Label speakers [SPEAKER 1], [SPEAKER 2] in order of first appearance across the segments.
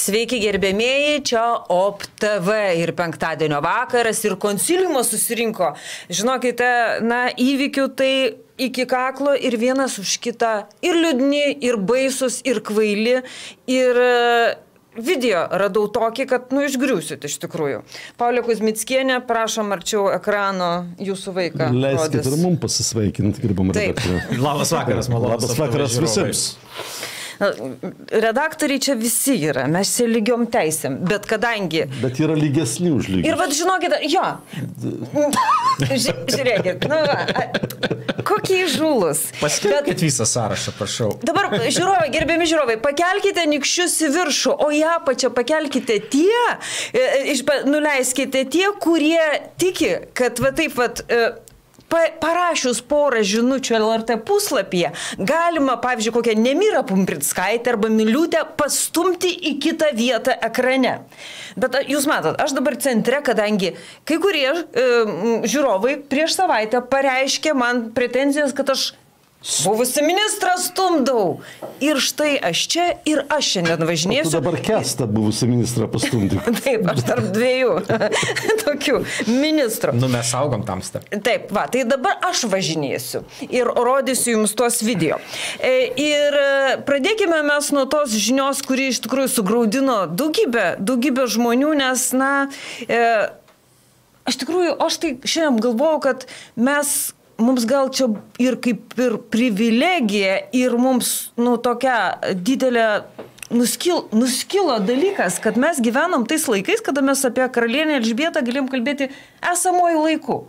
[SPEAKER 1] Sveiki gerbėmėjai, čia OP TV ir penktadienio vakaras ir konsiliumas susirinko. Žinokite, įvykių tai iki kaklo ir vienas už kitą, ir liūdni, ir baisus, ir kvaili, ir video radau tokį, kad, išgriūsit iš tikrųjų. Paulė Kuzmickienė, prašom arčiau ekrano jūsų vaiką.
[SPEAKER 2] Leiskite ir mums pasisveikinti, gerbama redaktorė.
[SPEAKER 3] Labas vakaras, malonu.
[SPEAKER 2] Labas vakaras visiems.
[SPEAKER 1] Redaktoriai čia visi yra, mes čia lygiom teisėm, bet kadangi...
[SPEAKER 2] Bet yra lygesni už lygius.
[SPEAKER 1] Ir vad žinokite, jo, žiūrėkit, kokie įžūlus.
[SPEAKER 3] Paskelbkit visą sąrašą, prašau.
[SPEAKER 1] Dabar, žiūrovai, gerbiami žiūrovai, pakelkite nykščius į viršų, o į apačią pakelkite nuleiskite tie, kurie tiki, kad va taip vat... Parašius porą žinučių LRT puslapyje, galima, pavyzdžiui, kokią Nemirą Pumprickaitę arba Miliūtę pastumti į kitą vietą ekrane. Bet jūs matot, aš dabar centre, kadangi kai kurie žiūrovai prieš savaitę pareiškė man pretenzijas, kad aš buvusi ministrą stumdau. Ir štai aš čia ir aš šiandien važinėsiu.
[SPEAKER 2] Tu dabar Kęstą buvusi ministrą pastumdai.
[SPEAKER 1] Taip, aš tarp dviejų tokių ministrų.
[SPEAKER 3] Mes saugom tamstą.
[SPEAKER 1] Taip, tai dabar aš važinėsiu ir rodysiu jums tuos video. Ir pradėkime mes nuo tos žinios, kuri iš tikrųjų sugraudino daugybę žmonių, nes, aš tai šiandien galvojau, kad mums gal čia ir kaip ir privilegija ir mums, tokia didelė nuskilo dalykas, kad mes gyvenam tais laikais, kada mes apie karalienę Elžbietą galėjom kalbėti esamojų laikų.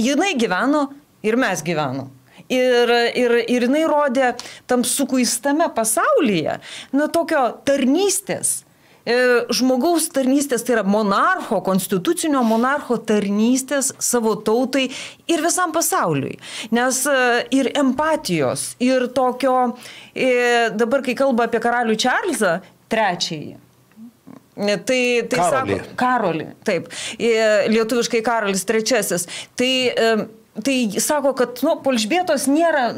[SPEAKER 1] Jinai gyveno ir mes gyvenom. Ir jinai rodė tam sukuistame pasaulyje, tokio tarnystės. Žmogaus tarnystės, tai yra monarcho, konstitucinio monarcho tarnystės savo tautai ir visam pasauliui. Nes ir empatijos, ir tokio, dabar kai kalba apie karalių Čarlzą III, tai sako, Karolį, taip, lietuviškai Karolis III, tai sako, kad po Elžbietos nėra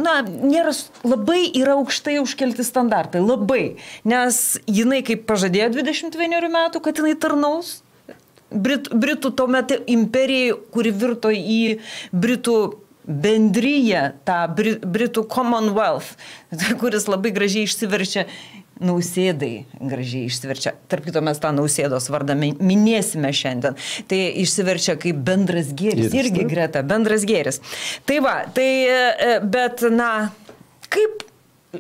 [SPEAKER 1] labai yra aukštai užkelti standartai, labai, nes jinai kaip pažadėjo 21 metų, kad jinai tarnaus Britų tuomet imperijai, kuri virto į Britų bendryje, tą Britų Commonwealth, kuris labai gražiai išsiverčia. Nausėdai gražiai išsiverčia. Tarp kito mes tą Nausėdos vardą minėsime šiandien. Tai išsiverčia kaip bendras gėris. Irgi greta, bendras gėris. Tai bet kaip...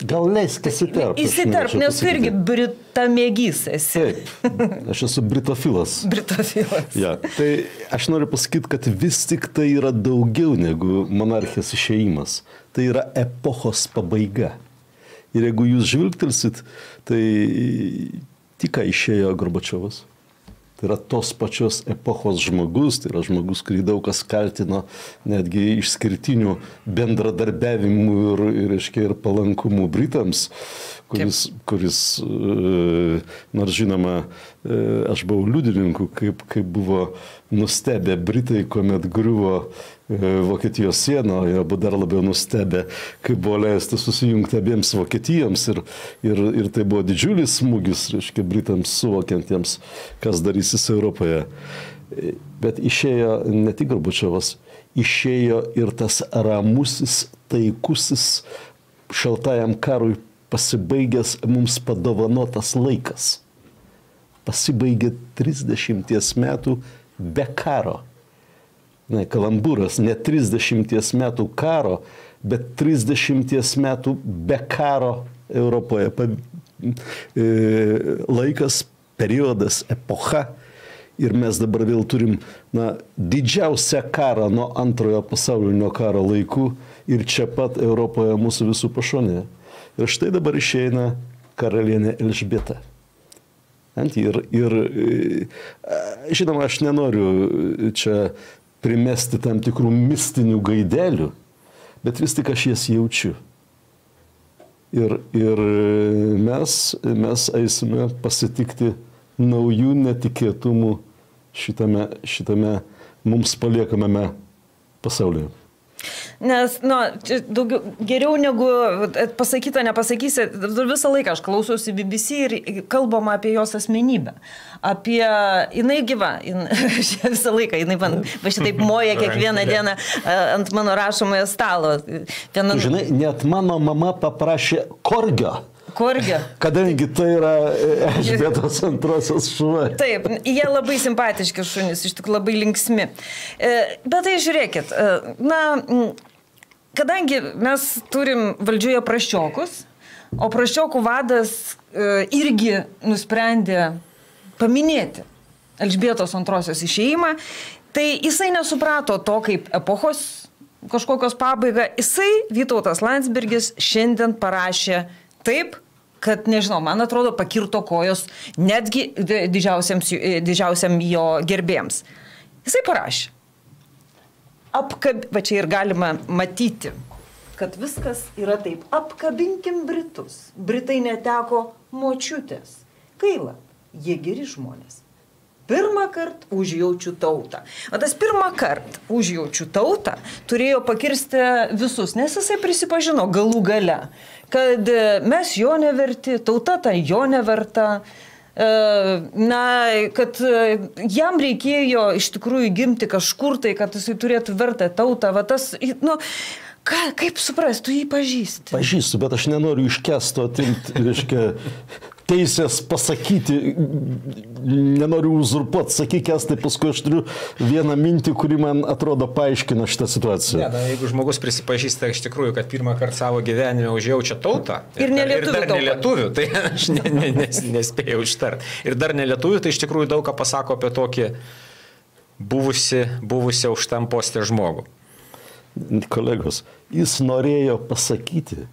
[SPEAKER 2] Gal leisk
[SPEAKER 1] įsiterp, nes tu irgi britamėgys esi.
[SPEAKER 2] Taip, aš esu britofilas.
[SPEAKER 1] Britofilas.
[SPEAKER 2] Ja, tai aš noriu pasakyti, kad vis tik tai yra daugiau negu monarchijos išėjimas. Tai yra epochos pabaiga. Ir jeigu jūs žvilgtelsit, tai tik ką išėjo Gorbačiovas. Tai yra tos pačios epochos žmogus, tai yra žmogus, kurį daug kas kaltino netgi išskirtinių bendradarbiavimų ir palankumų Britams, kuris nors žinoma, aš buvau liudininku, kaip buvo nustebę Britai, kuomet griuvo Vokietijos siena, jie buvo dar labiau nustebę, kaip buvo leista susijungti abiems Vokietijoms ir tai buvo didžiulis smūgis, Britams suvokiantiems, kas darysis Europoje. Bet išėjo ne tik Gorbačiovas, išėjo ir tas ramusis, taikusis, šaltajam karui pasibaigęs mums padovanotas laikas. Pasibaigė 30 metų be karo. Kalambūras, ne 30 metų karo, bet 30 metų be karo Europoje. Laikas, periodas, epocha. Ir mes dabar vėl turim didžiausią karą nuo antrojo pasaulinio karo laikų ir čia pat Europoje mūsų visų pašonėje. Ir štai dabar išeina karalienė Elžbieta. Ir žinoma, aš nenoriu čia primesti tam tikrų mistinių gaidelių, bet vis tik aš jas jaučiu. Ir mes eisime pasitikti naujų netikėtumų šitame mums paliekamame pasaulyje.
[SPEAKER 1] Nes, daugiau, geriau negu pasakyta, nepasakysi, visą laiką aš klausiausi BBC ir kalbama apie jos asmenybę. Apie, jinai gyva, visą laiką, jinai man, va šitaip moja kiekvieną dieną ant mano rašomojo stalo.
[SPEAKER 2] Žinai, net mano mama paprašė korgio.
[SPEAKER 1] Korgio.
[SPEAKER 2] Kadangi tai yra Elžbietos antrosios šuva.
[SPEAKER 1] Taip, jie labai simpatiški šunys, iš tikrųjų labai linksmi. Bet tai žiūrėkit, kadangi mes turim valdžioje praščiokus, o praščiokų vadas irgi nusprendė paminėti Elžbietos antrosios išėjimą, tai jisai nesuprato to kaip epochos kažkokios pabaiga. Jisai, Vytautas Landsbergis, šiandien parašė taip, kad, nežinau, man atrodo, pakirto kojos netgi didžiausiam jo gerbėjams. Jisai parašė. Va čia ir galima matyti, kad viskas yra taip. Apkabinkim Britus. Britai neteko močiutės. Gaila, jie geri žmonės. Pirmą kartą užjaučiu tautą. O tas pirmą kartą užjaučiu tautą turėjo pakirsti visus, nes jisai prisipažino galų gale, kad mes jo neverti, tauta tai jo neverta, kad jam reikėjo iš tikrųjų gimti kažkur tai, kad jisai turėtų vertę tautą. Va tas, kaip suprast, tu jį pažįsti?
[SPEAKER 2] Pažįstu, bet aš nenoriu iškesto atimti, reiškia, teisės pasakyti, nenoriu uzurpuoti, sakyk, tai paskui aš turiu vieną mintį, kuri man atrodo paaiškina šitą situaciją.
[SPEAKER 3] Ne, jeigu žmogus prisipažįsta iš tikrųjų, kad pirmą kartą savo gyvenime užjaučia tautą
[SPEAKER 1] ir dar
[SPEAKER 3] nelietuvių, tai aš nespėjau ištarti. Ir dar nelietuvių, tai iš tikrųjų daug ką pasako apie tokį buvusi aukštam postė žmogų.
[SPEAKER 2] Kolegos, jis norėjo pasakyti,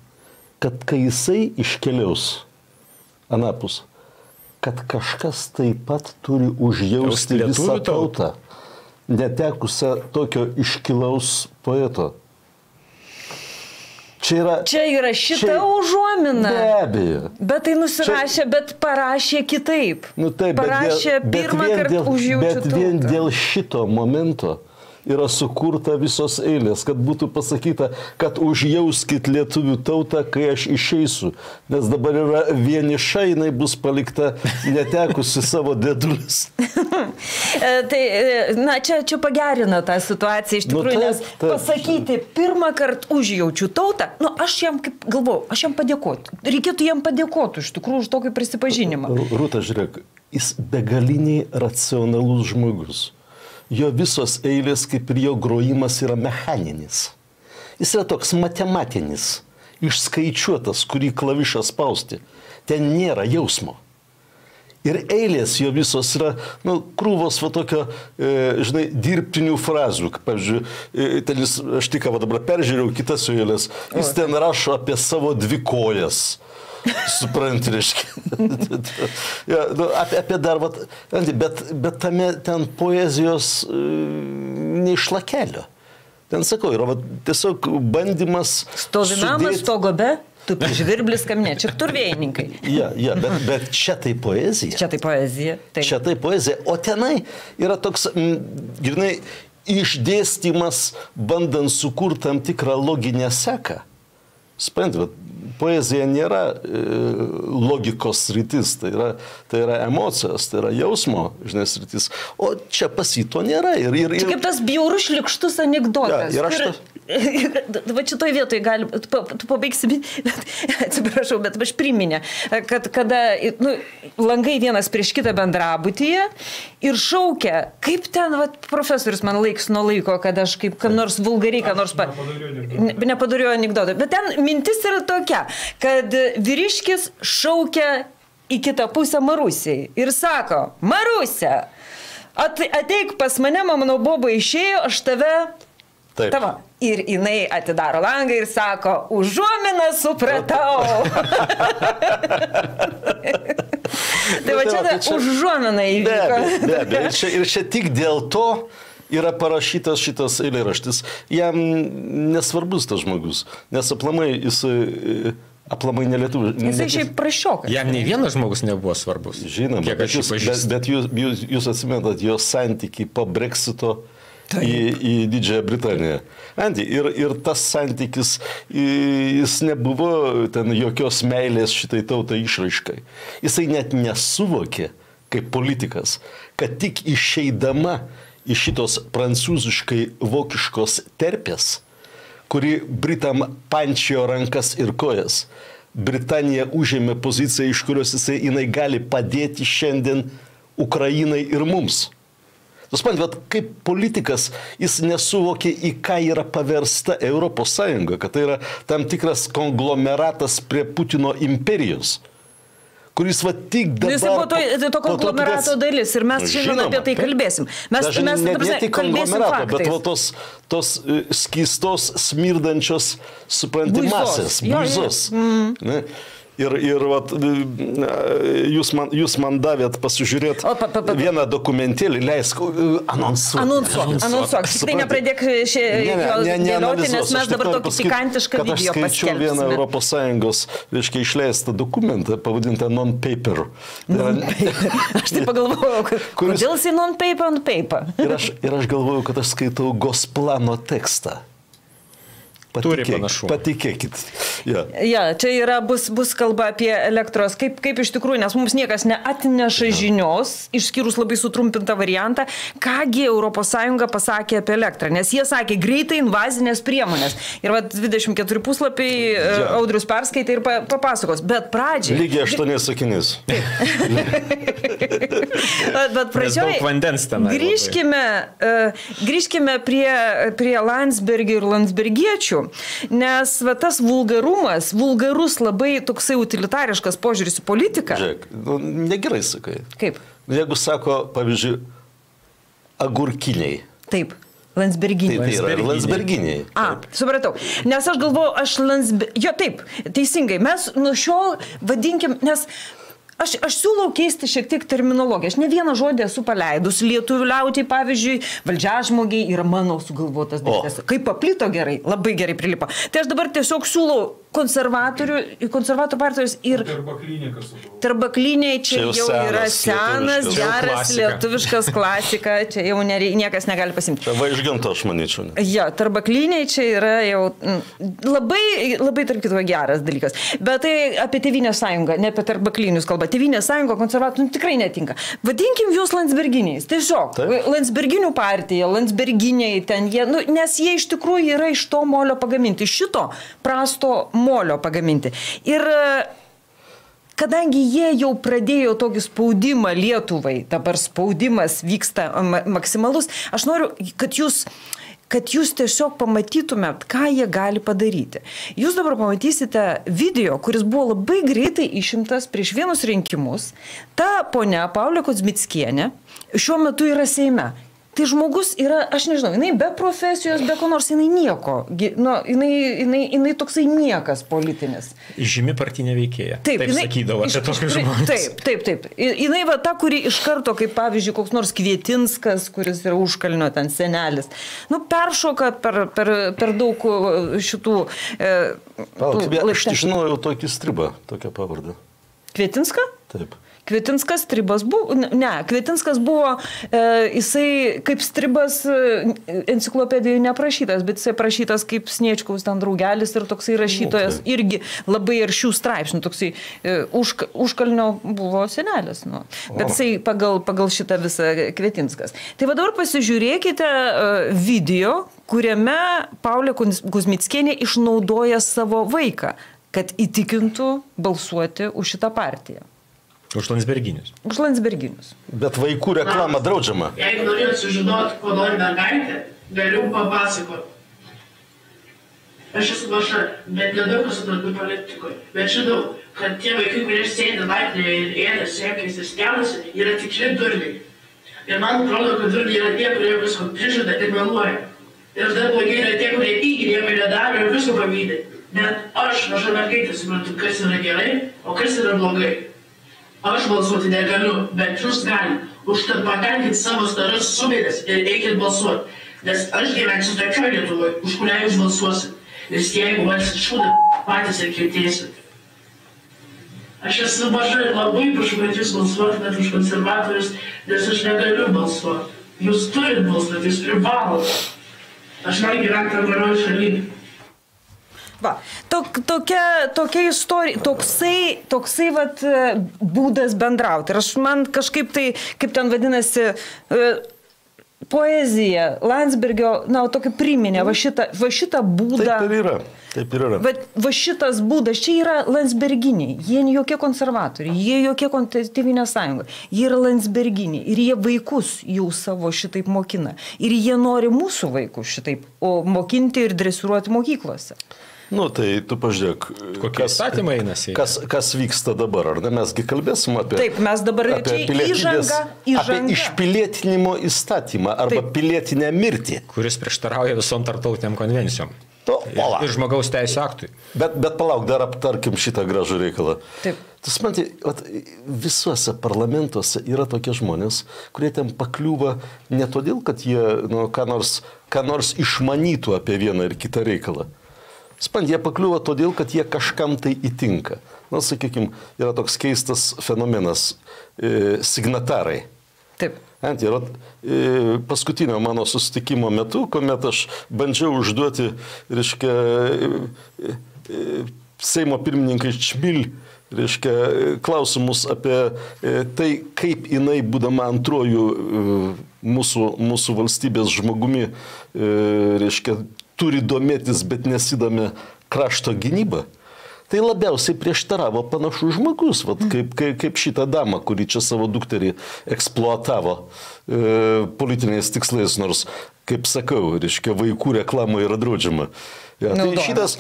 [SPEAKER 2] kad kai jisai iškeliaus anapus, kad kažkas taip pat turi užjausti visą tautą, netekusią tokio iškilaus poeto. Čia yra
[SPEAKER 1] šita užuomina.
[SPEAKER 2] Be abejo.
[SPEAKER 1] Bet tai nusirašė, bet parašė kitaip.
[SPEAKER 2] Taip,
[SPEAKER 1] parašė pirmą kartą užjaučiu tautą.
[SPEAKER 2] Bet vien dėl šito momento yra sukurta visos eilės, kad būtų pasakyta, kad užjauskit lietuvių tautą, kai aš išeisiu. Nes dabar yra vieniša, jinai bus palikta netekusi savo dėdulis.
[SPEAKER 1] Tai, čia pagerina tą situaciją iš tikrųjų, nes pasakyti pirmą kartą užjaučiu tautą, aš jam kaip galvoju, aš jam padėkoti. Reikėtų jam padėkoti iš tikrųjų už tokį prisipažinimą.
[SPEAKER 2] Rūta, žiūrėk, jis begaliniai racionalus žmogus. Jo visos eilės, kaip ir jo grojimas, yra mechaninis. Jis yra toks matematinis, išskaičiuotas, kurį klavišą spausti. Ten nėra jausmo. Ir eilės jo visos yra, krūvos va tokio, žinai, dirbtinių frazų. Pavyzdžiui, aš tik dabar peržiūrėjau kitas jo eilės. Jis ten rašo apie savo dvi kojas. Supranti, reiškia. Apie dar, bet tame ten poezijos neišlakelio. Ten sakau, yra tiesiog bandymas...
[SPEAKER 1] Stovi namas, stogobe, tu žvirblis kamne, čia turvėjininkai.
[SPEAKER 2] Bet čia tai poezija.
[SPEAKER 1] Čia tai poezija.
[SPEAKER 2] Čia tai poezija. O tenai yra toks, žinai, išdėstymas, bandant sukurti tam tikrą loginę seką. Suprantat, poezija nėra logikos sritis, tai yra emocijos, tai yra jausmo, žinai, sritis. O čia pas jį to nėra.
[SPEAKER 1] Čia kaip tas bjaurus šlykštus anekdotas. Va šitoj vietoj gali, tu pabaigsi, atsiprašau, bet aš priminė, kad kada langai vienas prieš kitą bendrabutyje ir šaukia, kaip ten profesorius man laiks nuo laiko, kad aš kaip kam nors vulgariai, ką nors nepadariau anekdotą. Bet ten mintis yra tokia, kad vyriškis šaukia į kitą pusę Marusiai ir sako, Marusė, ateik pas mane, mano boba išėjo, aš tave... Tava. Ir jinai atidaro langą ir sako, užuominą supratau. Tai va čia užuomina įvyko.
[SPEAKER 2] Be abejo. Ir čia tik dėl to yra parašytas šitas eilėraštis. Jam nesvarbus tas žmogus, nes aplamai nelietuvių.
[SPEAKER 1] Jisai šiaip praščiokas.
[SPEAKER 3] Jam nei vienas žmogus nebuvo svarbus.
[SPEAKER 2] Žinoma, bet jūs atsimenat jo santykį po Brexito. į Didžiąją Britaniją. Andy, ir tas santykis, jis nebuvo ten jokios meilės šitai tautai išraiškai. Jisai net nesuvokė, kaip politikas, kad tik išeidama iš šitos prancūziškai vokiškos terpės, kuri Britam pančiojo rankas ir kojas, Britanija užėmė poziciją, iš kurios jinai gali padėti šiandien Ukrainai ir mums. Suprantat, kaip politikas jis nesuvokė, į ką yra paversta Europos Sąjunga, kad tai yra tam tikras konglomeratas prie Putino imperijos, kuris va tik dabar...
[SPEAKER 1] Jis buvo to konglomerato dalis ir mes šiandien apie tai kalbėsim. Mes
[SPEAKER 2] ne tik konglomerato, bet va tos skystos, smirdančios, supranti, masės, buizos. Ir vat, jūs man davėt pasižiūrėti vieną dokumentėlį, leisk
[SPEAKER 1] anonsuok. Tai nepradėk dėlioti, nes mes dabar tokį pikantišką video paskelbsime. Aš skaičiau
[SPEAKER 2] vieną Europos Sąjungos, reiškia, išleistą dokumentą, pavadintą non-paper.
[SPEAKER 1] Aš tai pagalvojau, kodėl jisai non-paper on paper.
[SPEAKER 2] Ir aš galvojau, kad aš skaitau Gosplano tekstą. Patikėkit.
[SPEAKER 1] Čia yra, bus kalba apie elektros, kaip iš tikrųjų, nes mums niekas neatneša žinios, išskyrus labai sutrumpintą variantą, kągi ES pasakė apie elektrą, nes jie sakė greitai invazinės priemonės. Ir 24 puslapiai Audrius perskaitė ir papasakos, bet pradžiai...
[SPEAKER 2] Lygiai 8 sakinys.
[SPEAKER 1] Bet pradžioj grįžkime prie Landsbergio ir landsbergiečių. Nes tas vulgarus labai toksai utilitariškas požiūris į politiką.
[SPEAKER 2] Žiūrėk, negerai sakai.
[SPEAKER 1] Kaip?
[SPEAKER 2] Jeigu sako, pavyzdžiui, agurkiniai.
[SPEAKER 1] Taip, landsberginiai.
[SPEAKER 2] Tai yra landsberginiai.
[SPEAKER 1] Supratau. Nes aš galvoju, taip, teisingai, mes nuo šiol vadinkim, nes... Aš siūlau keisti šiek tiek terminologiją. Aš ne vieną žodį esu paleidus. Lietuvių liaudžiai, pavyzdžiui, valdžiažmogiai yra mano sugalvotas dalykas. Kaip paplito gerai, labai gerai prilipo. Tai aš dabar tiesiog siūlau konservatorių partijos ir... Tarbakliniai čia jau yra senas, geras lietuviškas klasika. Čia jau niekas negali pasimti.
[SPEAKER 2] Tai Vaižganto, aš manyčiau.
[SPEAKER 1] Tarbakliniai čia yra jau labai tarp kitko geras dalykas. Bet tai apie Tėvynės sąjungą, ne apie tarbaklinius kalbą. Tėvynės sąjunga konservatorių tikrai netinka. Vadinkim jūs landsberginiais. Tiesiog. Landsberginių partija, landsberginiai ten jie, nes jie iš tikrųjų yra iš to molio pagaminti. Iš šito prasto molio pagaminti. Ir kadangi jie jau pradėjo tokį spaudimą Lietuvai, dabar spaudimas vyksta maksimalus, aš noriu, kad jūs tiesiog pamatytumėt, ką jie gali padaryti. Jūs dabar pamatysite video, kuris buvo labai greitai išimtas prieš vienus rinkimus. Ta ponia Paulė Kuzmickienė šiuo metu yra Seime. Tai žmogus yra, aš nežinau, jinai be profesijos, be ko nors, jinai nieko. Jinai toksai niekas politinis.
[SPEAKER 3] Žymi partinė veikėja. Taip sakydavo apie tokius žmonės.
[SPEAKER 1] Taip. Jinai ta, kuri iš karto, kaip pavyzdžiui, koks nors Kvietinskas, kuris yra užkalnio ten senelis. Peršoka per daug šitų...
[SPEAKER 2] Aš žinojau tokį stribą, tokią pavardę.
[SPEAKER 1] Kvietinską?
[SPEAKER 2] Taip.
[SPEAKER 1] Kvietinskas stribas buvo, Kvietinskas buvo, jisai kaip stribas enciklopedijoje neprašytas, bet jisai prašytas kaip Sniečkaus ten draugelis ir toksai rašytojas irgi labai aršių straipsnių, toksai užkalnio buvo senelis. Bet jisai pagal šitą visą Kvietinskas. Tai dabar pasižiūrėkite video, kuriame Paulė Kuzmickienė išnaudoja savo vaiką, kad įtikintų balsuoti už šitą partiją.
[SPEAKER 3] Už landsberginius.
[SPEAKER 1] Už landsberginius.
[SPEAKER 2] Bet vaikų reklama draudžiama.
[SPEAKER 4] Jeigu norėjau sužinoti, ko nori mergaitė, galiu papasakoti. Aš esu maža, bet nedaug suprantu politikoje. Bet žinau, kad tie vaikai, kurie sėdi laiptinėje ir ėda sėkais ir skelasi, yra tikri durniai. Ir man atrodo, kad durniai yra tie, kurie visko prižada ir meluoja. Ir dar blogai yra tie, kurie įgi nieko nedaro ir visko pavydi. Bet aš, maža mergaitė, suprantu, kas yra gerai, o kas yra blogai. Aš balsuoti negaliu, bet jūs gali. Užtat pakalkit savo staras subėdės ir eikit balsuoti. Nes aš gyvensiu tokioj Lietuvoje, už kurią jūs balsuosit. Nes jeigu valsit šūdą, patys ir kentėsit. Aš esu maža ir labai prašau, kad jūs balsuotumėt už konservatorius, nes aš negaliu balsuoti. Jūs turit balsuoti, jūs privalot. Aš noriu gyventi tam geroj šalyje.
[SPEAKER 1] Va, tokia istorija, toksai vat, būdas bendrauti. Ir man kažkaip tai, kaip ten vadinasi, poezija, Landsbergio, tokį priminė, va šitą būdą.
[SPEAKER 2] Taip ir yra.
[SPEAKER 1] Va šitas būdas, čia yra landsberginiai, jie jokie konservatoriai, jie jokie Tėvynės sąjunga, jie yra landsberginiai ir jie vaikus jau savo šitaip mokina. Ir jie nori mūsų vaikus šitaip mokinti ir dresiruoti mokyklose.
[SPEAKER 2] Tai tu pažiūrėk,
[SPEAKER 3] kokie įstatymai einasi.
[SPEAKER 2] Kas vyksta dabar, ar ne? Mesgi kalbėsim apie...
[SPEAKER 1] Taip, mes dabar įžanga.
[SPEAKER 2] Apie išpilietinimo įstatymą arba pilietinę mirtį.
[SPEAKER 3] Kuris prieštarauja visom tarptautiniam konvencijom. Ir žmogaus teisų aktui.
[SPEAKER 2] Bet palauk, dar aptarkim šitą gražų reikalą.
[SPEAKER 1] Taip.
[SPEAKER 2] Tu supranti, visuose parlamentuose yra tokie žmonės, kurie ten pakliūva ne todėl, kad jie ką nors išmanytų apie vieną ir kitą reikalą. Jie pakliūva todėl, kad jie kažkam tai įtinka. Sakykime, yra toks keistas fenomenas signatarai.
[SPEAKER 1] Taip.
[SPEAKER 2] Paskutinio mano susitikimo metu, kuomet aš bandžiau užduoti, reiškia, Seimo pirmininkai Čmil, reiškia, klausimus apie tai, kaip jinai, būdama antrojų mūsų valstybės žmogumi, reiškia, turi domėtis, bet nesidomi krašto gynybą. Tai labiausiai prieštaravo panašus žmogus, kaip šitą damą, kuri čia savo dukterį eksploatavo politiniais tikslais, nors, kaip sakau, reiškia, vaikų reklama yra draudžiama. Šitas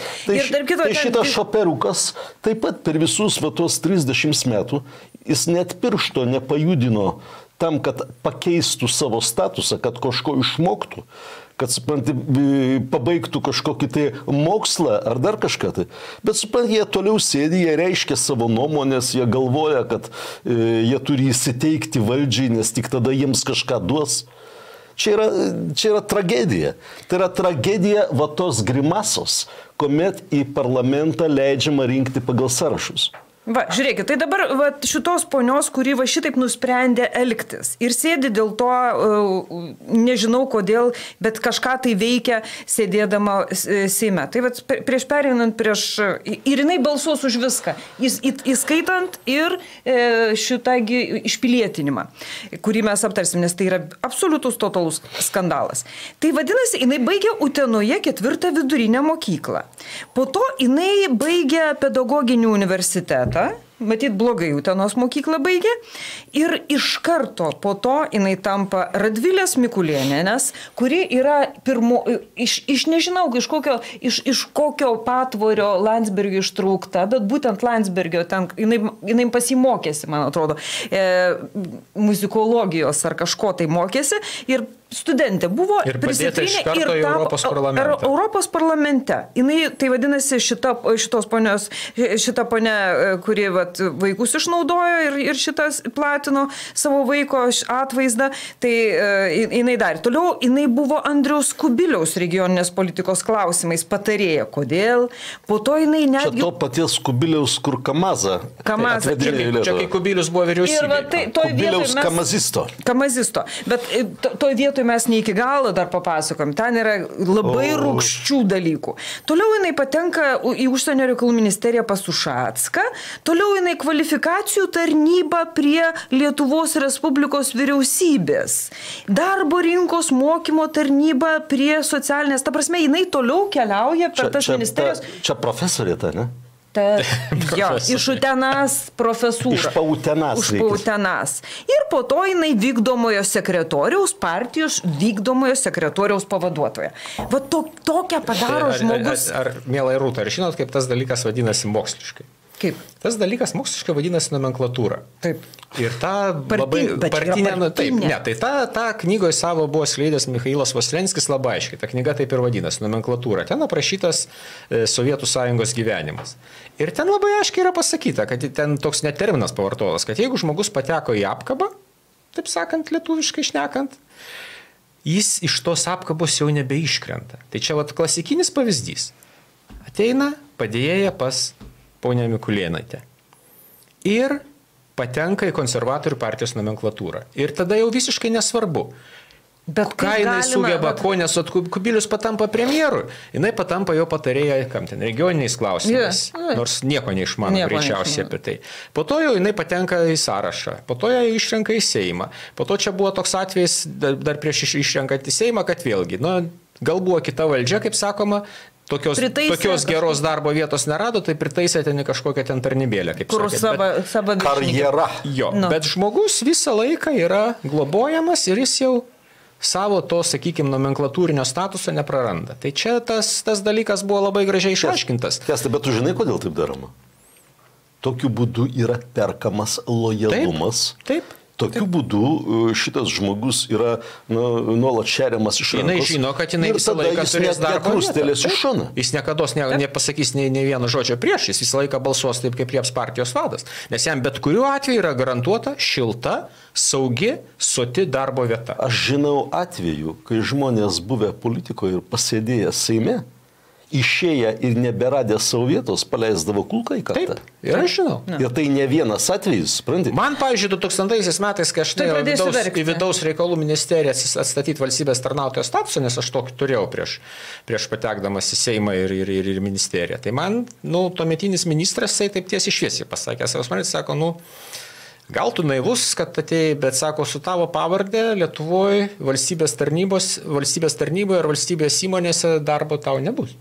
[SPEAKER 2] šoperukas taip pat per visus tuos 30 metų jis net piršto nepajudino tam, kad pakeistų savo statusą, kad kažko išmoktų, kad, supranti, pabaigtų kažkokį tai mokslą ar dar kažką tai. Bet, supranti, jie toliau sėdi, jie reiškia savo nuomonės, jie galvoja, kad jie turi įsiteikti valdžiai, nes tik tada jiems kažką duos. Čia yra tragedija. Tai yra tragedija tos grimasos, kuomet į parlamentą leidžiama rinkti pagal sąrašus.
[SPEAKER 1] Va, žiūrėkit, tai dabar šitos ponios, kuri šitaip nusprendė elgtis ir sėdi dėl to, nežinau kodėl, bet kažką tai veikia sėdėdama Seime. Tai prieš pereinant ir jinai balsuos už viską, įskaitant ir šitą išpilietinimą, kurį mes aptarsim, nes tai yra absoliutus totalus skandalas. Tai vadinasi, jinai baigė Utenoje 4 vidurinę mokyklą. Po to jinai baigė pedagoginį universitetą. Matyt, blogai Utenos mokyklą baigė. Ir iš karto po to jinai tampa Radvilės Mikulėnienės, kuri yra nežinau, iš kokio patvorio Landsbergio ištraukta, bet būtent Landsbergio ten, jinai pasimokėsi, man atrodo, muzikologijos ar kažko tai mokėsi ir studentė buvo
[SPEAKER 3] ir prisitrinė ir tapo
[SPEAKER 1] Europos parlamente. Jinai, tai vadinasi, šita ponia, kuri vaikus išnaudojo ir šitas platino savo vaiko atvaizdą, tai jinai dar. Toliau jinai buvo Andriaus Kubiliaus regioninės politikos klausimais patarėja. Kodėl? Po to jinai netgi...
[SPEAKER 2] Čia to paties Kubiliaus, kur Kamazą.
[SPEAKER 3] Čia kai Kubilius buvo vyriausybė.
[SPEAKER 2] Kubiliaus Kamazisto.
[SPEAKER 1] Bet toj vietoj mes ne iki galo dar papasakom. Ten yra labai rūgščių dalykų. Toliau jinai patenka į užsienio reikalų ministeriją pas Ušacką. Toliau jinai kvalifikacijų tarnyba prie Lietuvos Respublikos vyriausybės. Darbo rinkos mokymo tarnyba prie socialinės. Ta prasme, jinai toliau keliauja per tas ministerijos.
[SPEAKER 2] Čia profesorė ta, ne?
[SPEAKER 1] Iš Utenas profesūrą.
[SPEAKER 2] Iš Pautenas.
[SPEAKER 1] Ir po to jinai vykdomojo sekretoriaus, partijos vykdomojo sekretoriaus pavaduotoja. Va tokią padaro žmogus.
[SPEAKER 3] Ar mielai Rūta, ar žinot, kaip tas dalykas vadinasi moksliškai?
[SPEAKER 1] Kaip?
[SPEAKER 3] Tas dalykas moksliškai vadinasi nomenklatūra.
[SPEAKER 1] Taip.
[SPEAKER 3] Ir ta partinė, tai ta knygoje savo buvo skleidęs Michailas Vaslenskis labai aiškiai. Ta knyga taip ir vadinasi, nomenklatūra. Ten aprašytas Sovietų sąjungos gyvenimas. Ir ten labai aiškiai yra pasakyta, kad ten toks net terminas pavartotas, kad jeigu žmogus pateko į apkabą, taip sakant, lietuviškai šnekant, jis iš tos apkabos jau nebeiškrenta. Tai čia klasikinis pavyzdys. Ateina padėjėja pas ponę Mikulėnaitę. Ir patenka į konservatorių partijos nomenklatūrą. Ir tada jau visiškai nesvarbu,
[SPEAKER 1] Bet
[SPEAKER 3] ką jinai sugeba, ko nes Kubilius patampa premjeru, jinai patampa jo patarėja, kam ten, regioniniais klausimais, nors nieko neišmano greičiausiai apie tai. Po to jau jinai patenka į sąrašą, po to ją išrenka į Seimą, po to čia buvo toks atvejis dar prieš išrenkant į Seimą, kad vėlgi, gal buvo kita valdžia, kaip sakoma, tokios geros darbo vietos nerado, tai pritaisė ten kažkokią ten tarnybėlę, kaip
[SPEAKER 1] sakė.
[SPEAKER 2] Karjera.
[SPEAKER 3] Jo, bet žmogus visą laiką yra globojamas ir jis jau savo to, sakykime, nomenklatūrinio statuso nepraranda. Tai čia tas dalykas buvo labai gražiai išaiškintas.
[SPEAKER 2] Kęstai, bet tu žinai, kodėl taip daroma? Tokiu būdu yra perkamas lojalumas.
[SPEAKER 3] Taip.
[SPEAKER 2] Tokiu būdu šitas žmogus yra nuolat šeriamas iš rankos.
[SPEAKER 3] Jinai žino, kad jinai visą laiką turės darbo vietą. Jis nekados nepasakys nei vieno žodžio prieš, jis visą laiką balsuos taip, kaip lieps partijos vadas. Nes jam bet kuriuo atveju yra garantuota šilta, saugi, soti darbo vieta.
[SPEAKER 2] Aš žinau atveju, kai žmonės buvę politikoje ir pasėdėję Seime, išėję ir neberadę savo vietos, paleisdavo kulką į kartą.
[SPEAKER 3] Taip, ir aš žinau.
[SPEAKER 2] Ir tai ne vienas atvejis, supranti?
[SPEAKER 3] Man, pavyzdžiui, 2000 metais, kai aš į vidaus reikalų ministeriją atstatyti valstybės tarnautojo statusą, nes aš tokį turėjau prieš patekdamas į Seimą ir ministeriją. Tai man, tuometinis ministras, taip tiesiai šviesiai pasakė, sako, gal tu naivus, kad atėjai, bet sako, su tavo pavardė Lietuvoje valstybės tarnyboje ar valstybės įmonėse darbo tau nebus.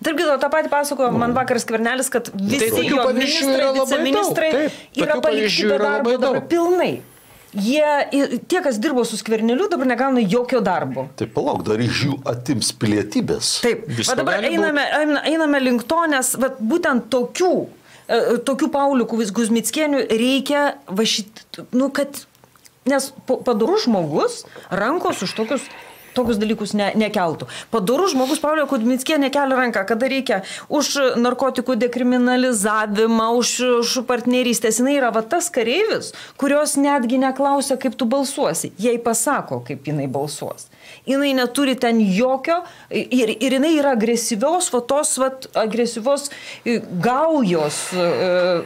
[SPEAKER 1] Tarp kito, tą patį pasakojo man vakar Skvernelis, kad visi jo ministrai, viceministrai yra palikti be darbo dabar pilnai. Tie, kas dirbo su Skverneliu, dabar negauna jokio darbo.
[SPEAKER 2] Taip, palauk, dar iš jų atims pilietybės.
[SPEAKER 1] Taip, dabar einame link to, nes būtent tokių Paulių Kuzmickienių reikia nes padorus žmogus rankos už tokius dalykus nekeltų. Padorus žmogus Paulio Kuzmickienė kelia ranką, kada reikia už narkotikų dekriminalizavimą, už partnerystės. Jinai yra tas kareivis, kurios netgi neklausia, kaip tu balsuosi. Jai pasako, kaip jinai balsuos. Jinai neturi ten jokio ir jinai yra agresyvios, agresyvios gaujos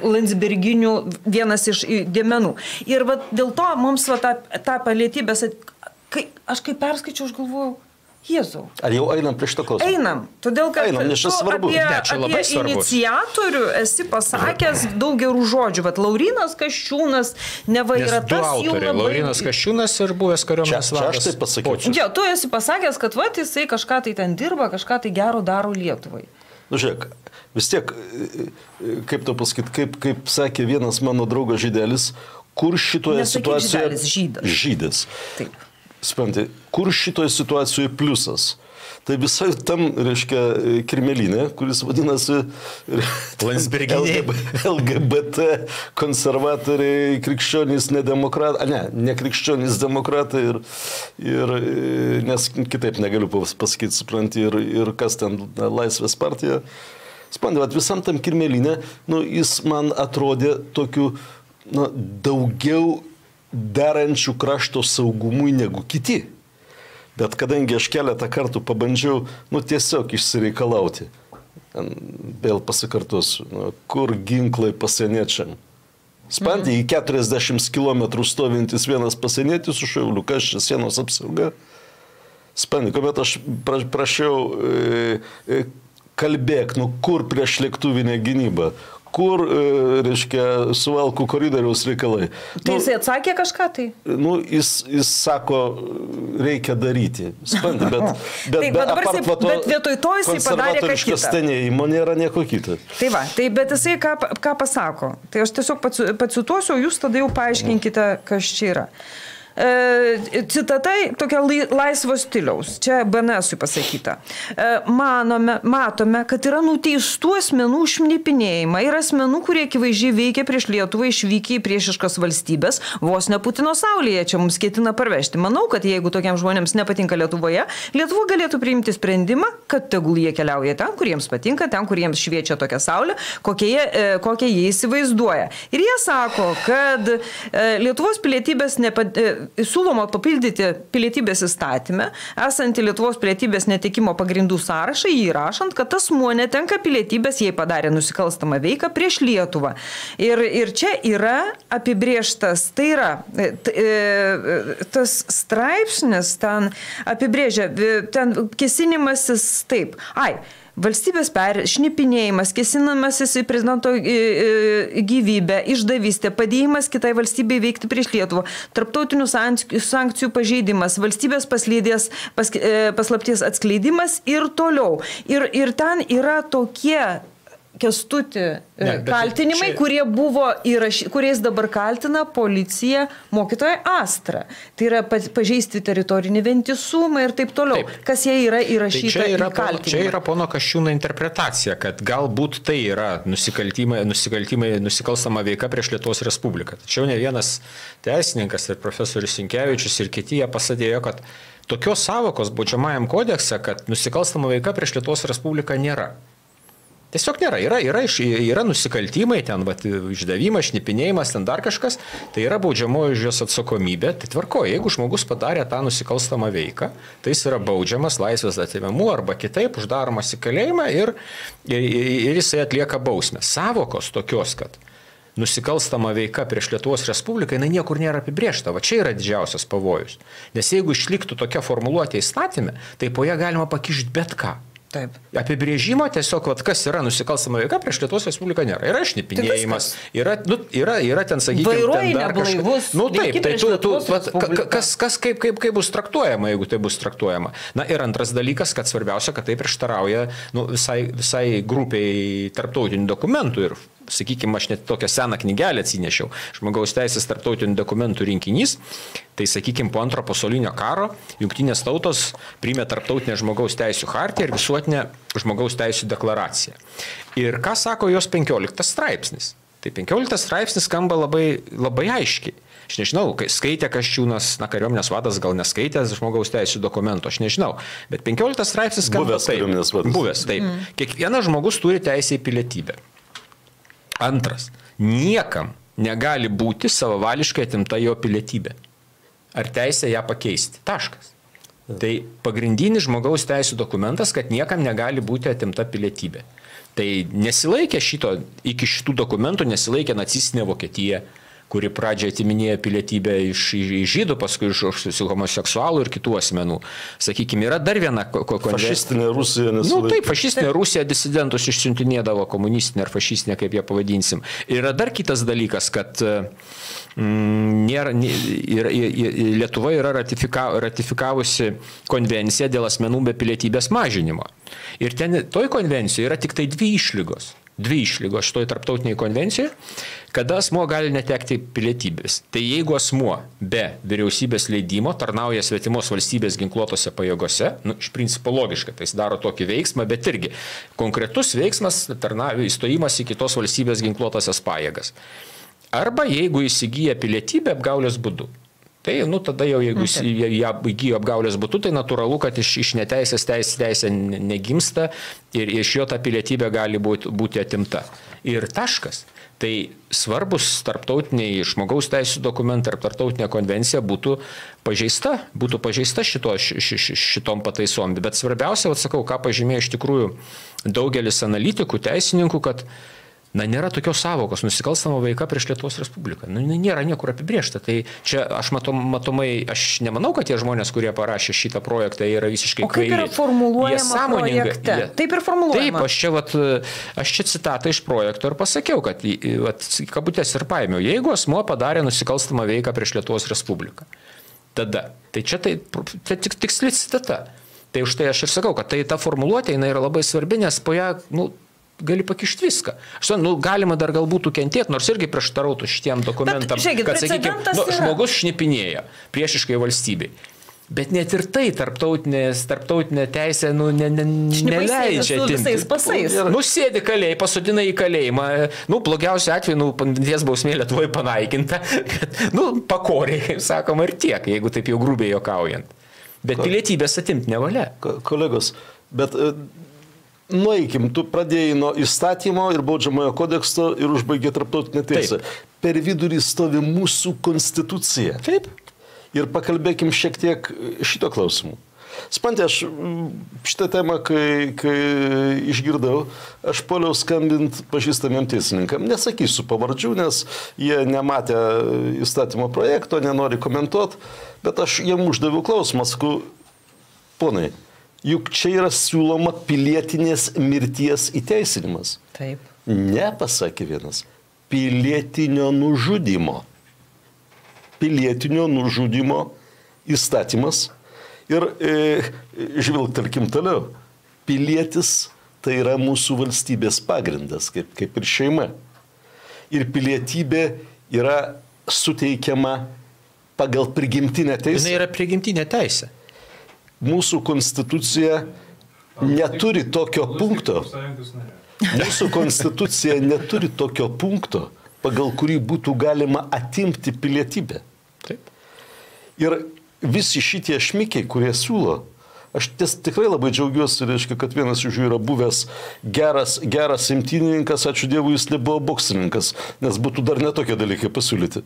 [SPEAKER 1] landsberginių vienas iš dėmenų. Ir dėl to mums tą pilietybės, aš kai perskaičiau, aš galvojau, Jėzau.
[SPEAKER 2] Ar jau einam prie šito klausimą?
[SPEAKER 1] Einam, todėl kad
[SPEAKER 3] apie
[SPEAKER 1] iniciatorių esi pasakęs daug gerų žodžių. Laurinas Kasčiūnas neva yra tas jų labai...
[SPEAKER 3] Laurinas Kasčiūnas ir buvęs kariuomenės vadas.
[SPEAKER 2] Čia aš taip pasakyčiau.
[SPEAKER 1] Jo, tu esi pasakęs, kad jisai kažką tai ten dirba, kažką tai gero daro Lietuvai.
[SPEAKER 2] Žiūrėk, vis tiek, kaip to pasakyti, kaip sakė vienas mano draugas žydelis, kur šitoje situacijoje... Žydas.
[SPEAKER 1] Taip.
[SPEAKER 2] Supranti, kur šitoje situacijoje pliusas? Tai visai tam, reiškia, kirmelinė, kuris vadinasi LGBT, konservatoriai, krikščionys, ne krikščionys demokratai ir nes kitaip negaliu pasakyti, supranti, ir kas ten Laisvės partija. Supranti, visam tam kirmelinė, jis man atrodė tokiu, daugiau derančių krašto saugumui negu kiti. Bet kadangi aš keletą kartų pabandžiau, tiesiog išsireikalauti, vėl pasikartosiu, kur ginklai pasieniečiam. Spantį į 40 km stovintis vienas pasienietis su šauliu, kas čia sienos apsauga. Spantį, kuomet aš prašiau kalbėk, kur prieš lėktuvinę gynybą, kur, reiškia, suvalkų koridoriaus reikalai.
[SPEAKER 1] Tai jisai atsakė kažką tai?
[SPEAKER 2] Jis sako, reikia daryti. Spandi,
[SPEAKER 1] bet vietoj to jisai padarė ką kitą.
[SPEAKER 2] Stenėjimo nėra nieko kito.
[SPEAKER 1] Bet jisai ką pasako? Tai aš tiesiog pacituosiu, o jūs tada jau paaiškinkite, kas čia yra. Citatai tokia laisvo stiliaus, čia BNS-ui pasakyta. Matome, kad yra nuteistų asmenų šnipinėjimą ir asmenų, kurie akivaizdžiai veikia prieš Lietuvą, išvykę į priešiškas valstybės, vos ne Putino saulėje, čia mums ketina parvežti. Manau, kad jeigu tokiam žmonėms nepatinka Lietuvoje, Lietuva galėtų priimti sprendimą, kad tegul jie keliauja ten, kur jiems patinka, ten, kur jiems šviečia tokia saulė, kokią jie įsivaizduoja. Ir jie sako, kad Lietuvos pilietybės siūloma papildyti pilietybės įstatymę, esantį Lietuvos pilietybės netekimo pagrindų sąrašą, įrašant, kad asmuo netenka pilietybės, jei padarė nusikalstamą veiką prieš Lietuvą. Ir čia yra apibrėžtas, tai yra tas straipsnis ten apibrėžia, ten kesinimasis taip. Valstybės šnipinėjimas, kesinamasis į prezidento gyvybę, išdavystė, padėjimas kitai valstybei veikti prieš Lietuvą, tarptautinių sankcijų pažeidimas, valstybės paslapties atskleidimas ir toliau. Ir ten yra tokie Kęstuti kaltinimai, kurie buvo kuriais dabar kaltina policija mokytoja Astra. Tai yra pažeisti teritorinį vientisumą ir taip toliau. Taip. Kas jie yra įrašyta į kaltinimą.
[SPEAKER 3] Čia yra pono Kasčiūno interpretacija, kad galbūt tai yra nusikalstama veika prieš Lietuvos Respubliką. Tačiau ne vienas teisininkas ir profesorius Sinkevičius ir kiti jie pasadėjo, kad tokios savokos baudžiamajam kodekse, kad nusikalstama veika prieš Lietuvos Respubliką nėra. Tiesiog nėra. Yra nusikaltimai, ten išdavimas, šnipinėjimas, ten dar kažkas, tai yra baudžiamoji už jos atsakomybė. Tai tvarko, jeigu žmogus padarė tą nusikalstamą veiką, tai jis yra baudžiamas laisvės atėmimu arba kitaip uždaromas į kalėjimą ir jisai atlieka bausmę. Savokos tokios, kad nusikalstama veika prieš Lietuvos Respubliką, jinai niekur nėra apibrėžta. Va čia yra didžiausias pavojus. Nes jeigu išliktų tokia formuluotė įstatyme, tai po ją galima pakišti bet ką.
[SPEAKER 1] Taip.
[SPEAKER 3] Apibrėžimo tiesiog, kas yra nusikalstama veika prieš Lietuvos Respubliką nėra. Yra šnipinėjimas, yra ten, sakykime,
[SPEAKER 1] vairuoji neblaivus.
[SPEAKER 3] Kas kaip bus traktuojama, jeigu tai bus traktuojama. Na ir antras dalykas, kad svarbiausia, kad tai prieštarauja visai grupiai tarptautinių dokumentų ir sakykime, aš net tokią seną knygelę atsinešiau, žmogaus teisės tarptautinių dokumentų rinkinys, tai sakykime, po Antro pasaulinio karo Jungtinės tautos priėmė tarptautinę žmogaus teisų chartiją ir visuotinę žmogaus teisų deklaraciją. Ir ką sako jos 15 straipsnis? Tai 15 straipsnis skamba labai, labai aiškiai. Aš nežinau, skaitė Kasčiūnas, kariuomenės vadas gal neskaitė žmogaus teisų dokumento, aš nežinau, bet 15 straipsnis skamba taip. Buvęs, taip. Kiekvienas žmogus turi teisę į pilietybę. Antras, niekam negali būti savavališkai atimta jo pilietybė. Ar teisė ją pakeisti? Taškas. Tai pagrindinis žmogaus teisų dokumentas, kad niekam negali būti atimta pilietybė. Tai nesilaikė iki šitų dokumentų nesilaikė nacistinė Vokietija, kuri pradžioje atiminėjo pilietybę iš žydų, paskui iš homoseksualų ir kitų asmenų. Sakykime, yra dar viena konvencija.
[SPEAKER 2] Fašistinė Rusija nesilaikė.
[SPEAKER 3] Taip, fašistinė Rusija disidentus išsiuntinėdavo, komunistinė ar fašistinė, kaip ją pavadinsim. Yra dar kitas dalykas, kad Lietuva yra ratifikavusi konvenciją dėl asmenų be pilietybės mažinimo. Ir toj konvencijoje yra tik tai dvi išlygos šitoj tarptautiniai konvencijoje, kada asmuo gali netekti pilietybės. Tai jeigu asmuo be vyriausybės leidimo tarnauja svetimos valstybės ginkluotose pajėgose, iš principo logiška, tai jis daro tokį veiksmą, bet irgi konkretus veiksmas įstojimas į kitos valstybės ginkluotasias pajėgas. Arba jeigu įsigyja pilietybę apgaulės būdu. Tai, tada jau, jeigu ją įgyjo apgaulės būtų, tai natūralu, kad iš neteisės teisė negimsta ir iš jo ta pilietybė gali būti atimta. Ir taškas. Tai svarbus tarptautiniai žmogaus teisų dokumentai ar tarptautinė konvencija būtų pažeista šitom pataisom. Bet svarbiausia, sakau, ką pažymėjo iš tikrųjų daugelis analitikų, teisininkų, kad nėra tokios savokos nusikalstama veika prieš Lietuvos Respubliką. Nėra niekur apibrėžta. Tai čia aš matomai, aš nemanau, kad tie žmonės, kurie parašė šitą projektą, yra visiškai kvaili.
[SPEAKER 1] O kaip yra formuluojama projekte? Taip ir formuluojama.
[SPEAKER 3] Taip, aš čia citatą iš projekto ir pasakiau, kad kabutės ir paėmiau. Jeigu asmuo padarė nusikalstamą veiką prieš Lietuvos Respubliką, tada. Tai čia tik tiksli citata. Tai už tai aš ir sakau, kad ta formuluotė jinai yra labai svarbi, nes po ją, gali pakišti viską. Galima dar galbūt kentėti, nors irgi prieštarautų šitiem dokumentam, kad, sakykime, žmogus šnipinėja priešiškai valstybei. Bet net ir tai tarptautinė teisė neleidžia atimti. Sėdi kalėjai, pasodina į kalėjimą. Blogiausiu atveju, ties bausmė Lietuvoje panaikinta. Pakoriai, kaip sakoma, ir tiek, jeigu taip jau grubiai juokaujant. Bet pilietybės atimti nevalia.
[SPEAKER 2] Kolegos, bet nueikim, tu pradėjai nuo įstatymo ir baudžiamojo kodekso ir užbaigė tarptautinę teisę. Per vidurį stovi mūsų konstitucija.
[SPEAKER 3] Taip.
[SPEAKER 2] Ir pakalbėkim šiek tiek šito klausimu. Spantė, aš šitą temą, kai išgirdau, aš poliau skambinti pažįstamiem teisininkam. Nesakysiu pavardžių, nes jie nematė įstatymo projekto, nenori komentuoti, bet aš jiem uždaviau klausimą, sakau, ponai, juk čia yra siūloma pilietinės mirties įteisinimas.
[SPEAKER 1] Taip.
[SPEAKER 2] Ne, pasakė vienas, pilietinio nužudymo. Pilietinio nužudymo įstatymas. Ir žvilgtelkim toliau. Pilietis tai yra mūsų valstybės pagrindas, kaip ir šeima. Ir pilietybė yra suteikiama pagal prigimtinę teisę.
[SPEAKER 3] Jis yra prigimtinė teisė.
[SPEAKER 2] Mūsų konstitucija neturi tokio punkto. Mūsų konstitucija neturi tokio punkto, pagal kurį būtų galima atimti pilietybę.
[SPEAKER 3] Taip.
[SPEAKER 2] Ir visi šitie šmikiai, kurie siūlo, aš tikrai labai džiaugiuosi, reiškia, kad vienas iš jų yra buvęs geras imtynininkas, ačiū Dievui, jis nebuvo boksininkas, nes būtų dar netokie dalykai pasiūlyti.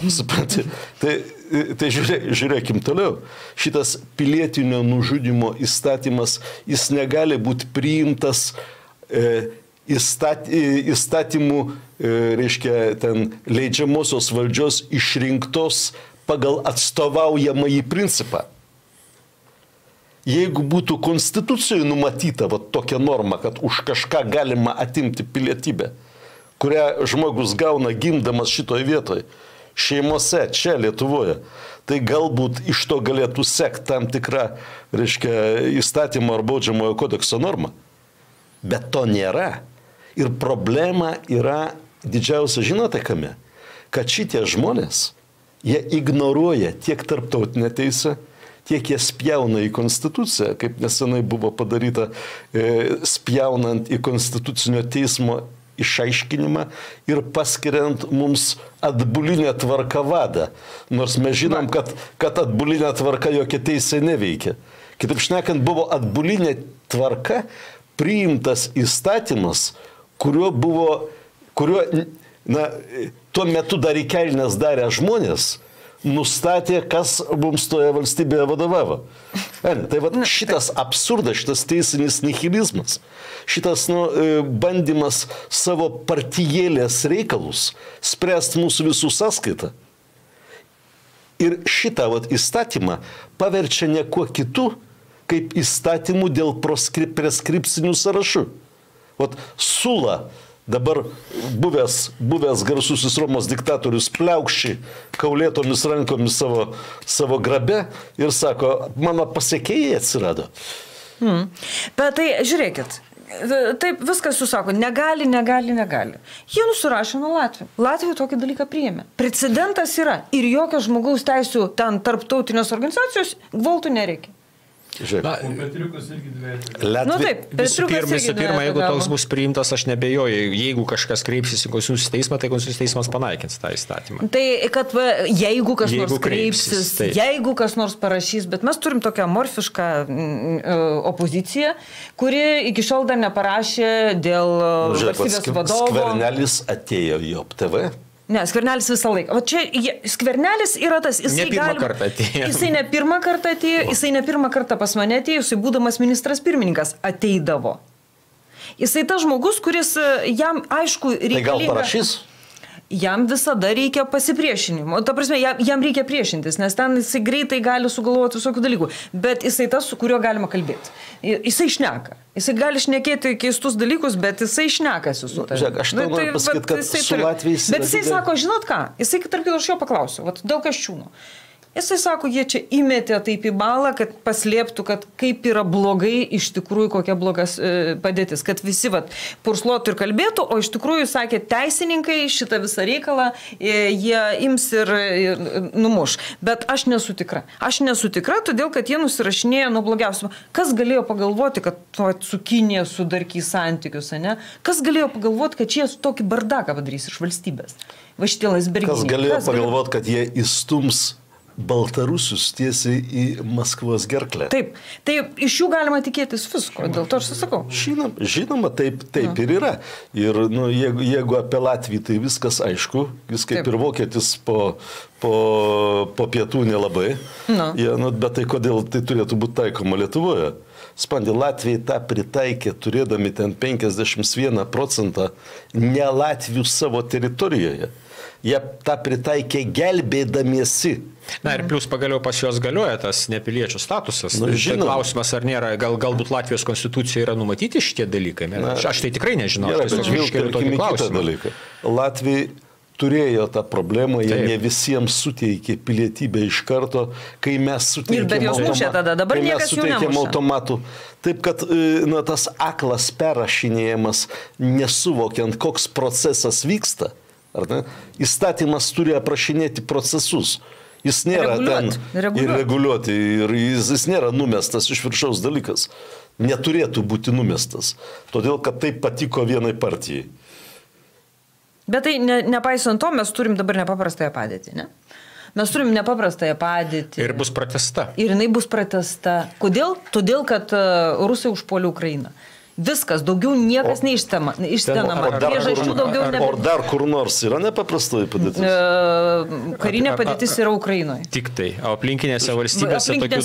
[SPEAKER 2] Supranti? Tai žiūrėkim toliau. Šitas pilietinio nužudymo įstatymas, jis negali būti priimtas įstatymų, reiškia, ten leidžiamosios valdžios išrinktos pagal atstovaujamąjį principą. Jeigu būtų konstitucijoje numatyta tokia norma, kad už kažką galima atimti pilietybę, kurią žmogus gauna gimdamas šitoje vietoje, šeimose, čia Lietuvoje, tai galbūt iš to galėtų sekti tam tikrą, reiškia, įstatymo ar baudžiamojo kodekso normą. Bet to nėra. Ir problema yra didžiausia, žinote kame? Kad šitie žmonės, jie ignoruoja tiek tarptautinę teisę, tiek jie spjauna į konstituciją, kaip nesenai buvo padaryta, spjaunant į konstitucinio teismo išaiškinimą ir paskiriant mums atbulinę tvarką vadą. Nors mes žinom, kad atbulinė tvarka jokia teisė neveikia. Kitaip šnekant, buvo atbulinė tvarka priimtas įstatymas, kurio tuo metu dar į kelnes darę žmonės nustatė, kas mums toje valstybėje vadovavo. Tai šitas absurdas, šitas teisinis nihilizmas, šitas bandymas savo partijėlės reikalus spręsti mūsų visų sąskaitą. Ir šitą įstatymą paverčia ne kuo kitu, kaip įstatymų dėl preskripcinių sąrašų. Sula, dabar buvęs garsusis Romos diktatorius pliaukši kaulėtomis rankomis savo grabe ir sako, mano pasekėjai atsirado.
[SPEAKER 1] Bet tai žiūrėkit, taip viskas jūs sako, negali. Jie nusirašė nuo Latvijų. Latvijų tokį dalyką priėmė. Precedentas yra ir jokio žmogaus teisų ten tarptautinės organizacijos gvaltų nereikia.
[SPEAKER 3] Visų pirma, jeigu toks bus priimtas, aš nebejoju, jeigu kažkas kreipsis į Konstitucijos teismą, tai Konstitucijos teismas panaikins tą įstatymą.
[SPEAKER 1] Tai kad jeigu kas nors kreipsis, jeigu kas nors parašys, bet mes turim tokią morfišką opoziciją, kuri iki šiol dar neparašė dėl valstybės vadovo.
[SPEAKER 2] Skvernelis atėjo į OPTV.
[SPEAKER 1] Ne, Skvernelis visą laiką. O čia Skvernelis yra tas, jisai ne pirmą kartą atėjo, jisai ne pirmą kartą pas mane atėjo, jisai būdamas ministras pirmininkas ateidavo. Jisai tas žmogus, kuris jam aišku reikalinga.
[SPEAKER 2] Tai gal parašys?
[SPEAKER 1] Jam visada reikia pasipriešinimo. Ta prasme, jam reikia priešintis, nes ten jisai greitai gali sugalvoti visokių dalykų. Bet jisai tas, su kuriuo galima kalbėti. Jisai šneka. Jisai gali šnekėti keistus dalykus, bet jisai šnekasi su tavimi.
[SPEAKER 2] Žiūrėk, aš tau noriu pasakyti, kad su Latvijais...
[SPEAKER 1] Bet jisai sako, žinot ką? Jisai, tarp kitko, aš jo paklausiu. Dėl Kasčiūno. Jisai sako, jie čia įmetė taip į balą, kad paslėptų, kad kaip yra blogai iš tikrųjų, kokia blogas padėtis. Kad visi pursluotų ir kalbėtų, o iš tikrųjų, sakė, teisininkai šitą visą reikalą, jie ims ir numuš. Bet aš nesu tikra. Aš nesu tikra, todėl, kad jie nusirašinėjo nuo blogiausio. Kas galėjo pagalvoti, kad su Kinija sudarkys santykius, ne? Kas galėjo pagalvoti, kad čia tokį bardaką padarys iš valstybės? Va šitie Landsberginiai.
[SPEAKER 2] Kas galėjo pagalvoti, kad jie įstums baltarusius tiesiai į Maskvos gerklę.
[SPEAKER 1] Taip, tai iš jų galima tikėtis visko, dėl to aš sakau.
[SPEAKER 2] Žinoma, taip ir yra. Ir jeigu apie Latviją, tai viskas aišku, jis kaip ir vokietis po pietų nelabai, bet tai kodėl tai turėtų būti taikoma Lietuvoje? Spandė, Latvijai tą pritaikė, turėdami ten 51% ne Latvių savo teritorijoje. Jie tą pritaikė gelbėdamiesi.
[SPEAKER 3] Na ir plus pagaliau pas juos galioja tas nepiliečių statusas. Tai klausimas, ar nėra, galbūt Latvijos konstitucijoje yra numatyti šitie dalykai. Aš tai tikrai nežinau.
[SPEAKER 2] Latvijai turėjo tą problemą, jie ne visiems suteikė pilietybę iš karto, kai mes suteikėm automatų. Taip, kad tas aklas perrašinėjimas, nesuvokiant, koks procesas vyksta, įstatymas turi aprašinėti procesus. Jis nėra ten ir reguliuoti, ir jis nėra numestas iš viršaus dalykas. Neturėtų būti numestas, todėl, kad tai patiko vienai partijai.
[SPEAKER 1] Bet tai nepaisant to, mes turim dabar nepaprastąją padėtį, ne? Mes turim nepaprastąją padėtį.
[SPEAKER 3] Ir bus pratęsta.
[SPEAKER 1] Ir jinai bus pratęsta. Kodėl? Todėl, kad rusai užpuolė Ukrainą. Viskas, daugiau niekas neišstenama. Priežasčių daugiau nebe.
[SPEAKER 2] Ar dar kur nors yra nepaprastoji padėtis?
[SPEAKER 1] Karinė padėtis yra Ukrainoje.
[SPEAKER 3] Tik tai. O aplinkinėse valstybėse tokių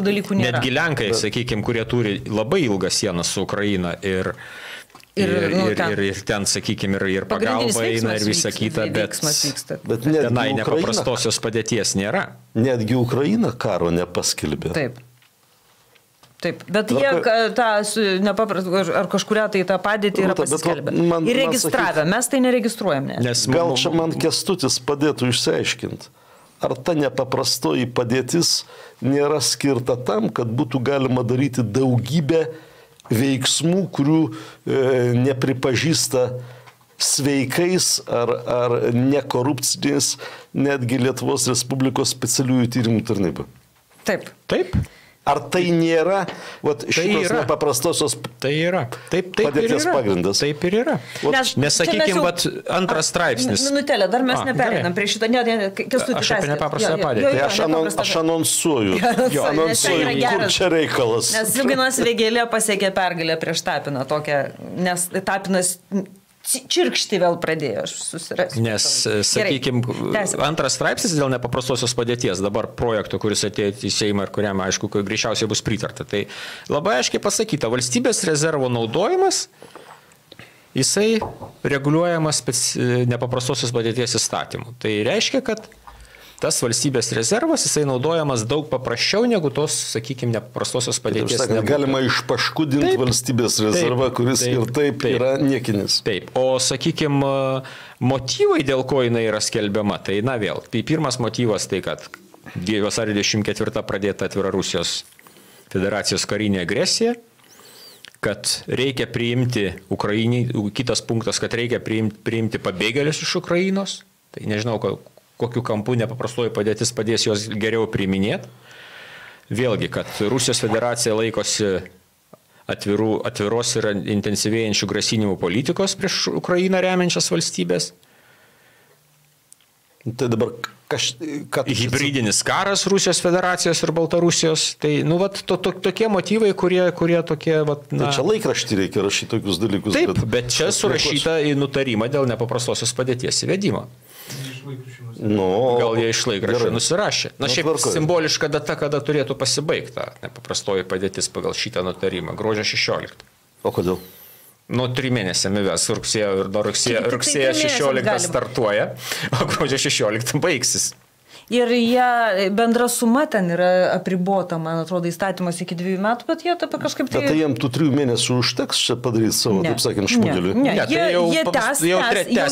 [SPEAKER 3] dalykų nėra. Netgi Lenkai, sakykime, kurie turi labai ilgą sieną su Ukraina ir ten, sakykime, ir pagalba eina ir visa kita, bet tenai nepaprastosios padėties nėra.
[SPEAKER 2] Netgi Ukraina karo nepaskelbė.
[SPEAKER 1] Taip, bet jie ar kažkuria tai tą padėtį yra paskelbę. Ir registravę, mes tai neregistruojam.
[SPEAKER 2] Gal čia man Kęstutis padėtų išsiaiškinti, ar ta nepaprastoji padėtis nėra skirta tam, kad būtų galima daryti daugybę veiksmų, kurių nepripažįsta sveikais ar nekorupciniais netgi Lietuvos Respublikos specialiųjų tyrimų tarnyba.
[SPEAKER 3] Taip.
[SPEAKER 2] Ar tai nėra šitos nepaprastosios padėties pagrindas?
[SPEAKER 3] Taip ir yra. Nesakykime, antras straipsnis.
[SPEAKER 1] Minutėlė, dar mes nepereinam prie šito.
[SPEAKER 3] Aš apie nepaprastąją padėtį.
[SPEAKER 2] Aš anonsuoju, kur čia reikalas.
[SPEAKER 1] Nes Liuginas Vėgėlė pasiekė pergalę prieš Tapiną tokią, nes Tapinas čirkšti vėl pradėjo susirasti.
[SPEAKER 3] Nes, sakykime, antras straipsnis dėl nepaprastosios padėties, dabar projekto, kuris atėjo į Seimą ir kuriam, aišku, greičiausiai bus pritarta. Tai labai aiškiai pasakyta, valstybės rezervo naudojimas, jisai reguliuojamas nepaprastosios padėties įstatymu. Tai reiškia, kad tas valstybės rezervas, jisai naudojamas daug paprasčiau negu tos, sakykime, nepaprastosios padėties.
[SPEAKER 2] Galima išpaškudinti valstybės rezervą, kuris ir taip yra niekinis.
[SPEAKER 3] Taip, o, sakykime, motyvai, dėl ko jinai yra skelbiama, tai vėl. Tai pirmas motyvas tai, kad vasario 24 pradėta atvira Rusijos federacijos karinė agresija, kad reikia priimti Ukrainai, kitas punktas, kad reikia priimti pabėgėlius iš Ukrainos. Tai nežinau, kokiu kampu nepaprastoji padėtis padės juos geriau priiminėti. Vėlgi, kad Rusijos federacija laikosi atviros ir intensyvėjančių grasinimų politikos prieš Ukrainą remiančias valstybės.
[SPEAKER 2] Tai dabar
[SPEAKER 3] hybridinis karas Rusijos federacijos ir Baltarusijos. Tai, tokie motyvai, kurie tokie,
[SPEAKER 2] Tai čia laikraštį reikia rašyti tokius dalykus.
[SPEAKER 3] Taip, bet čia surašyta į nutarimą dėl nepaprastosios padėties įvedimo. Gal jie iš laikraščio nusirašė. Šiaip simboliška data, kada turėtų pasibaigti nepaprastoji padėtis pagal šitą nutarimą. Gruodžio 16.
[SPEAKER 2] O kodėl?
[SPEAKER 3] 3 mėnesiami ves rugsėjo 16 startuoja, o gruodžio 16 baigsis.
[SPEAKER 1] Ir jie bendra suma ten yra apribota, man atrodo, įstatymas iki 2 metų, bet jie taip kažkaip tai...
[SPEAKER 2] Bet tai jiems tų 3 mėnesių užteks čia padaryti savo, taip sakant, šmugelį?
[SPEAKER 1] Ne, jie tęsia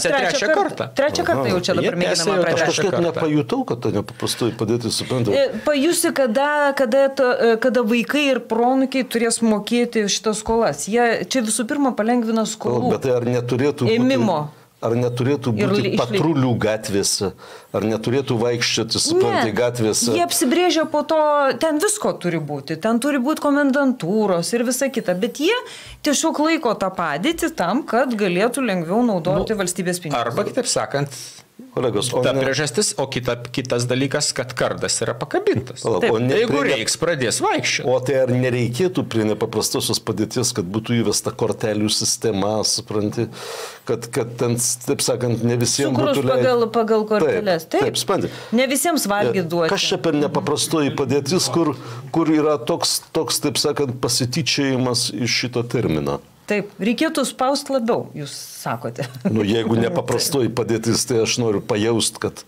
[SPEAKER 1] trečią kartą. Trečią kartą jau čia dabar mėginama pradėti.
[SPEAKER 2] Aš kažkaip nepajutau, kad ta nepaprastoji padėtis, suprantu.
[SPEAKER 1] Pajusi, kada vaikai ir pronukiai turės mokėti šitas skolas. Jie čia visų pirma palengvina skolų.
[SPEAKER 2] Bet tai ar neturėtų
[SPEAKER 1] ėmimo.
[SPEAKER 2] Ar neturėtų būti patrulių gatvėse, ar neturėtų vaikščioti, suprantai, gatvėse?
[SPEAKER 1] Jie apsibrėžia po to, ten visko turi būti, ten turi būti komendantūros ir visa kita, bet jie tiesiog laiko tą padėtį tam, kad galėtų lengviau naudoti valstybės pinigus.
[SPEAKER 3] Arba, kitaip sakant,
[SPEAKER 2] Kolegos,
[SPEAKER 3] ta priežastis, o kitas dalykas, kad kardas yra pakabintas. Jeigu reiks, pradės vaikščioti.
[SPEAKER 2] O tai ar nereikėtų prie nepaprastosios padėties, kad būtų įvesta kortelių sistema, supranti, kad ten, taip sakant, ne visiems būtų
[SPEAKER 1] leidžiama. Pagal korteles.
[SPEAKER 2] Taip, spandi.
[SPEAKER 1] Ne visiems valgyti duoti.
[SPEAKER 2] Kas čia per nepaprastoji padėtis, kur yra toks, taip sakant, pasityčiojimas iš šito termino?
[SPEAKER 1] Taip, reikėtų spausti labiau, jūs sakote.
[SPEAKER 2] Jeigu nepaprastoji padėtis, tai aš noriu pajausti, kad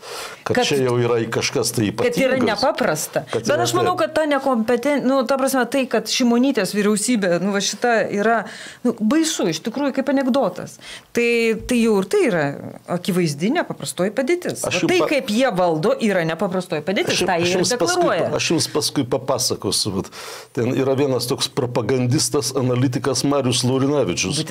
[SPEAKER 2] čia jau yra kažkas tai ypatingas.
[SPEAKER 1] Kad yra nepaprasta. Bet aš manau, kad ta nekompetencija, ta prasme, tai, kad Šimonytės vyriausybė, šita yra baisu, iš tikrųjų, kaip anekdotas. Tai jau ir tai yra akivaizdinė nepaprastoji padėtis. Tai, kaip jie valdo, yra nepaprastoji padėtis. Tai jie ir deklaruoja.
[SPEAKER 2] Aš jums paskui papasakosiu. Ten yra vienas toks propagandistas, analitikas Marius Laurinavičius,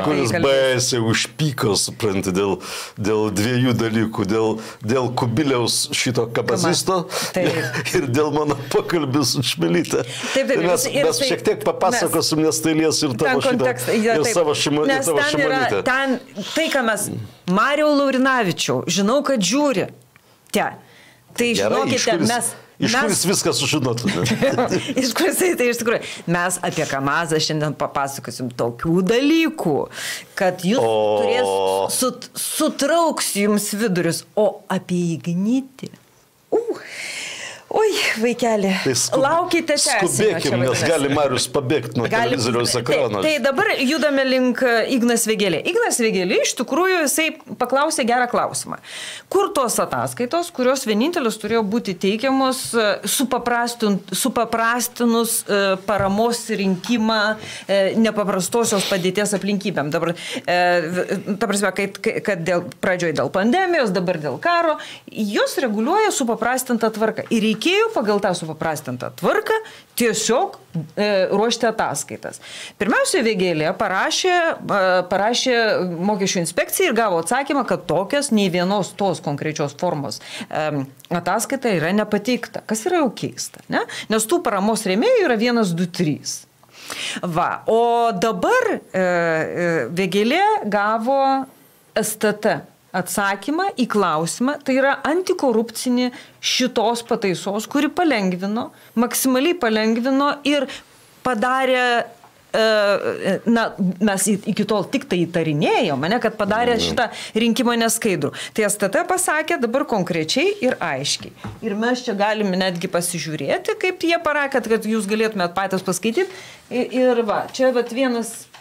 [SPEAKER 2] kuris baisiai užpyko, supranti, dėl dviejų dalykų, dėl Kubiliaus šito kabazisto ir dėl mano pokalbį su Čmilyte. Mes šiek tiek papasakosim, nes tai lies ir tavo šitą, ir savo Šimonytę.
[SPEAKER 1] Ten tai, ką mes, Mariau Laurinavičiau, žinau, kad žiūri. Tai žinokite, mes...
[SPEAKER 2] Iš kuris viską sužinotume.
[SPEAKER 1] Iš kuris tai iš tikrųjų. Mes apie Kamazą šiandien papasakosim tokių dalykų, kad jūs sutrauks jums vidurius, o apie Ignitį. Oi, vaikeli, laukite tęsinio.
[SPEAKER 2] Skubėkim, nes gali Marius pabėgti nuo televizoriaus ekrano.
[SPEAKER 1] Tai dabar judame link Ignas Vėgėlė. Ignas Vėgėlė iš tikrųjų jisai paklausė gerą klausimą. Kur tos ataskaitos, kurios vienintelis turėjo būti teikiamos supaprastinus paramos rinkimą nepaprastosios padėties aplinkybėm. Dabar, ta prasme, kad pradžioje dėl pandemijos, dabar dėl karo, jos reguliuoja supaprastintą tvarką. Ir reikėjo pagal tą supaprastintą tvarką tiesiog ruošti ataskaitas. Pirmiausia, Vėgėlė parašė mokesčių inspekcijai ir gavo atsakymą, kad tokias nei vienos tos konkrečios formos ataskaita yra nepateikta. Kas yra jau keista, ne? Nes tų paramos rėmėjų yra 1, 2, 3. O dabar Vėgėlė gavo STT atsakymą į klausimą, tai yra antikorupcinė šitos pataisos, kuri maksimaliai palengvino ir padarė, mes iki tol tik tai įtarinėjome, kad padarė šitą rinkimą neskaidrų. Tai STT pasakė dabar konkrečiai ir aiškiai. Ir mes čia galime netgi pasižiūrėti, kaip jie parakė, kad jūs galėtumėt patys paskaityti. Ir čia vienas...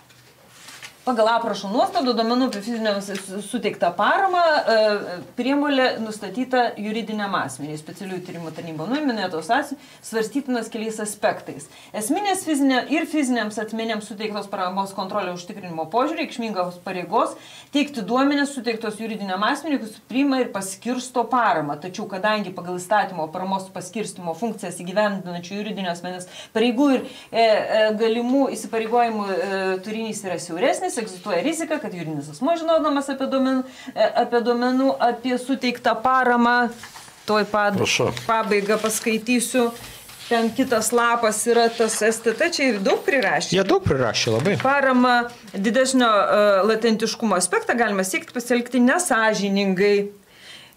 [SPEAKER 1] Pagal aprašo nuostadų duomenų apie fiziniams suteiktą paramą prievolė nustatyta juridiniam asmeniui, specialiųjų tyrimų tarnybos minėtos svarstytinas keliais aspektais. Esminės fiziniams asmenims suteiktos paramos kontrolė užtikrinimo požiūrį, reikšmingos pareigos teikti duomenis suteiktos juridiniam asmeniui, kuris priima ir paskirsto paramą. Tačiau, kadangi pagal įstatymo paramos paskirstimo funkcijas įgyvendinančių juridinio asmenės pareigų ir galimų įsipareigojimų turinys yra siauresnis, egzistuoja rizika, kad juridinis asmuo žinodamas apie duomenų, apie suteiktą paramą, toj pabaigą paskaitysiu, ten kitas lapas yra tas STT, čia ir daug prirašė.
[SPEAKER 3] Jie daug prirašė labai.
[SPEAKER 1] Paramą didesnio latentiškumo aspektą galima siekti pasielgti nesąžiningai.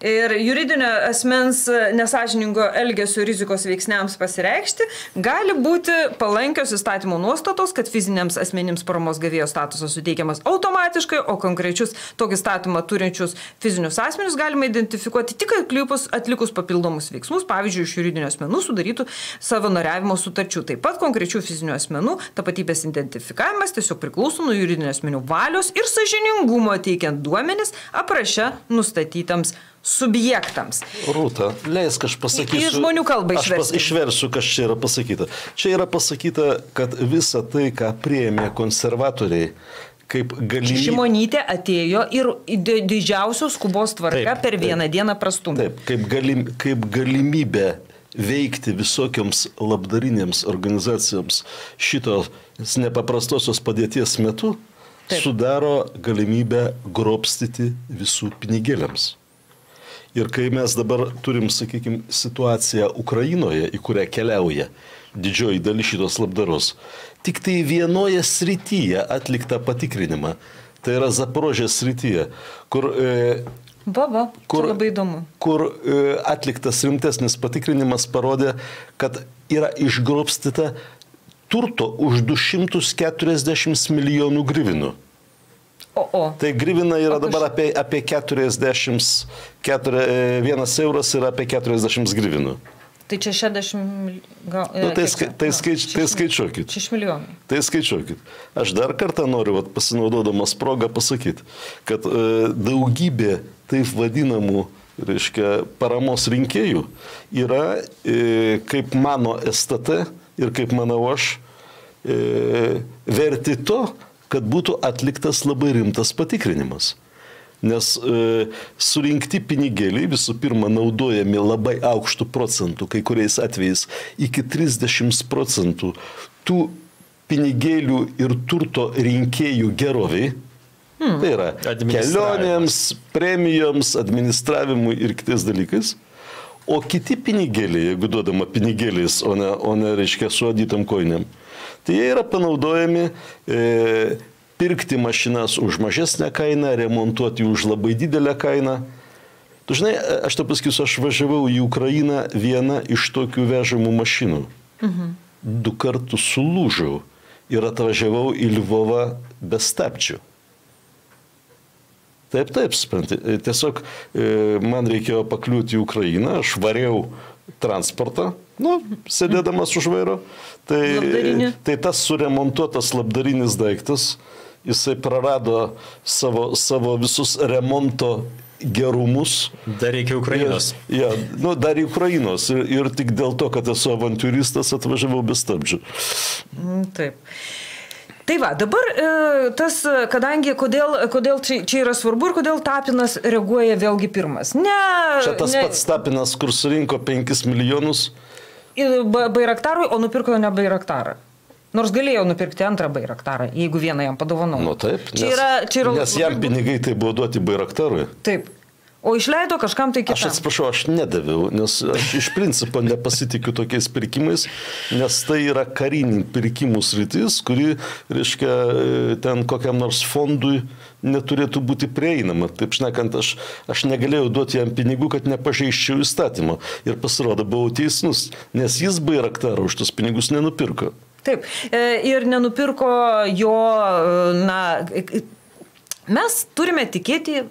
[SPEAKER 1] Ir juridinio asmens nesąžiningo elgesio rizikos veiksniams pasireikšti gali būti palankios įstatymo nuostatos, kad fiziniams asmenims paramos gavėjo statusas suteikiamas automatiškai, o konkrečius tokį statymą turinčius fizinius asmenius galima identifikuoti tik atlikus papildomus veiksmus, pavyzdžiui, iš juridinio asmenų sudarytų savanoriavimo sutarčių. Taip pat konkrečių fizinių asmenų tapatybės identifikavimas tiesiog priklauso nuo juridinio asmenių valios ir sąžiningumo teikiant duomenis apraše nustatytams subjektams.
[SPEAKER 2] Rūta, leisk aš pasakysiu.
[SPEAKER 1] Į žmonių kalbą išversiu.
[SPEAKER 2] Aš išversiu, kas čia yra pasakyta. Čia yra pasakyta, kad visa tai, ką priėmė konservatoriai, kaip galimybė...
[SPEAKER 1] Šimonytė atėjo ir didžiausios skubos tvarka per vieną dieną prastumė.
[SPEAKER 2] Taip, kaip galimybė veikti visokioms labdarinėms organizacijoms šitos nepaprastosios padėties metu sudaro galimybę grobstyti visų pinigėliams. Ir kai mes dabar turim, sakykime, situaciją Ukrainoje, į kurią keliauja didžioji dalis šitos labdaros, tik tai vienoje srityje atliktą patikrinimą, tai yra Zaporožės srityje, kur
[SPEAKER 1] Čia labai įdomu.
[SPEAKER 2] Kur atliktas rimtesnis patikrinimas parodė, kad yra išgrobstyta turto už 240 milijonų grivinų. Tai grivina yra dabar apie 40, 1 euras yra apie 40 grivinų.
[SPEAKER 1] Tai čia 60 gal...
[SPEAKER 2] Tai skaičiuokit.
[SPEAKER 1] 6 milijonai.
[SPEAKER 2] Tai skaičiuokit. Aš dar kartą noriu, pasinaudodamas progą, pasakyti, kad daugybė taip vadinamų, reiškia, paramos rinkėjų yra, kaip mano STT ir kaip manau aš, verti to, kad būtų atliktas labai rimtas patikrinimas. Nes surinkti pinigėliai visų pirma naudojami labai aukštų procentų, kai kuriais atvejais iki 30% tų pinigėlių ir turto rinkėjų geroviai. Tai yra kelionėms, premijoms, administravimui ir kitais dalykais. O kiti pinigėliai, jeigu duodama pinigėliais, o ne reiškia suadytam koinėm, tai jie yra panaudojami pirkti mašinas už mažesnę kainą, remontuoti už labai didelę kainą. Tu žinai, aš to pasakysiu, aš važiavau į Ukrainą vieną iš tokių vežamų mašinų. 2 kartus sulūžau ir atvažiavau į Lvovą be stabdžių. Taip, supranti. Tiesiog man reikėjo pakliūti į Ukrainą, aš variau transportą, sėdėdamas už vairo. Tai tas suremontuotas labdarinis daiktas, jisai prarado savo visus remonto gerumus.
[SPEAKER 3] Dar reikia Ukrainos.
[SPEAKER 2] Dar į Ukrainos. Ir tik dėl to, kad esu avantiūristas, atvažiavau be stabdžių.
[SPEAKER 1] Taip. Tai va, dabar tas, kadangi, kodėl čia yra svarbu ir kodėl Tapinas reaguoja vėlgi pirmas.
[SPEAKER 2] Čia tas pats Tapinas, kur surinko 5 milijonus.
[SPEAKER 1] Bairaktarui, o nupirko ne Bairaktarą. Nors galėjo nupirkti antrą Bairaktarą, jeigu vieną jam padovanojo.
[SPEAKER 2] Taip, nes jam pinigai tai buvo duoti Bairaktarui.
[SPEAKER 1] Taip. O išleido kažkam tai kitam.
[SPEAKER 2] Aš atsiprašau, aš nedaviau, nes aš iš principo nepasitikiu tokiais pirkimais, nes tai yra karinių pirkimų sritis, kuri, reiškia, ten kokiam nors fondui neturėtų būti prieinama. Taip šnekant, aš negalėjau duoti jam pinigų, kad nepažeisčiau įstatymą. Ir pasirodo, buvau teisus, nes jis Bairaktarą už tos pinigus nenupirko.
[SPEAKER 1] Taip, ir nenupirko jo, mes turime tikėti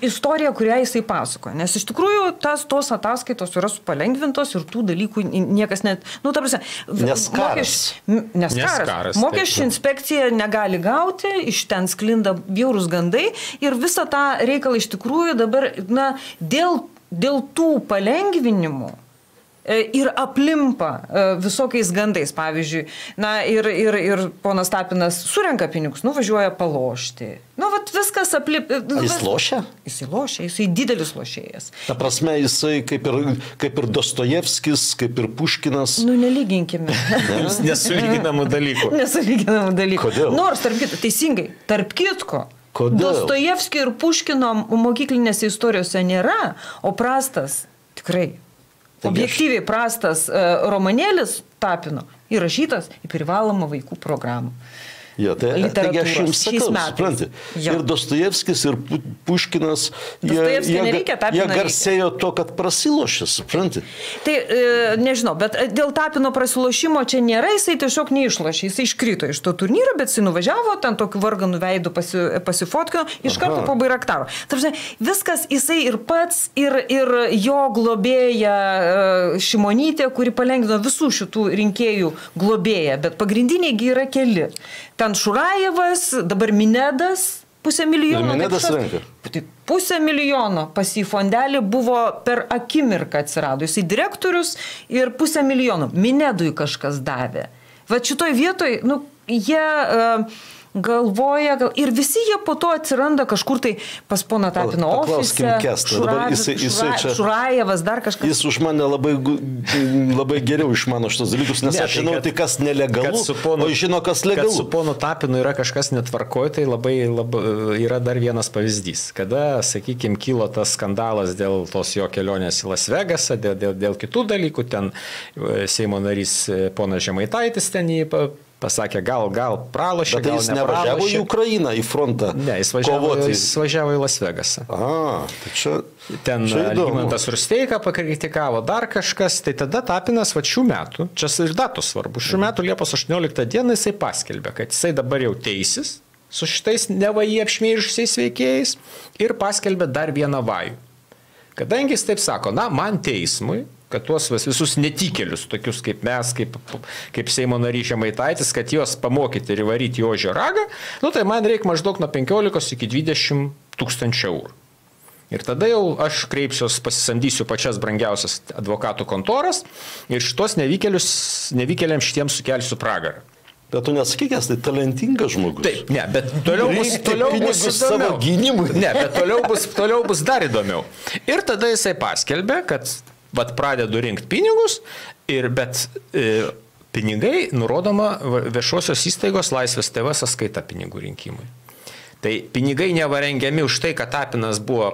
[SPEAKER 1] istoriją, kurią jisai pasako. Nes iš tikrųjų tos ataskaitos yra palengvintos ir tų dalykų niekas net...
[SPEAKER 2] Nes karas.
[SPEAKER 1] Nes karas. Mokesčių inspekcija negali gauti, iš ten sklinda bjaurūs gandai ir visą tą reikalą iš tikrųjų dabar, dėl tų palengvinimų ir aplimpa visokiais gandais. Pavyzdžiui, ir ponas Tapinas surenka pinigus, važiuoja palošti. Viskas
[SPEAKER 2] Jis lošia?
[SPEAKER 1] Jis lošia, jisai didelis lošėjas.
[SPEAKER 2] Ta prasme, jisai kaip ir Dostojevskis, kaip ir Puškinas.
[SPEAKER 1] Nelyginkime.
[SPEAKER 3] Nesulyginamų dalykų.
[SPEAKER 2] Kodėl?
[SPEAKER 1] Nors, tarp kitko, Dostojevskio ir Puškino mokyklinėse istorijose nėra, o prastas, tikrai, objektyviai prastas romanėlis Tapino įrašytas į privalomą vaikų programą.
[SPEAKER 2] Taigi aš jums sakau, supranti. Ir Dostojevskis, ir Puškinas, jie garsėjo to, kad prasilošė, supranti.
[SPEAKER 1] Tai nežinau, bet dėl Tapino prasilošimo čia nėra, jisai tiesiog neišlošė, jisai iškrito iš to turnyro, bet jisai nuvažiavo, ten tokiu varganų veidų pasifotkino, iš karto po Bairaktaro. Viskas jisai ir pats, ir jo globėja Šimonytė, kuri palengvino visų šitų rinkėjų globėją, bet pagrindiniai yra keli. Ten Šurajevas, dabar Minedas, 500 000.
[SPEAKER 2] Minedas renka.
[SPEAKER 1] 500 000 pas į fondelį buvo per akimirką atsirado. Jisai direktorius ir 500 000. Minedui kažkas davė. Va šitoj vietoj, jie galvoja, ir visi jie po to atsiranda kažkur tai pas poną Tapino ofise. Šurajevas, dar kažkas.
[SPEAKER 2] Jis už mane labai geriau išmano šitos dalykus, nes aš žinau, tai kas nelegalu, o žino, kas legalu.
[SPEAKER 3] Kad su ponu Tapinu yra kažkas netvarkoj, tai labai yra dar vienas pavyzdys. Kada, sakykime, kilo tas skandalas dėl tos jo kelionės į Las Vegasą, dėl kitų dalykų, ten Seimo narys ponas Žemaitaitis ten jį pasakė, gal pralošė, gal
[SPEAKER 2] jis nevažiavo į Ukrainą, į frontą.
[SPEAKER 3] Ne, jis važiavo į Las Vegasą.
[SPEAKER 2] Tai čia...
[SPEAKER 3] Ten Algimantas Rusteiką pakritikavo, dar kažkas, tai tada Tapinas šių metų, čia ir datos svarbu, šių metų Liepos 18 dieną jisai paskelbė, kad jisai dabar jau teisis su šitais neva jį apšmeižusiais veikėjais ir paskelbė dar vieną vajų. Kadangi jis taip sako, man teismui, kad tuos visus netikėlius, tokius kaip mes, kaip Seimo narys Žemaitaitis, kad juos pamokyti ir įvaryti į ožio ragą, tai man reikia maždaug nuo 15 iki 20 tūkstančių eurų. Ir tada jau aš kreipsiuos, pasisamdysiu pačias brangiausias advokatų kontoras ir šitos nevykėliams šitiems sukelsiu pragarą.
[SPEAKER 2] Bet tu nesakykęs, tai talentingas žmogus.
[SPEAKER 3] Taip, ne, bet toliau bus įdomiau. Ne, bet toliau bus dar įdomiau. Ir tada jisai paskelbė, kad pradedu rinkti pinigus, bet pinigai nurodoma viešosios įstaigos Laisvės TV sąskaita pinigų rinkimui. Tai pinigai nevarengiami už tai, kad Tapinas buvo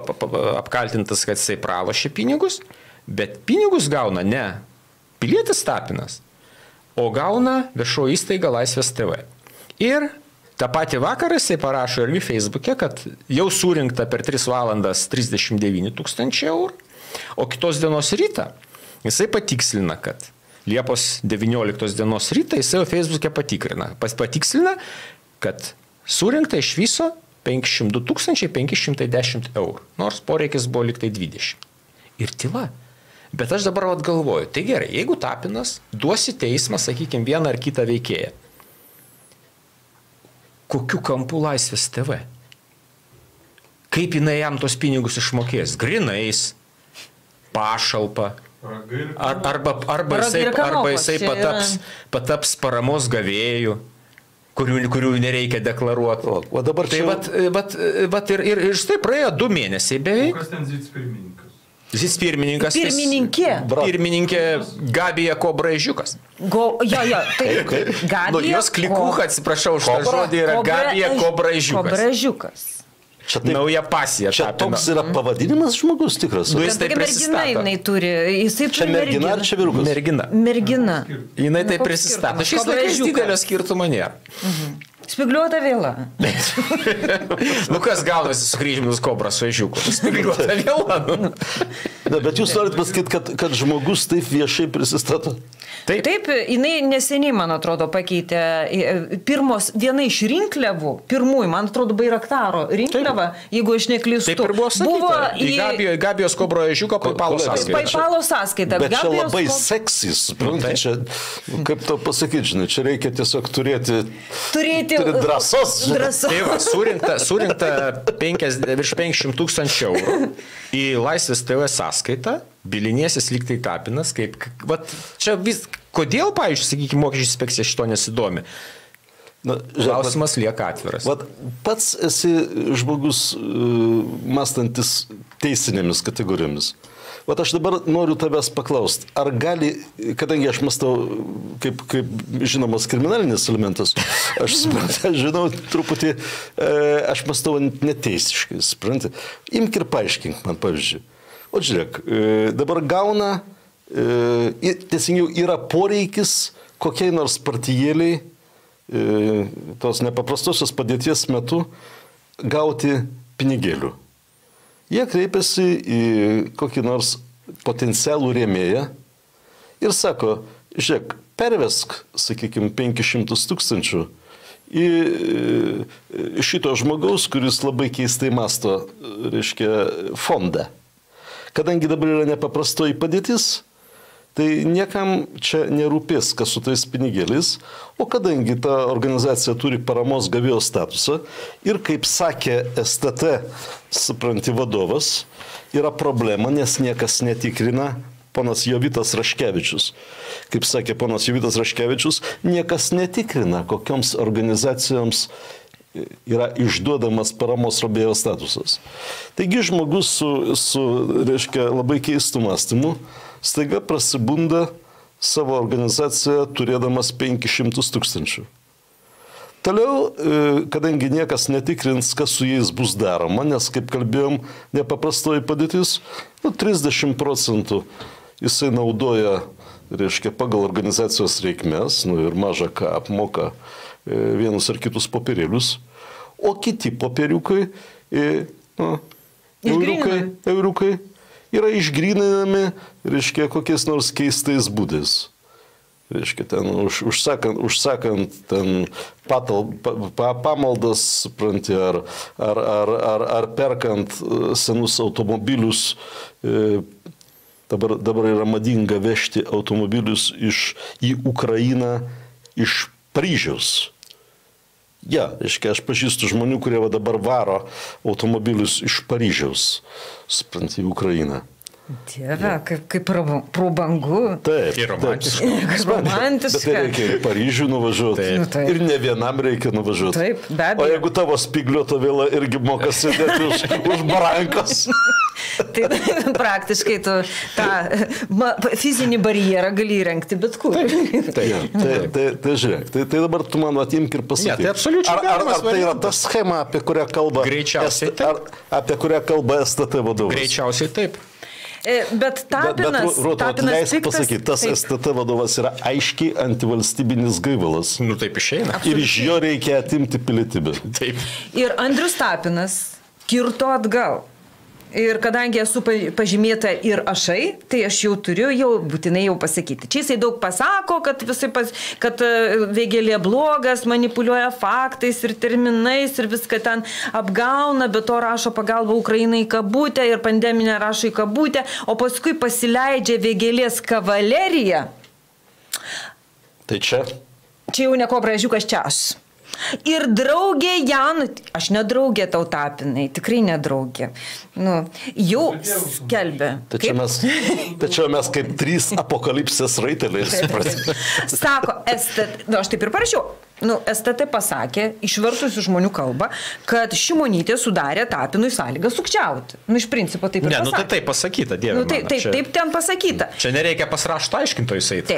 [SPEAKER 3] apkaltintas, kad jisai pralošė pinigus, bet pinigus gauna ne pilietis Tapinas, o gauna viešoji įstaiga Laisvės TV. Ir tą patį vakarą jisai parašo irgi Facebook'e, kad jau surinkta per 3 valandas 39 tūkstančių eurų, o kitos dienos rytą jisai patikslina, kad Liepos 19 dienos rytą jisai jau Facebook'e patikslina, kad surinkta iš viso 502 510 eurų, nors poreikis buvo liktai 20. Ir tyla. Bet aš dabar galvoju, tai gerai, jeigu Tapinas duosi teismą, sakykime, vieną ar kitą veikėją, kokiu kampu Laisvės TV? Kaip jinai jam tos pinigus išmokės? Grinais, pašalpa, arba jisai pataps paramos gavėjų, kurių nereikia deklaruoti.
[SPEAKER 2] O dabar
[SPEAKER 3] tai ir štai praėjo 2 mėnesiai beveik.
[SPEAKER 5] O kas ten zicpirmininkas?
[SPEAKER 3] Zicpirmininkas.
[SPEAKER 1] Pirmininkė
[SPEAKER 3] Gabija Kobraižiukas.
[SPEAKER 1] Taip.
[SPEAKER 3] Jos klikucha, atsiprašau už tą žodį, yra Gabija Kobraižiukas. Nauja pasija.
[SPEAKER 2] Čia toks yra pavadinimas žmogus tikras.
[SPEAKER 3] Jis taip prisistato.
[SPEAKER 2] Čia mergina ar čia vyrukas?
[SPEAKER 1] Mergina.
[SPEAKER 3] Jinai taip prisistato. Šiais laikais didelio skirtumo nėra.
[SPEAKER 1] Spigliuota vėla.
[SPEAKER 3] Kas gaunasi su kryžminus Kobras su ežiuku? Spigliuota vėla.
[SPEAKER 2] Bet jūs norit pasakyti, kad žmogus taip viešai prisistato?
[SPEAKER 1] Taip, jinai neseniai, man atrodo, pakeitė viena iš rinkliavų, pirmųjų, man atrodo, Bairaktaro rinkliava, jeigu aš neklystu.
[SPEAKER 3] Taip ir buvo sakyta, į Gabijos Kobro ežiuko PayPalo sąskaitą.
[SPEAKER 1] PayPalo sąskaitą.
[SPEAKER 2] Bet čia labai seksis, čia, kaip to pasakyti, žinai, čia reikia tiesiog turėti drąsos.
[SPEAKER 3] Tai va, surinkta virš 500 tūkstančių eurų į Laisvės TV sąskaitą, bilinėsis lyg tai Tapinas, kodėl, pavyzdžiui, sakykime, mokesčių inspekcija šito nesidomi? Klausimas lieka atviras.
[SPEAKER 2] Pats esi žmogus mąstantis teisinėmis kategorijomis. Aš dabar noriu tavęs paklausti, ar gali, kadangi aš mąstau kaip žinomas kriminalinis elementas, aš žinau truputį, aš mąstau neteisiškai, supranti. Imk ir paaiškink man, pavyzdžiui. O žiūrėk, dabar gauna, teisingiau, yra poreikis kokiai nors partijėliai tos nepaprastosios padėties metu gauti pinigėlių. Jie kreipiasi į kokį nors potencialų rėmėją ir sako, žiūrėk, pervesk, sakykime, 500 tūkstančių į šito žmogaus, kuris labai keistai masto, reiškia, fondą. Kadangi dabar yra nepaprastoji padėtis, tai niekam čia nerūpės, kas su tais pinigėliais, o kadangi ta organizacija turi paramos gavėjo statusą ir, kaip sakė STT, supranti, vadovas, yra problema, nes niekas netikrina, ponas Jovitas Raškevičius. Kaip sakė ponas Jovitas Raškevičius, niekas netikrina, kokioms organizacijoms yra išduodamas paramos rėmėjo statusas. Taigi žmogus su reiškia, labai keistų mąstymų staiga prasibunda savo organizaciją turėdamas 500 tūkstančių. Toliau, kadangi niekas netikrins, kas su jais bus daroma, nes, kaip kalbėjom, nepaprastoji padėtis, 30% jisai naudoja reiškia, pagal organizacijos reikmes, ir maža ką apmoka vienus ar kitus popierėlius, o kiti popieriukai, euriukai yra išgryninami, reiškia, kokiais nors keistais būdais. Reiškia, ten užsakant ten pamaldas, supranti, ar perkant senus automobilius, dabar yra madinga vežti automobilius į Ukrainą iš Paryžiaus. Reiškia, aš pažįstu žmonių, kurie dabar varo automobilius iš Paryžiaus, supranti, į Ukrainą.
[SPEAKER 1] Dieve, kaip prabangu.
[SPEAKER 2] Taip,
[SPEAKER 3] ir romantiška.
[SPEAKER 1] Romantiška.
[SPEAKER 2] Bet tai reikia į Paryžių nuvažiuoti.
[SPEAKER 1] Taip.
[SPEAKER 2] Ir ne vienam reikia nuvažiuoti.
[SPEAKER 1] Taip, be abejo.
[SPEAKER 2] O jeigu tavo spygliuota vėla irgi moka sėdėti už barankos.
[SPEAKER 1] Tai praktiškai tu tą fizinį barjerą gali įrengti bet kur.
[SPEAKER 2] Tai žiūrėk, tai dabar tu man atimk ir pasakyk.
[SPEAKER 3] Tai absoliučiai
[SPEAKER 2] ar tai yra ta schema, apie kurią kalba
[SPEAKER 3] Greičiausiai taip.
[SPEAKER 2] Apie kurią kalba STT vadovas?
[SPEAKER 3] Greičiausiai taip.
[SPEAKER 1] Bet Tapinas...
[SPEAKER 2] Bet leisk pasakyti, tas STT vadovas yra aiškiai antivalstybinis gaivalas.
[SPEAKER 3] Taip išeina.
[SPEAKER 2] Ir iš jo reikia atimti pilietybę.
[SPEAKER 3] Taip.
[SPEAKER 1] Ir Andrius Tapinas kirto atgal. Ir kadangi esu pažymėta ir ašai, tai aš jau turiu būtinai pasakyti. Čia jisai daug pasako, kad Vėgėlė blogas, manipuliuoja faktais ir terminais ir viską ten apgauna, bet to rašo pagalbą Ukrainai į kabutę ir pandeminę rašo į kabutę, o paskui pasileidžia Vėgėlės kavaleriją.
[SPEAKER 2] Tai čia?
[SPEAKER 1] Čia jau neko bražiukas čia aš. Ir draugė Jan, aš nedraugė tau Tapinai, tikrai nedraugė, jau skelbė.
[SPEAKER 2] Tačiau mes kaip 3 apokalipsės raiteliai.
[SPEAKER 1] Sako, aš taip ir parašiau. STT pasakė, išvertus į žmonių kalbą, kad Šimonytė sudarė Tapinui sąlygą sukčiauti. Iš principo taip ir pasakė.
[SPEAKER 3] Tai taip pasakyta, Dieve mano.
[SPEAKER 1] Taip ten pasakyta.
[SPEAKER 3] Čia nereikia pas rašto aiškintojų eiti.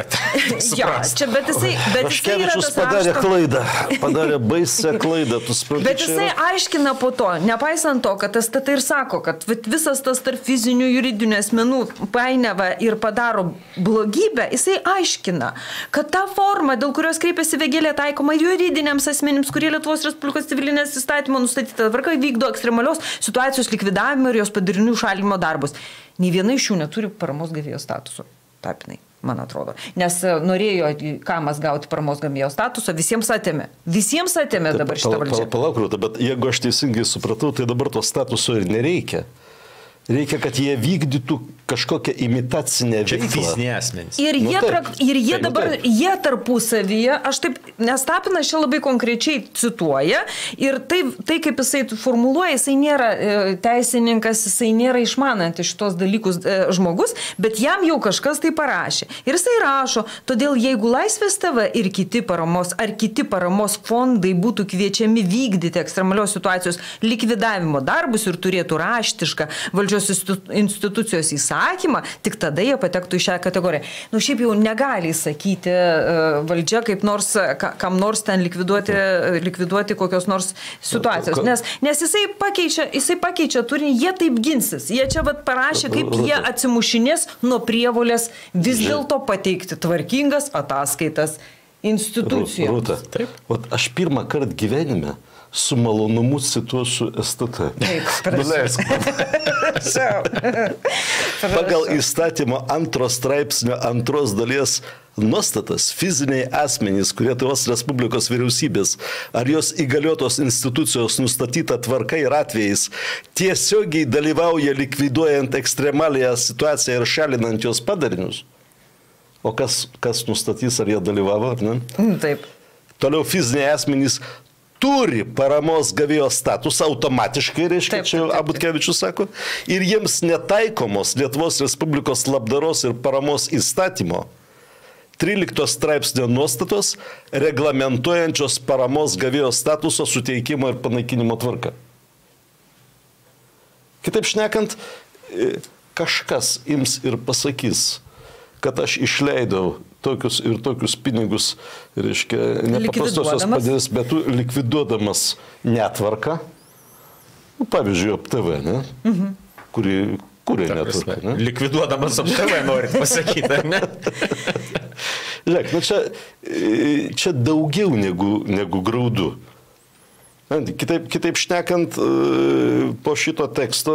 [SPEAKER 1] Bet jisai
[SPEAKER 2] Raškevičius padarė klaidą. Padarė baisę klaidą.
[SPEAKER 1] Bet jisai aiškina po to, nepaisant to, kad STT ir sako, kad visas tas tarp fizinių juridinių asmenų painiava ir padaro blogybę, jisai aiškina, kad ta forma, dėl kurios kreipiasi Vėgėlė, taikoma juridiniams asmenims, kurie Lietuvos Respublikos civilinės įstatymo nustatyta tvarka vykdo ekstremalios situacijos likvidavimo ir jos padarinių šalinimo darbus. Nei viena iš jų neturi paramos gavėjo statuso. Tapinai, man atrodo. Nes norėjo Kamas gauti paramos gavėjo statuso, visiems atėmė. Visiems atėmė dabar šitą valdžią.
[SPEAKER 2] Palauk, bet jeigu aš teisingai supratau, tai dabar to statuso ir nereikia. Reikia, kad jie vykdytų kažkokią imitacinę veiklą.
[SPEAKER 3] Čia fiziniai asmenys.
[SPEAKER 1] Jie tarpusavyje, nes Tapinas čia labai konkrečiai cituoja, ir tai kaip jisai formuluoja, jisai nėra teisininkas, jisai nėra išmanantis šitos dalykus žmogus, bet jam jau kažkas tai parašė. Ir jisai rašo, todėl jeigu Laisvės TV ir kiti paramos fondai būtų kviečiami vykdyti ekstremalios situacijos likvidavimo darbus ir turėtų raštišką valdžios institucijos įsakymą, tik tada jie patektų į šią kategoriją. Šiaip jau negali sakyti valdžia kaip nors, kam nors ten likviduoti kokios nors situacijos. Nes jisai pakeičia turinį, jie taip ginsis. Jie čia parašė, kaip jie atsimušinės nuo prievolės vis dėlto pateikti tvarkingas ataskaitas institucijom.
[SPEAKER 2] Rūta, aš pirmą kartą gyvenime su malonumu cituosiu STT. Nuleisk. Pagal įstatymo 2 straipsnio 2 dalies nuostatas fiziniai asmenys, kurie Lietuvos Respublikos vyriausybės ar jos įgaliotos institucijos nustatyta tvarka ir atvejais tiesiogiai dalyvauja likviduojant ekstremalią situaciją ir šalinant jos padarinius. O kas nustatys, ar jie dalyvavo, ar ne?
[SPEAKER 1] Taip.
[SPEAKER 2] Toliau fiziniai asmenys turi paramos gavėjo statusą automatiškai, reiškia, čia Abutkevičius sako, ir jiems netaikomos Lietuvos Respublikos labdaros ir paramos įstatymo 13 straipsnio nuostatos reglamentuojančios paramos gavėjo statuso suteikimo ir panaikinimo tvarką. Kitaip šnekant, kažkas ims ir pasakys, kad aš išleidau tokius pinigus, reiškia, nepaprastosios padėties, bet likviduodamas netvarką, pavyzdžiui, OPTV, ne? Kūrė netvarka, ne?
[SPEAKER 3] Likviduodamas apskritai norit pasakyti, ar ne?
[SPEAKER 2] Žiūrėk, nu čia daugiau negu graudu. Kitaip šnekant, po šito teksto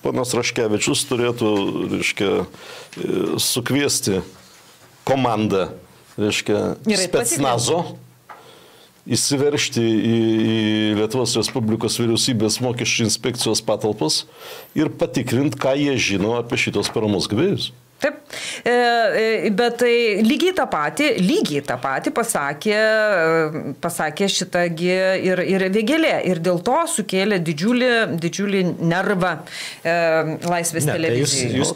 [SPEAKER 2] ponas Raškevičius turėtų, reiškia, sukviesti komandą, reiškia, specnazo, įsiveršti į Lietuvos Respublikos vyriausybės mokesčių inspekcijos patalpas ir patikrinti, ką jie žino apie šitos paramos gavėjus.
[SPEAKER 1] Taip, bet tai lygiai tą patį pasakė šitagi ir Vėgėlė. Ir dėl to sukėlė didžiulį nervą Laisvės televizijai.
[SPEAKER 3] Jūs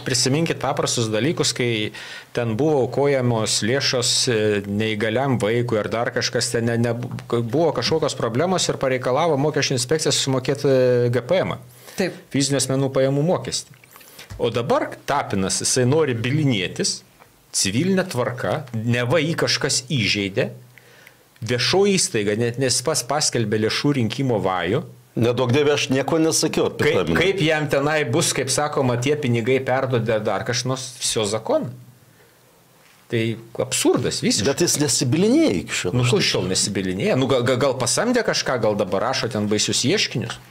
[SPEAKER 3] prisiminkit paprastus dalykus, kai ten buvo aukojamos lėšos neįgaliam vaikui ar dar kažkas, ten buvo kažkokios problemos ir pareikalavo mokesčių inspekciją sumokėti GPM, fizinių asmenų pajamų mokestį. O dabar Tapinas, jisai nori bilinėtis, civilinė tvarka, neva jį kažkas įžeidė, viešoji įstaiga, net nes pas paskelbė lėšų rinkimo vajų.
[SPEAKER 2] Nedaug dievė, aš nieko nesakiau apie Tapiną.
[SPEAKER 3] Kaip jam tenai bus, kaip sakoma, tie pinigai perdodė dar kažkas, viso zakon. Tai absurdas visiškai.
[SPEAKER 2] Bet jis nesibilinėja iki šiol.
[SPEAKER 3] Nu, kur šiol nesibilinėja? Nu, gal pasamdė kažką, gal dabar rašo ten baisius ieškinius?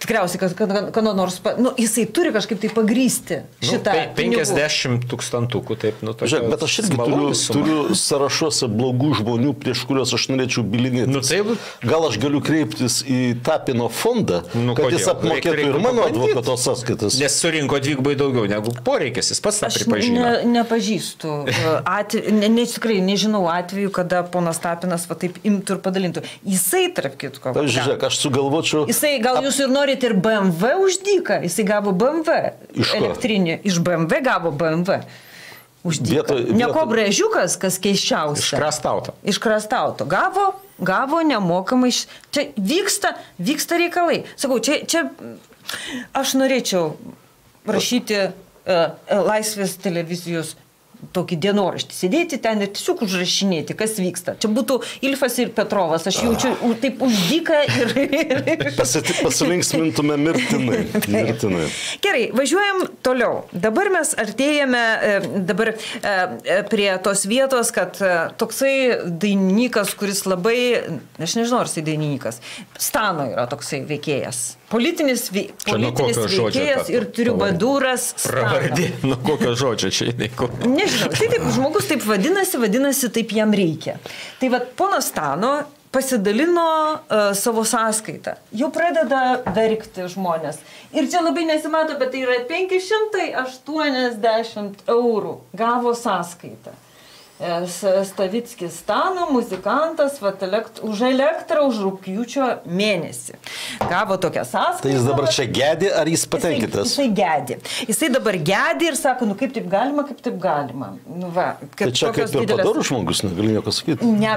[SPEAKER 1] Tikriausiai, kad nors, jisai turi kažkaip tai pagrysti šitą
[SPEAKER 2] 50
[SPEAKER 3] tūkstantukų, taip,
[SPEAKER 2] Žiūrėk, bet aš irgi turiu sąrašuose blogų žmonių, prieš kuriuos aš norėčiau bilinėtis. Gal aš galiu kreiptis į Tapino fondą, kad jis apmokėtų ir mano advokato sąskaitas.
[SPEAKER 3] Nes surinko dvigubai daugiau negu poreikis, jis pats tą pripažino.
[SPEAKER 1] Aš nepažįstu, tikrai nežinau atvejų, kada ponas Tapinas va taip imtų ir padalintų. Jisai, tarp kitko.
[SPEAKER 2] Žiūrėk, aš sugalvočiau.
[SPEAKER 1] Jisai, gal jūs ir norite ir BMW už dyką, jisai gavo BMW elektrinį, iš BMW gavo BMW už dyką. Ne Kobrėžiukas, kas keiščiausia. Iškrastauto. Gavo nemokamai. Čia vyksta reikalai. Sakau, čia aš norėčiau rašyti Laisvės televizijos tokį dienoraštį, sėdėti ten ir tiesiog užrašinėti, kas vyksta. Čia būtų Ilfas ir Petrovas, aš jaučiu taip uždyką ir...
[SPEAKER 2] Pasilinksmintume mirtinai.
[SPEAKER 1] Gerai, važiuojam toliau. Dabar mes artėjame prie tos vietos, kad toksai dainininkas, kuris labai, aš nežinau, ar jisai dainininkas, Stano yra toksai veikėjas. Politinis veikėjas ir triubadūras Stano.
[SPEAKER 3] Pravardė, nuo kokio žodžio čia įneiko?
[SPEAKER 1] Nežinau, tai taip, žmogus taip vadinasi, taip jam reikia. Tai vat, ponas Stano pasidalino savo sąskaitą. Jau pradeda verkti žmonės. Ir čia labai nesimato, bet tai yra 580 eurų gavo sąskaitą. Stavickis Stano, muzikantas, už elektrą, už rugpjūčio mėnesį. Gavo tokią sąskaitą.
[SPEAKER 2] Tai jis dabar čia gedi, ar jis patenkintas?
[SPEAKER 1] Jisai gedi. Jisai dabar gedi ir sako, kaip taip galima.
[SPEAKER 2] Tai čia kaip ir padorus žmogus, negaliu nieko sakyti.
[SPEAKER 1] Ne,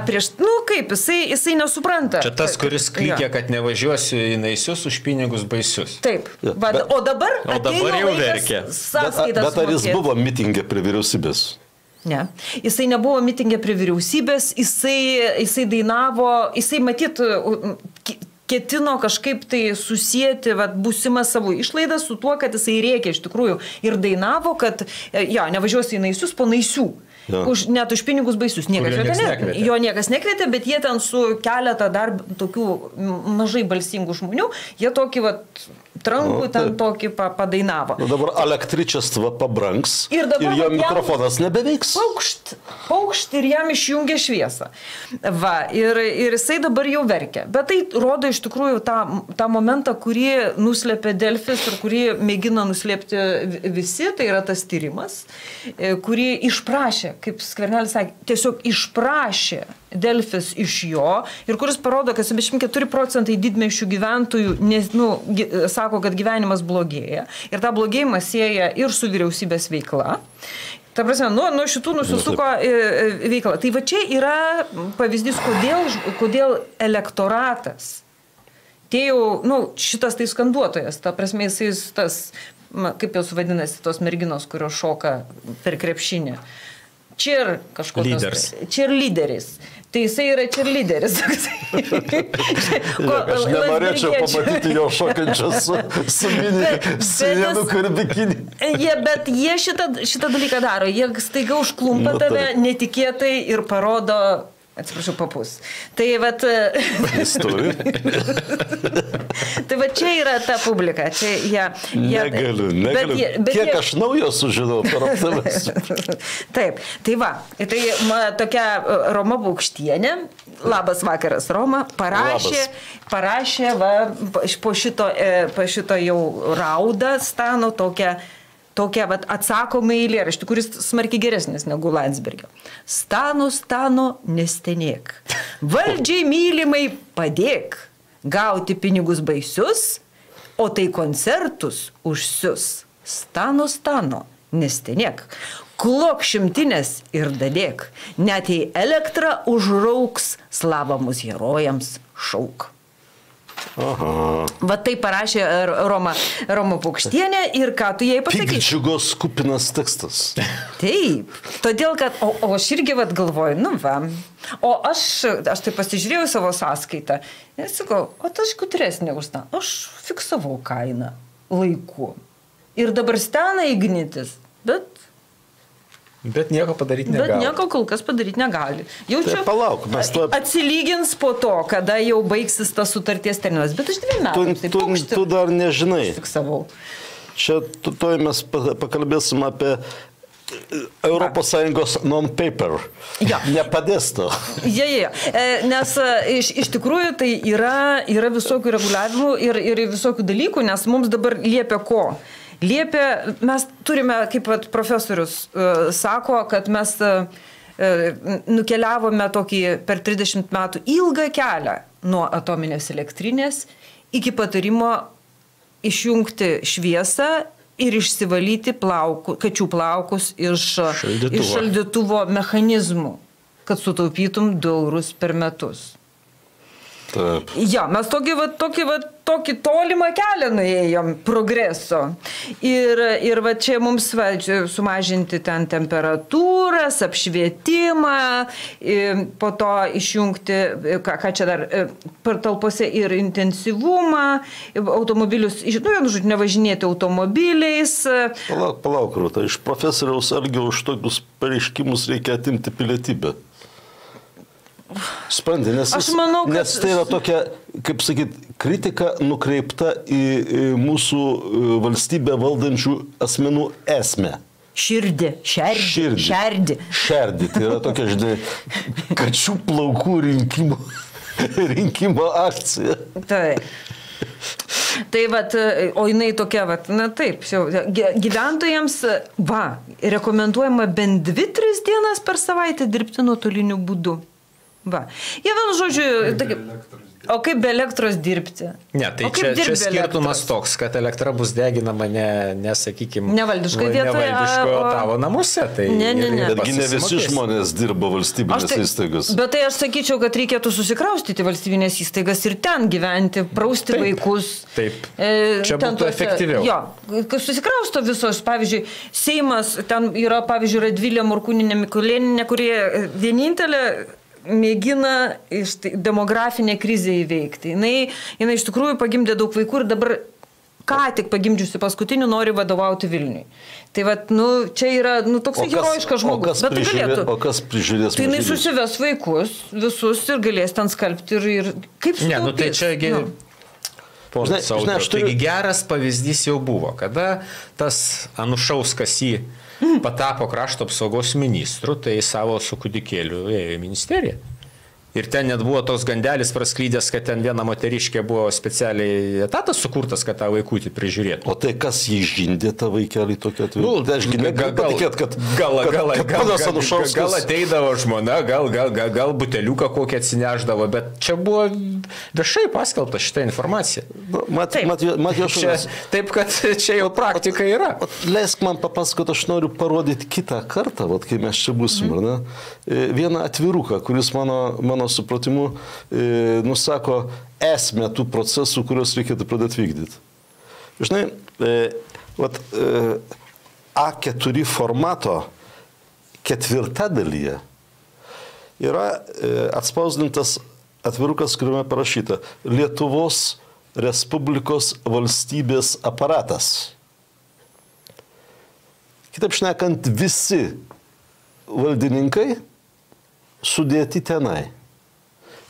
[SPEAKER 1] kaip, jisai nesupranta.
[SPEAKER 3] Čia tas, kuris klikė, kad nevažiuosiu į Naisius už pinigus baisius.
[SPEAKER 1] Taip. O dabar
[SPEAKER 3] jau verkia.
[SPEAKER 2] Bet ar jis buvo mitingė prie vyriausybės?
[SPEAKER 1] Ne. Jisai nebuvo mitingė prie vyriausybės, jisai dainavo, jisai matyt ketino kažkaip tai susijęti būsimą savo išlaidą su tuo, kad jisai rėkė iš tikrųjų ir dainavo, kad nevažiuosi į Naisius po Naisių. Net už pinigus baisius. Jo niekas nekvietė, bet jie ten su keletą dar tokių mažai balsingų žmonių, jie tokį trankų ten tokį padainavo.
[SPEAKER 2] Dabar električestva pabranks ir jo mikrofonas nebeveiks.
[SPEAKER 1] Paukšt ir jam išjungia šviesą. Ir jisai dabar jau verkia. Bet tai rodo iš tikrųjų tą momentą, kurį nuslėpė Delfis ir kurį mėgino nuslėpti visi, tai yra tas tyrimas, kurį išprašė, kaip Skvernelis sakė, tiesiog išprašė Delfis iš jo ir kuris parodo, kad 74% didmiesčių gyventojų sako, kad gyvenimas blogėja ir tą blogėjimą sieja ir su vyriausybės veikla. Ta prasme, nuo šitų nusisuko veikla. Tai va čia yra pavyzdys, kodėl elektoratas, šitas tai skanduotojas, ta prasme, jisai tas, kaip jos vadinasi, tos merginos, kurios šoka per krepšinį. cheer kažkokios.
[SPEAKER 3] Lyderis.
[SPEAKER 1] Cheerleaderis. Tai jisai yra cheerleaderis.
[SPEAKER 2] Aš nenorėčiau pamatyti jo šokančios su sienų karbikinį.
[SPEAKER 1] Bet jie šitą dalyką daro. Jie staiga užklumpa tave netikėtai ir parodo, atsiprašau, papus. Tai vat...
[SPEAKER 2] Jis turi.
[SPEAKER 1] Tai va čia yra ta publika.
[SPEAKER 2] Negaliu. Kiek aš naujo sužinau per aptavęs.
[SPEAKER 1] Taip, tai va. Tai tokia Roma Paukštienė, labas vakaras Roma, parašė va, po šito jau raudą Stano tokia vat, atsakoma eilėraštį, kuris smarkiai geresnis negu Landsbergio. Stano, nestenėk. Valdžiai mylimai padėk. Gauti pinigus baisius, o tai koncertus užsius. Stano, nestenėk. Klok šimtinės ir dadėk. Net jei elektrą užrauks, slavamus herojams šauk.
[SPEAKER 2] Aha.
[SPEAKER 1] Va tai parašė Roma Paukštienė ir ką tu jai pasakysi?
[SPEAKER 2] Piktdžiugos kupinas tekstas.
[SPEAKER 1] Taip, todėl kad, o aš irgi vat galvoju, nu va, o aš tai pasižiūrėjau savo sąskaitą ir sakau, o aš gudresnė už tą, aš fiksavau kainą laiku ir dabar stena Ignitis,
[SPEAKER 3] Bet nieko padaryti negali.
[SPEAKER 1] Bet nieko kol kas padaryti negali. Jaučiu,
[SPEAKER 2] tai palauk, mes to...
[SPEAKER 1] atsilygins po to, kada jau baigsis tas sutarties terminas. Bet aš 2 metų.
[SPEAKER 2] Tu dar nežinai.
[SPEAKER 1] Fiksavau.
[SPEAKER 2] Čia mes pakalbėsim apie ES non-paper.
[SPEAKER 1] Ja.
[SPEAKER 2] Nepadės to.
[SPEAKER 1] Ja. Nes iš tikrųjų tai yra visokių reguliavimų ir visokių dalykų, nes mums dabar liepia ko? Mes turime, kaip profesorius sako, kad mes nukeliavome tokį per 30 metų ilgą kelią nuo atominės elektrinės iki patarimo išjungti šviesą ir išsivalyti kačių plaukus iš šaldytuvo mechanizmų, kad sutaupytum 2 eurus per metus.
[SPEAKER 2] Taip.
[SPEAKER 1] Ja, mes tokį tolimą kelią nuėjom progreso. Ir va čia mums sumažinti ten temperatūras, apšvietimą, po to išjungti, ką čia dar, patalpose ir intensyvumą, automobilius, nevažinėti automobiliais.
[SPEAKER 2] Palauk, Rūta, iš profesoriaus Algio už tokius pareiškimus reikia atimti pilietybę. Sprendė, nes tai yra tokia, kaip sakyt, kritika nukreipta į mūsų valstybę valdančių asmenų esmę.
[SPEAKER 1] Šerdį.
[SPEAKER 2] Tai yra tokia, žinai, kačių plaukų rinkimo akcija.
[SPEAKER 1] Taip. Tai vat, o jinai tokia, na taip, gyventojams, rekomenduojama bent 2-3 dienas per savaitę dirbti nuotoliniu būdu. Va. Jie vienu žodžiu, o kaip be elektros dirbti?
[SPEAKER 3] Ne, tai čia skirtumas toks, kad elektra bus deginama sakykime,
[SPEAKER 1] nevaldiškai vietoje,
[SPEAKER 3] o tavo namuose. Tai
[SPEAKER 1] ne.
[SPEAKER 2] Betgi ne visi žmonės dirba valstybinės įstaigas.
[SPEAKER 1] Bet tai aš sakyčiau, kad reikėtų susikraustyti valstybinės įstaigas ir ten gyventi, prausti vaikus.
[SPEAKER 3] Taip, čia būtų efektyviau.
[SPEAKER 1] Jo, susikrausto visos, pavyzdžiui, Seimas, ten yra, pavyzdžiui, Radvilė Morkūninė Mikulėninė, kurie vienintelė mėgina demografinę krizę įveikti. Jinai iš tikrųjų pagimdė daug vaikų ir dabar ką tik pagimdžiusi paskutinių nori vadovauti Vilniui. Tai čia yra toksai herojiškas žmogus.
[SPEAKER 2] Bet tai galėtų. O kas prižiūrės?
[SPEAKER 1] Tai jinai susives vaikus visus ir galės ten skalbti ir kaip sutaupys.
[SPEAKER 3] Ne, tai čiagi... Taigi geras pavyzdys jau buvo, kada tas Anušauskas patapo krašto apsaugos ministru, tai savo su kūdikėliu ėjo į ministeriją. Ir ten net buvo toks gandelis prasklydęs, kad ten viena moteriškė buvo specialiai etatas sukurtas, kad tą vaikutį prižiūrėtų.
[SPEAKER 2] O tai kas jį žindė tą vaikelį tokį atveju?
[SPEAKER 3] Tai aš negaliu patikėti, kad gal ateidavo žmona, gal buteliuką kokį atsineždavo, bet čia buvo viešai paskelbta šitą informaciją. Taip, kad čia jau praktika yra.
[SPEAKER 2] Leisk man papasakoti, aš noriu parodyti kitą kartą, kai mes čia būsim, ar ne? Vieną atviruką, kuris mano supratimu nusako esmę tų procesų, kuriuos reikėtų pradėti vykdyti. Žinai, A4 formato ketvirtadalyje yra atspausdintas atvirukas, kuriame parašyta Lietuvos Respublikos valstybės aparatas. Kitaip šnekant, visi valdininkai sudėti tenai.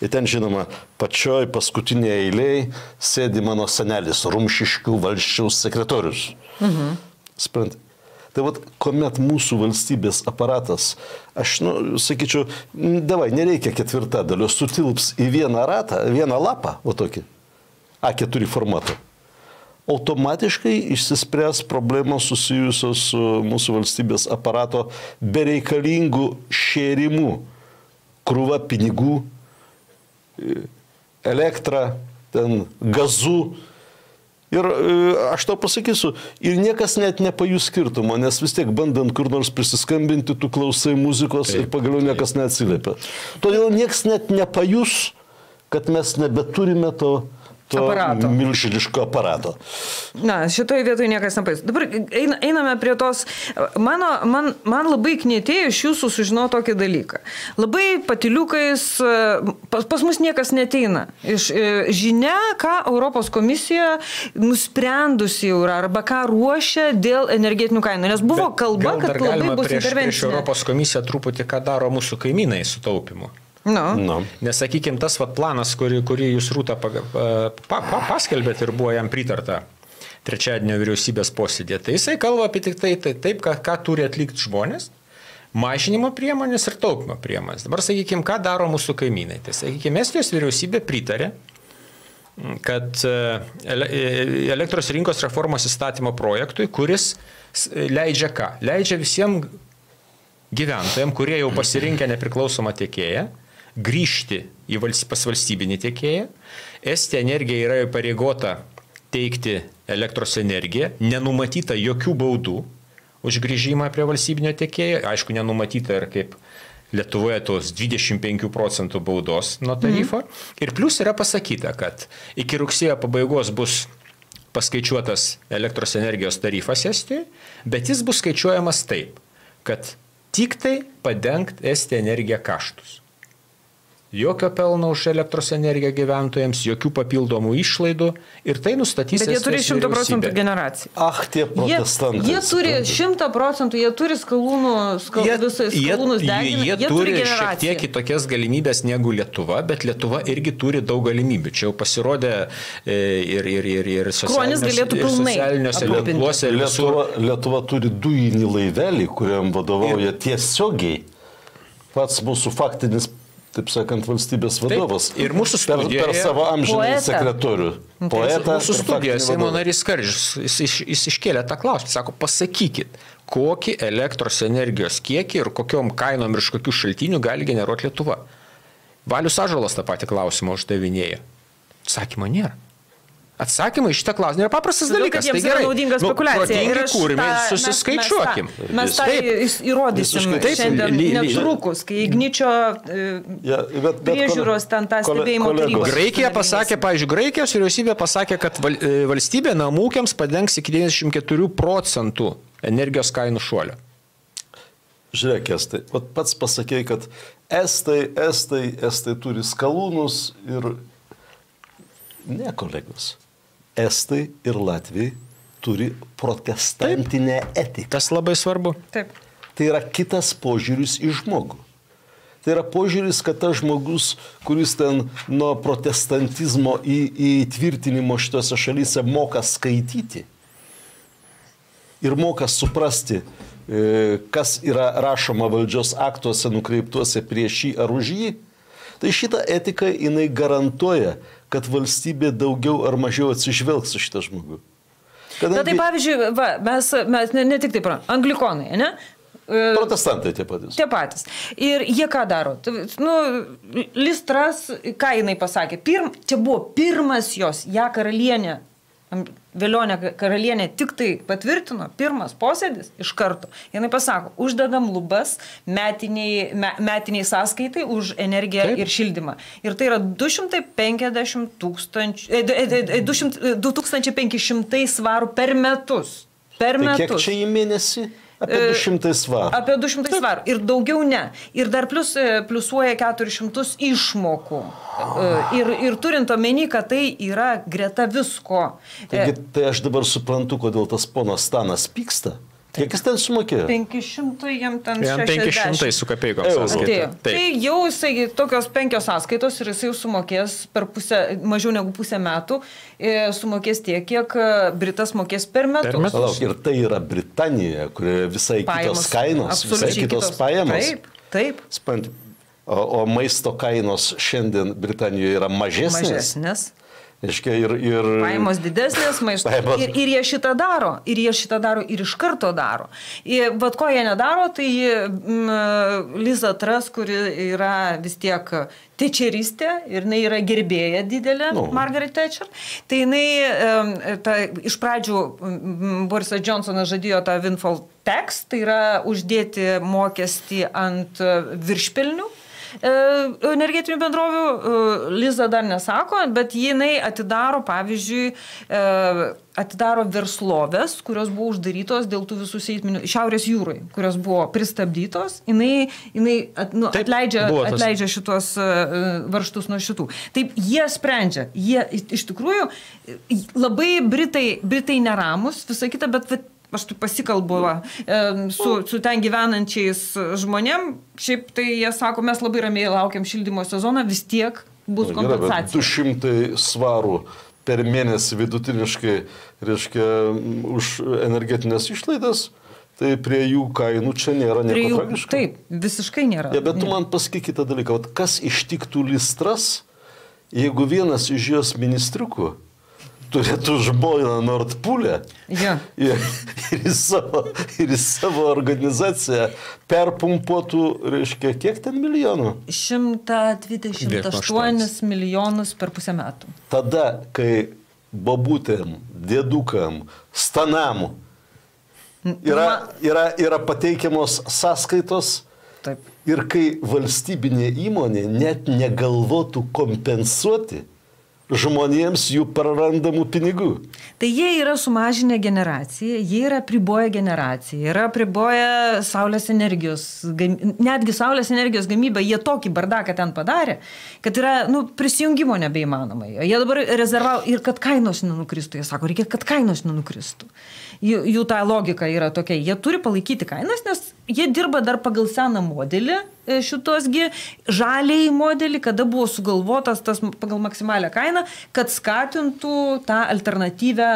[SPEAKER 2] Ir ten, žinoma, pačioj paskutinėje eilėje sėdi mano senelis Rumšiškių valsčiaus sekretorius. Sprant. Tai vat, kuomet mūsų valstybės aparatas, aš, sakyčiau, davai, nereikia ketvirtadalio, sutilps į vieną ratą, vieną lapą, o tokį, A4 formatą. Automatiškai išsispręs problemos susijusios su mūsų valstybės aparato bereikalingų šėrimų, krūva pinigų, elektra, ten gazų. Ir aš tau pasakysiu, ir niekas net nepajus skirtumo, nes vis tiek bandant kur nors prisiskambinti, tu klausai muzikos ir pagaliau niekas neatsiliepia. Todėl niekas net nepajus, kad mes nebeturime to milžiniško aparato.
[SPEAKER 1] Na, šitoje vietoje niekas nepajus. Dabar einame prie tos, man labai knietėjo iš jūsų sužinoti tokį dalyką. Labai patiliukais, pas mus niekas neteina. Žinia, ką Europos komisija nusprendusi jau yra, arba ką ruošia dėl energetinių kainų. Nes buvo kalba, kad labai bus intervencinė.
[SPEAKER 3] Prieš Europos komisiją truputį, ką daro mūsų kaimynai su taupimu. Nes, sakykime, tas planas, kurį jūs Rūta paskelbėt ir buvo jam pritarta trečiadienio vyriausybės posėdė, tai jisai kalba apie tik taip, ką turi atlikti žmonės, mažinimo priemonės ir taupimo priemonės. Dabar, sakykime, ką daro mūsų kaimynai. Tai, sakykime, Estijos vyriausybė pritarė, kad elektros rinkos reformos įstatymo projektui, kuris leidžia ką? Leidžia visiems gyventojams, kurie jau pasirinkę nepriklausomą tiekėją, grįžti pas valstybinį tiekėją. Estija Energija yra įpareigota teikti elektros energiją, nenumatyta jokių baudų už grįžimą prie valstybinio tiekėjo. Aišku, nenumatyta ir kaip Lietuvoje tos 25% baudos nuo tarifo. Ir plus yra pasakyta, kad iki rugsėjo pabaigos bus paskaičiuotas elektros energijos tarifas Estijoje, bet jis bus skaičiuojamas taip, kad tik tai padengt Estija Energija kaštus. Jokio pelno už elektros energiją gyventojams, jokių papildomų išlaidų ir tai nustatys
[SPEAKER 1] Estijos vyriausybė. Bet jie turi 100% generaciją.
[SPEAKER 2] Tie protestantai.
[SPEAKER 1] Jie turi 100%, jie turi skalūnus deginti,
[SPEAKER 3] jie turi šiek tiek kitokias galimybės negu Lietuva, bet Lietuva irgi turi daug galimybių. Čia jau pasirodė ir socialiniuose tinkluose.
[SPEAKER 2] Lietuva turi dujinį laivelį, kuriam vadovauja tiesiogiai pats mūsų faktinis, taip sakant, valstybės vadovas.
[SPEAKER 3] Taip, ir mūsų studijoje
[SPEAKER 2] per savo amžinąjį sekretorių.
[SPEAKER 3] Poetą. Mūsų studijoje Seimo narys Skardžius, jis iškėlė tą klausimą. Sako, pasakykit, kokį elektros energijos kiekį ir kokiom kainom ir iš kokių šaltinių gali generuoti Lietuva. Valius Ąžuolas tą patį klausimą uždavinėja. Atsakymo nėra. Atsakymai iš šitą klausimą yra paprastas dalykas.
[SPEAKER 1] Tai gerai, naudinga spekulacija.
[SPEAKER 3] Ir kūrime ir susiskaičiuokim.
[SPEAKER 1] Mes tą įrodysim šiandien netrukus, kai Igničio priežiūros ten tą stebėjimo tarybos.
[SPEAKER 3] Graikija pasakė, pavyzdžiui, Graikijos vyriausybė pasakė, kad valstybė namų ūkiams padengs iki 94% energijos kainų šuolio.
[SPEAKER 2] Žiūrėk, Estai, pats pasakėjai, kad Estai turi skalūnus ir ne, kolegos. Estai ir Latvijai turi protestantinę etiką.
[SPEAKER 3] Tas labai svarbu.
[SPEAKER 1] Taip.
[SPEAKER 2] Tai yra kitas požiūris į žmogų. Tai yra požiūris, kad tas žmogus, kuris ten nuo protestantizmo įtvirtinimo šitose šalyse moka skaityti ir moka suprasti, kas yra rašoma valdžios aktuose nukreiptuose prieš jį ar už jį, tai šitą etiką jinai garantuoja, kad valstybė daugiau ar mažiau atsižvelgs su šitą žmogų.
[SPEAKER 1] Na tai pavyzdžiui, mes ne tik taip, anglikonai, ne?
[SPEAKER 2] Protestantai tie patys.
[SPEAKER 1] Tie patys. Ir jie ką daro? Listras, ką jinai pasakė? Čia buvo pirmas jos, ją karalienė, Velionė karalienė tik tai patvirtino, pirmas posėdis iš karto. Jinai pasako, uždedam lubas metiniai sąskaitai už energiją ir šildymą. Ir tai yra 2500 svarų per metus. Per metus.
[SPEAKER 2] Tai kiek čia į mėnesį? Apie 200 svarų.
[SPEAKER 1] Apie 200 svarų. Ir daugiau ne. Ir dar pliusuoja 400 išmokų. Ir turint omeny, kad tai yra greta visko.
[SPEAKER 2] Taigi, tai aš dabar suprantu, kodėl tas ponas Stanas pyksta. Kiek jis ten sumokėjo?
[SPEAKER 1] 500, jam ten 60.
[SPEAKER 3] 500 su kapeikom
[SPEAKER 1] sąskaita. Tai jau jisai tokios 5 sąskaitos ir jisai jau sumokės per mažiau negu pusę metų, sumokės tiek, kiek Britas mokės per metus.
[SPEAKER 2] Ir tai yra Britanija, kurioje visai kitos kainos, visai kitos pajamos.
[SPEAKER 1] Taip.
[SPEAKER 2] O maisto kainos šiandien Britanijoje yra mažesnės. Ir
[SPEAKER 1] pajamos didesnės maisto. Ir jie šitą daro. Ir iš karto daro. Bet ko jie nedaro, tai Liza Truss, kuri yra vis tiek tečeristė ir jinai yra gerbėja didelė, Margaret Thatcher. Tai jinai iš pradžių Borisas Johnsonas žadėjo tą windfall tax, tai yra uždėti mokestį ant viršpelnių energetinių bendrovių. Liza dar nesako, bet jinai atidaro, pavyzdžiui, verslovės, kurios buvo uždarytos dėl tų visų seisminių Šiaurės jūrai, kurios buvo pristabdytos. Jinai atleidžia šitos varžtus nuo šitų. Taip, jie sprendžia. Jie iš tikrųjų labai Britai neramus, visą kitą, bet aš tu pasikalbu su ten gyvenančiais žmonėm, šiaip tai jie sako, mes labai ramiai laukiam šildymo sezoną, vis tiek bus kompensacija.
[SPEAKER 2] 200 svarų per mėnesį vidutiniškai, reiškia, už energetinės išlaidas, tai prie jų kainų čia nėra nieko tragiško.
[SPEAKER 1] Taip, visiškai nėra.
[SPEAKER 2] Bet tu man pasakyk kitą dalyką, kas ištiktų Liz Truss, jeigu vienas iš jos ministriukų turėtų žmoną Nordpūlę ir į savo organizaciją perpumpuotų, reiškia, kiek ten milijonų?
[SPEAKER 1] 128 milijonus per pusę metų.
[SPEAKER 2] Tada, kai bobutėm, dėdukam, stanam yra pateikiamos sąskaitos,
[SPEAKER 1] taip,
[SPEAKER 2] ir kai valstybinė įmonė net negalvotų kompensuoti žmonėms jų prarandamų pinigų.
[SPEAKER 1] Tai jie yra sumažinę generaciją, jie yra priboję generaciją, yra priboję saulės energijos, netgi saulės energijos gamybą, jie tokį bardaką ten padarė, kad yra, prisijungimo nebeįmanoma. Jie dabar rezervavo ir kad kainos nenukristų, jie sako, reikia, kad kainos nenukristų. Jų ta logika yra tokia, jie turi palaikyti kainas, nes jie dirba dar pagal seną modelį, šitosgi žaliai modelį, kada buvo sugalvotas tas pagal maksimalią kainą, kad skatintų tą alternatyvę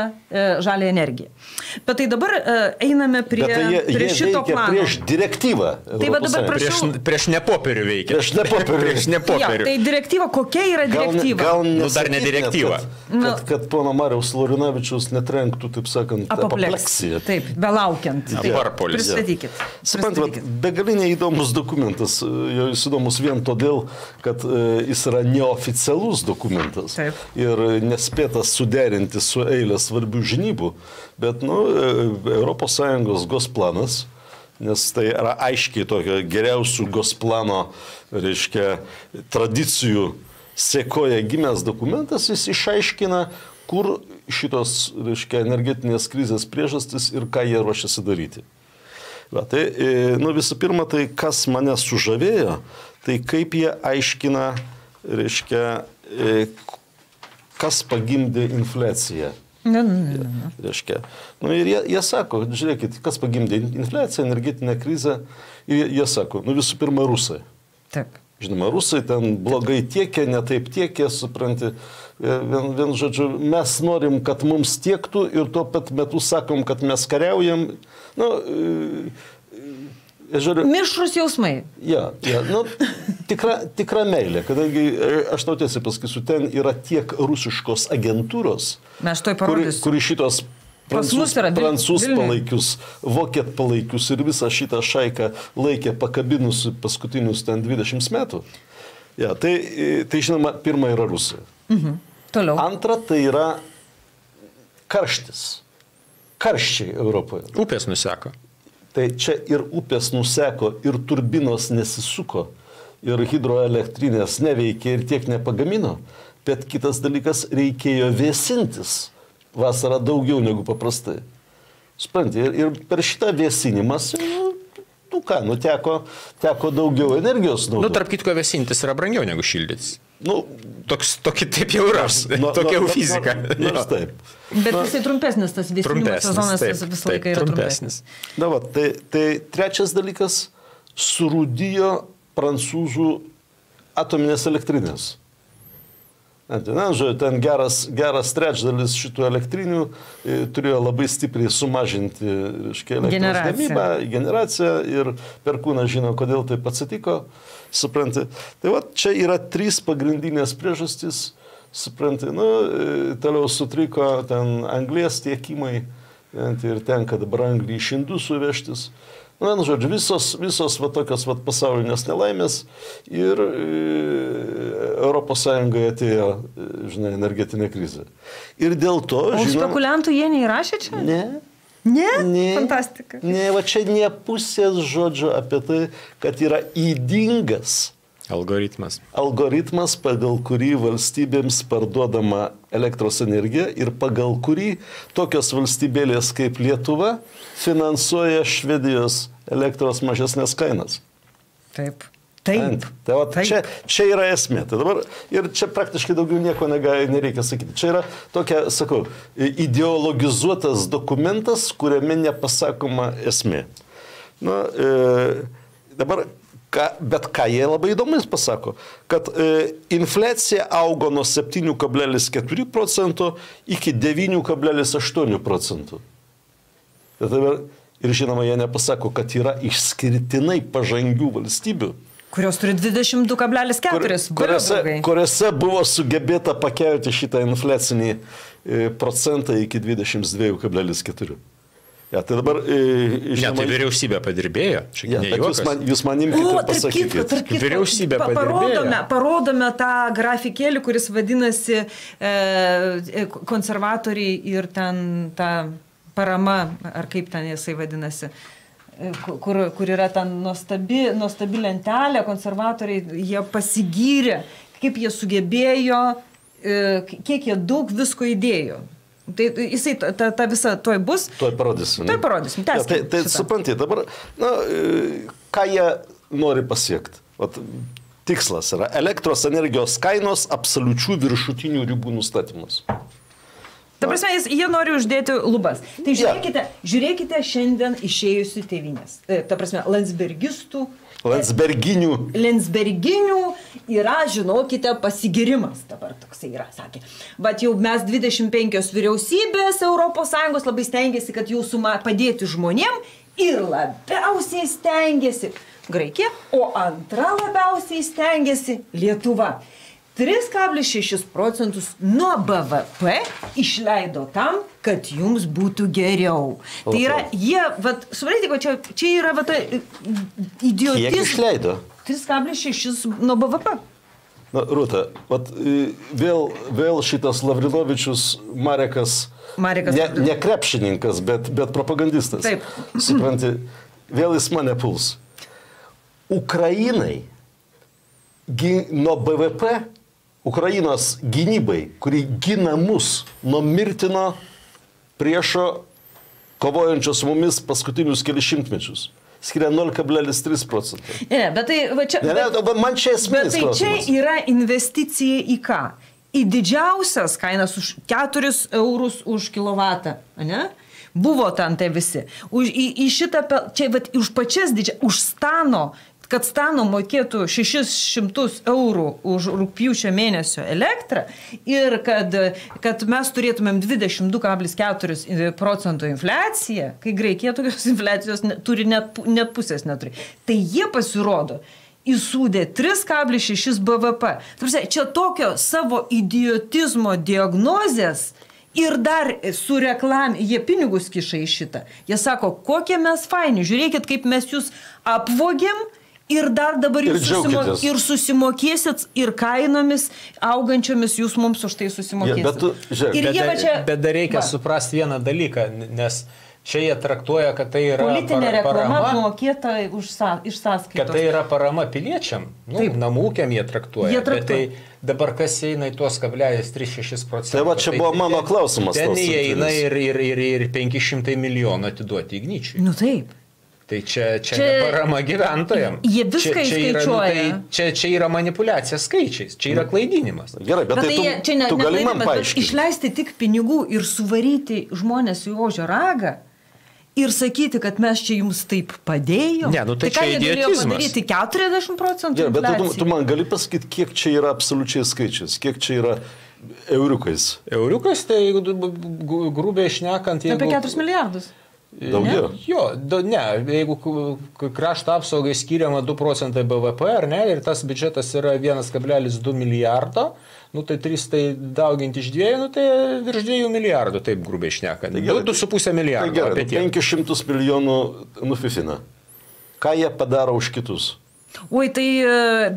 [SPEAKER 1] žalią energiją. Bet tai dabar einame prie šito plano.
[SPEAKER 2] Prieš direktyvą.
[SPEAKER 1] Tai va dabar prašau.
[SPEAKER 3] Prieš nepopierių veikia.
[SPEAKER 2] Prieš nepopierių.
[SPEAKER 1] Tai direktyva, kokia yra direktyva?
[SPEAKER 3] Dar ne direktyva.
[SPEAKER 2] Kad pono Mariaus Laurinavičiaus netrenktų, taip sakant, apopleksija.
[SPEAKER 1] Taip, belaukiant. Pristatykit.
[SPEAKER 2] Suprantat, begalinė įdomus dokumentas. Jis įdomus vien todėl, kad jis yra neoficialus dokumentas.
[SPEAKER 1] Taip.
[SPEAKER 2] Ir nespėtas suderinti su eilė svarbių žinybų. Bet, ES Gosplanas, nes tai yra aiškiai tokio geriausių Gosplano, reiškia, tradicijų sekoje gimęs dokumentas, jis išaiškina, kur šitos, reiškia, energetinės krizės priežastis ir ką jie ruošiasi daryti. Va, tai, visų pirma, tai kas mane sužavėjo, tai kaip jie aiškina, reiškia, kas pagimdė infliaciją. Reiškia. Ir jie sako, žiūrėkit, kas pagimdė infliaciją, energetinę krizę, ir jie sako, visų pirma, rusai.
[SPEAKER 1] Taip.
[SPEAKER 2] Žinoma, rusai ten blogai tiekė, ne taip tiekė, supranti. Vien žodžiu, mes norim, kad mums tiektų ir tuo pat metu sakom, kad mes kariaujam.
[SPEAKER 1] Mišrūs jausmai.
[SPEAKER 2] Tikra meilė, kadangi aš tau tiesiai pasakysiu, ten yra tiek rusiškos agentūros, kuri šitos prancūz palaikius, vokiet palaikius ir visą šitą šaiką laikė pakabinusi paskutinius 20 metų. Tai žinoma, pirma yra Rusija.
[SPEAKER 1] Toliau.
[SPEAKER 2] Antra, tai yra karštis. Karščiai Europoje.
[SPEAKER 3] Upės nuseko.
[SPEAKER 2] Tai čia ir upės nuseko, ir turbinos nesisuko, ir hidroelektrinės neveikė ir tiek nepagamino. Bet kitas dalykas, reikėjo vėsintis vasarą daugiau negu paprastai. Supranti, ir per šitą vėsinimas, teko daugiau energijos naudoti.
[SPEAKER 3] Tarp kitko vėsintis yra brangiau negu šildytis. Tokį taip jau yra, tokia jau fizika.
[SPEAKER 2] Nors taip.
[SPEAKER 1] Bet jisai trumpesnis, tas vėsinimo sezonas visą laiką yra trumpesnis.
[SPEAKER 2] Tai trečias dalykas, surūdijo prancūzų atominės elektrinės. Ten geras trečdalis šitų elektrinių turėjo labai stipriai sumažinti elektros gamybą, generaciją ir Perkūnas žino, kodėl taip atsitiko, supranti. Tai čia yra 3 pagrindinės priežastys, supranti, toliau sutriko ten anglies tiekimai ir tenka dabar anglį iš Indusų vežtis. Žodžiu, visos tokios pasaulinės nelaimės ir Europos Sąjungoje atėjo, energetinė krizė. Ir dėl to,
[SPEAKER 1] O spekuliantų jie neįrašė čia?
[SPEAKER 2] Ne.
[SPEAKER 1] Ne? Fantastika.
[SPEAKER 2] Ne, čia ne pusės žodžio apie tai, kad yra ydingas algoritmas, pagal kurį valstybėms parduodama elektros energija ir pagal kurį tokios valstybėlės kaip Lietuva finansuoja Švedijos elektros mažesnės kainas.
[SPEAKER 1] Taip.
[SPEAKER 2] Čia yra esmė. Tai dabar, ir čia praktiškai daugiau nieko nereikia sakyti. Čia yra tokia, sakau, ideologizuotas dokumentas, kuriame nepasakoma esmė. Dabar bet ką jie labai įdomus pasako, kad infliacija augo nuo 7,4% iki 9,8%. Ir žinoma, jie nepasako, kad yra išskirtinai pažangių valstybių,
[SPEAKER 1] kurios turi 22,4%.
[SPEAKER 2] Kuriuose buvo sugebėta pakelti šitą infliacinį procentą iki 22,4%. Ja, tai dabar,
[SPEAKER 3] tai vyriausybė padirbėjo.
[SPEAKER 2] Jūs man imkite ir pasakykite.
[SPEAKER 3] Vyriausybė padirbėjo.
[SPEAKER 1] Parodome tą grafikėlį, kuris vadinasi konservatoriai ir ten ta parama, ar kaip ten jisai vadinasi, kur yra ten nuostabi lentelė, konservatoriai, jie pasigyrė, kaip jie sugebėjo, kiek jie daug visko įdėjo. Tai jisai ta visa tuoj bus.
[SPEAKER 2] Tuoj parodysim. Tai supranti, dabar, ką jie nori pasiekti? Tikslas yra elektros energijos kainos absoliučių viršutinių ribų nustatymus.
[SPEAKER 1] Ta prasme, jie nori uždėti lubas. Tai žiūrėkite šiandien išėjusių tėvynės. Ta prasme, Landsberginių yra, žinokite, pasigirimas dabar toksai yra, sakė. Bet jau mes 25 vyriausybės ES labai stengiasi, kad jau padėti žmonėm ir labiausiai stengiasi Graikija, o antra labiausiai stengiasi Lietuva. 3,6% nuo BVP išleido tam, kad jums būtų geriau. Tai yra, jie, suprantate, čia yra idiotizmas.
[SPEAKER 2] Kiek išleido?
[SPEAKER 1] 3,6 nuo BVP.
[SPEAKER 2] Rūta, vėl šitas Lavrinovičius Marekas ne krepšininkas, bet propagandistas.
[SPEAKER 1] Taip.
[SPEAKER 2] Supranti, vėl jis mane puls. Ukrainai nuo BVP Ukrainos gynybai, kuri gina mus nuo mirtino priešo kovojančios mumis paskutinius kelius šimtmečius, skiria 0,3%.
[SPEAKER 1] Bet tai čia...
[SPEAKER 2] Man čia esminis klausimas.
[SPEAKER 1] Bet tai čia yra investicija į ką? Į didžiausias kainas už 4 eurus už kilovatą, ne? Buvo ten tai visi. Į šitą, čia už pačias didžiausias, už Stano, kad Stano mokėtų 600 eurų už rugpjūčio mėnesio elektrą ir kad mes turėtumėm 22,4% infliaciją, kai Graikija tokios infliacijos turi net pusės neturi. Tai jie pasirodo įsūdė 3,6 BVP. Čia tokio savo idiotizmo diagnozės ir dar su jie pinigus kiša į šitą. Jie sako, kokie mes faini, žiūrėkit, kaip mes jūs apvogėm, ir dar dabar jūs susimokėsit ir kainomis augančiomis jūs mums už tai susimokėsit.
[SPEAKER 3] Bet dar reikia suprasti vieną dalyką, nes Čia jie traktuoja, kad tai yra
[SPEAKER 1] politinė reklama mokėta iš sąskaitos.
[SPEAKER 3] Kad tai yra parama piliečiam, namūkiam jie traktuoja. Bet tai dabar kas eina į tuos 0,36%.
[SPEAKER 2] Tai va čia buvo mano klausimas.
[SPEAKER 3] Ten įeina ir 500 milijonų atiduoti Igničiui.
[SPEAKER 1] Nu taip.
[SPEAKER 3] Tai čia ne parama gyventojams.
[SPEAKER 1] Jie viską įskaičiuoja.
[SPEAKER 3] Čia yra manipuliacija skaičiais, čia yra klaidinimas.
[SPEAKER 2] Gerai, bet tai tu gali man paaiškinti.
[SPEAKER 1] Išleisti tik pinigų ir suvaryti žmonės į ožio ragą ir sakyti, kad mes čia jums taip padėjom.
[SPEAKER 3] Ne, tai čia idiotizmas.
[SPEAKER 1] Padaryti 40%.
[SPEAKER 2] Gerai, bet tu man gali pasakyti, kiek čia yra absoliučiai skaičiais, kiek čia yra euriukais.
[SPEAKER 3] Euriukais, tai grubiai šnekant,
[SPEAKER 1] apie 4 milijardus.
[SPEAKER 2] Daugiau?
[SPEAKER 3] Jo, ne, jeigu krašto apsaugai skiriama 2% BVP, ar ne, ir tas biudžetas yra 1,2 milijardo, tai 3 dauginti iš 2, tai virš 2 milijardų, taip grubiai šnekant. 2,5 milijardo.
[SPEAKER 2] Tai gerai, 500 milijonų nufifina. Ką jie padaro už kitus?
[SPEAKER 1] Oi, tai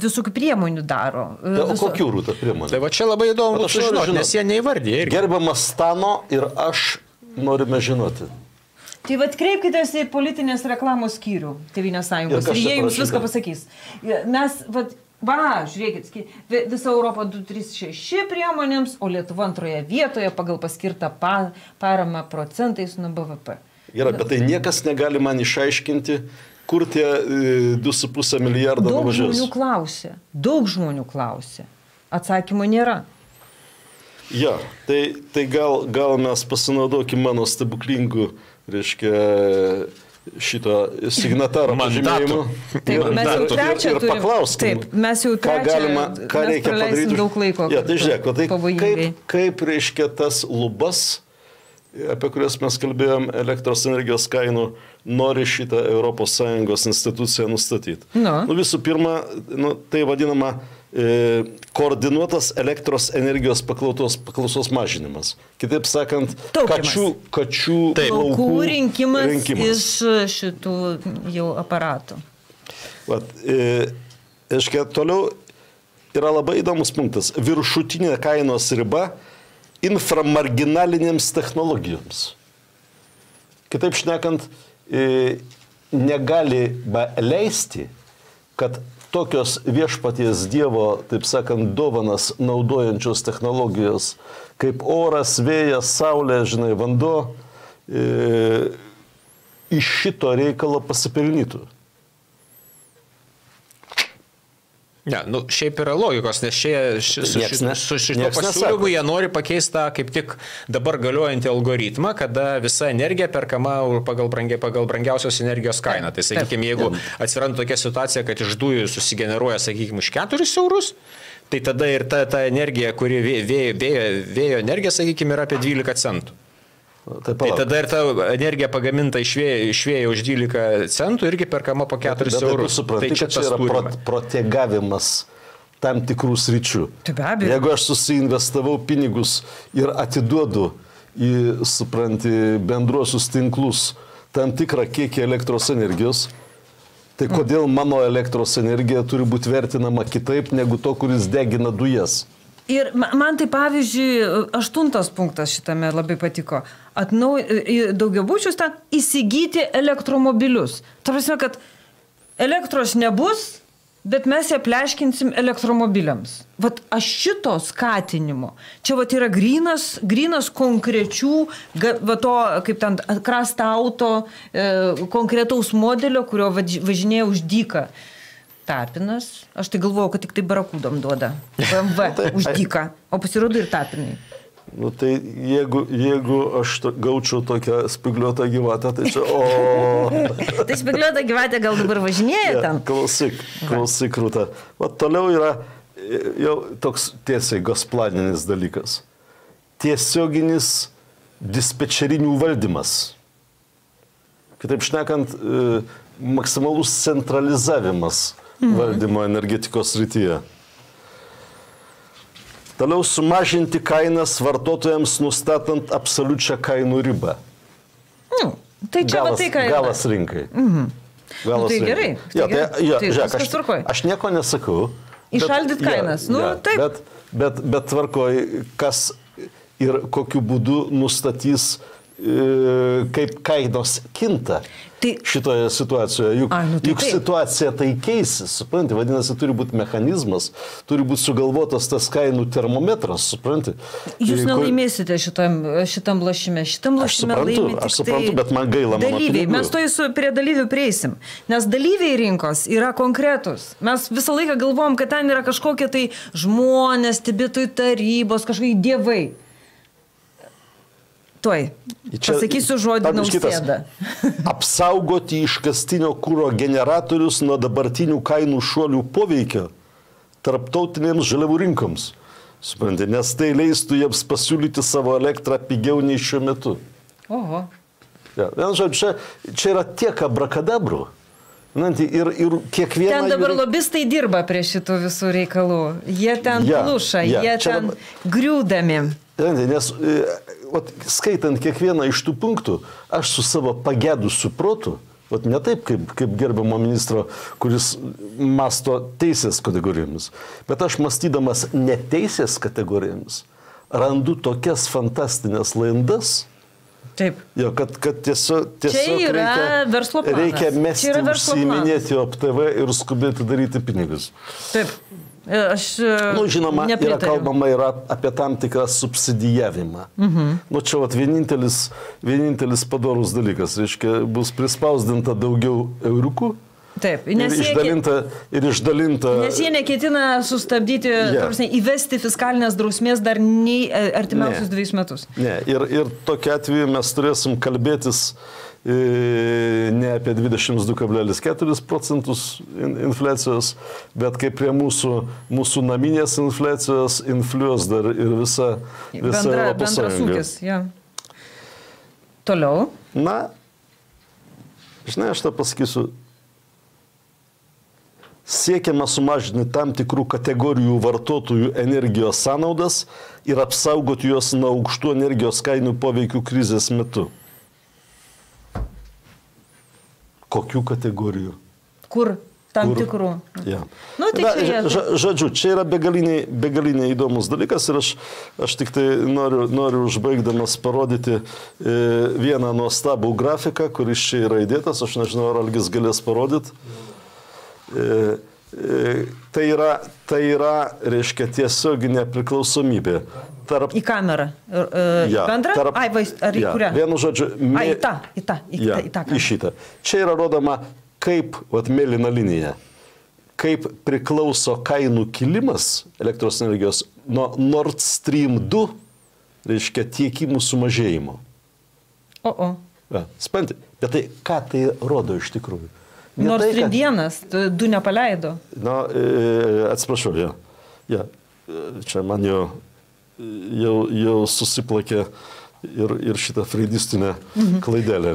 [SPEAKER 1] visokių priemonių daro.
[SPEAKER 2] O kokių rūta priemonių?
[SPEAKER 3] Tai va čia labai įdomu sužinoti, nes jie neįvardė.
[SPEAKER 2] Gerbiamas Stano ir aš norime žinoti.
[SPEAKER 1] Tai vad kreipkitės į politinės reklamos skyrių Tėvynės sąjungos ir jie jums viską pasakys. Mes, žiūrėkit, visa Europa 236 priemonėms, o Lietuva antroje vietoje pagal paskirtą paramą procentais nuo BVP.
[SPEAKER 2] Gerai, bet tai niekas negali man išaiškinti, kur tie 2,5 milijardo nuvažiuos.
[SPEAKER 1] Daug žmonių klausė. Atsakymo nėra.
[SPEAKER 2] Ja, tai gal mes pasinaudokim mano stebuklingų, reiškia, šito signataro pažymėjimu.
[SPEAKER 1] Taip, mes jau trečią
[SPEAKER 2] ir paklauskim, ką reikia padaryti.
[SPEAKER 1] Daug laiko.
[SPEAKER 2] Ja, tai žiūrėk, kaip reiškia tas lubas, apie kurias mes kalbėjom, elektros energijos kainų, nori šitą ES instituciją nustatyti. Visų pirma, tai vadinama koordinuotas elektros energijos paklausos mažinimas. Kitaip sakant, kačių
[SPEAKER 1] laukų rinkimas iš šitų jau aparatų.
[SPEAKER 2] Toliau yra labai įdomus punktas. Viršutinė kainos riba inframarginalinėms technologijoms. Kitaip šnekant, negali leisti, kad tokios viešpaties Dievo, taip sakant, dovanas naudojančios technologijos, kaip oras, vėjas, saulė, vanduo, iš šito reikalo pasipelnytų.
[SPEAKER 3] Ne, šiaip yra logikos, nes su šito pasiūlymu jie nori pakeisti tą kaip tik dabar galiojantį algoritmą, kada visa energija perkama pagal brangiausios energijos kainą. Tai sakykime, jeigu atsiranda tokia situacija, kad iš dujų susigeneruoja, sakykime, už 4 eurus, tai tada ir ta energija, kuri vėjo energija, sakykime, yra apie 12 centų. Tai tada ir ta energija pagaminta iš vėjo už 12 centų irgi perkama po 4 eurus.
[SPEAKER 2] Tai čia yra protegavimas tam tikrų sričių. Jeigu aš susiinvestavau pinigus ir atiduodu į, bendruosius tinklus tam tikrą kiekį elektros energijos, tai kodėl mano elektros energija turi būti vertinama kitaip negu to, kuris degina dujas?
[SPEAKER 1] Ir man tai pavyzdžiui, 8 punktas šitame labai patiko. Daugiabučius ten įsigyti elektromobilius. Ta prasme, kad elektros nebus, bet mes ją pleškinsim elektromobiliams. Vat aš šito skatinimo. Čia vat yra grynas konkrečių, to, kaip ten, Krasta auto, konkretaus modelio, kurio važinėja už dyką. Tapinas. Aš tai galvojau, kad tik tai barakūdom duoda. BMW už dyką. O pasirodo ir tapinai.
[SPEAKER 2] Tai jeigu aš gaučiau tokią spigliuotą gyvatę, tai čia
[SPEAKER 1] Tai spigliuotą gyvatę gal dabar važinėja ten?
[SPEAKER 2] Klausyk, Rūta. Toliau yra jau toks tiesiai gosplaninis dalykas. Tiesioginis dispečerinių valdymas. Kitaip šnekant, maksimalus centralizavimas valdymo energetikos srityje. Toliau sumažinti kainas vartotojams, nustatant absoliučią kainų ribą.
[SPEAKER 1] Tai čia va tai, ką yra.
[SPEAKER 2] Galas rinkai.
[SPEAKER 1] Tai gerai.
[SPEAKER 2] Žiūrėk, aš nieko nesakau.
[SPEAKER 1] Išaldyt kainas.
[SPEAKER 2] Bet tvarkoj, kas ir kokiu būdu nustatys kaip kainos kinta šitoje situacijoje. Juk situacija tai keisis, supranti, vadinasi, turi būti mechanizmas, turi būti sugalvotas tas kainų termometras, supranti.
[SPEAKER 1] Jūs nelaimėsite šitam lošime. Šitam lošime laimė
[SPEAKER 2] aš suprantu, bet man gaila mano
[SPEAKER 1] dalyviai. Mes prie dalyvių prieisim, nes dalyviai rinkos yra konkretus. Mes visą laiką galvom, kad ten yra kažkokie tai žmonės, stebėtojų tarybos, kažkokie dievai. Tuoj, pasakysiu žodį Nausėda.
[SPEAKER 2] Apsaugoti iškastinio kuro generatorius nuo dabartinių kainų šuolių poveikio tarptautinėms žaliavų rinkoms. Supranti, nes tai leistų jiems pasiūlyti savo elektrą pigiau nei šiuo metu.
[SPEAKER 1] Oho.
[SPEAKER 2] Ja, čia yra tiek abrakadabrų. Ir kiekvieną...
[SPEAKER 1] Ten dabar lobistai dirba prie šitų visų reikalų. Jie ten pluša, jie ten griūdami.
[SPEAKER 2] Nes skaitant kiekvieną iš tų punktų, aš su savo pagėdusiu protu, ne taip kaip gerbiamo ministro, kuris masto teisės kategorijomis, bet aš mąstydamas neteisės kategorijomis, randu tokias fantastinės laidas, jo, kad tiesiog reikia mesti užsiiminėti OPTV ir skubėti daryti pinigus.
[SPEAKER 1] Taip.
[SPEAKER 2] Žinoma, yra kalbama ir apie tam tikrą subsidijavimą. Čia vienintelis padorus dalykas, reiškia, bus prispausdinta daugiau euriukų.
[SPEAKER 1] Taip,
[SPEAKER 2] ir išdalinta.
[SPEAKER 1] Nes jie neketina sustabdyti, įvesti fiskalinės drausmės dar nei artimiausius 2 metus.
[SPEAKER 2] Ne, ir tokiu atveju mes turėsim kalbėtis ne apie 22,4% infliacijos, bet kaip prie mūsų naminės infliacijos infliuos dar ir visa Europos Sąjunga.
[SPEAKER 1] Toliau.
[SPEAKER 2] Žinai, aš tą pasakysiu. Siekiama sumažinti tam tikrų kategorijų vartotojų energijos sąnaudas ir apsaugoti juos nuo aukštų energijos kainų poveikių krizės metu. Kokių kategorijų?
[SPEAKER 1] Kur? Tam tikrų.
[SPEAKER 2] Ja. Žodžiu, čia yra begaliniai įdomus dalykas ir aš tik tai noriu užbaigdamas parodyti vieną nuostabų grafiką, kuris čia yra įdėtas, aš nežinau, ar Algis galės parodyti. Tai yra, reiškia, tiesioginė priklausomybė.
[SPEAKER 1] Į kamerą. Bendrą? Ar į kurią?
[SPEAKER 2] Vienu žodžiu.
[SPEAKER 1] Į tą kamerą.
[SPEAKER 2] Į šitą. Čia yra rodoma, kaip, mėlyna linija, kaip priklauso kainų kilimas elektros energijos nuo Nord Stream 2, reiškia, tiekimų sumažėjimo. Spanti, bet tai ką tai rodo iš tikrųjų?
[SPEAKER 1] Nord Stream 1, 2 nepaleido.
[SPEAKER 2] Atsiprašau, čia man jau susiplakė ir šitą freidistinę klaidelę.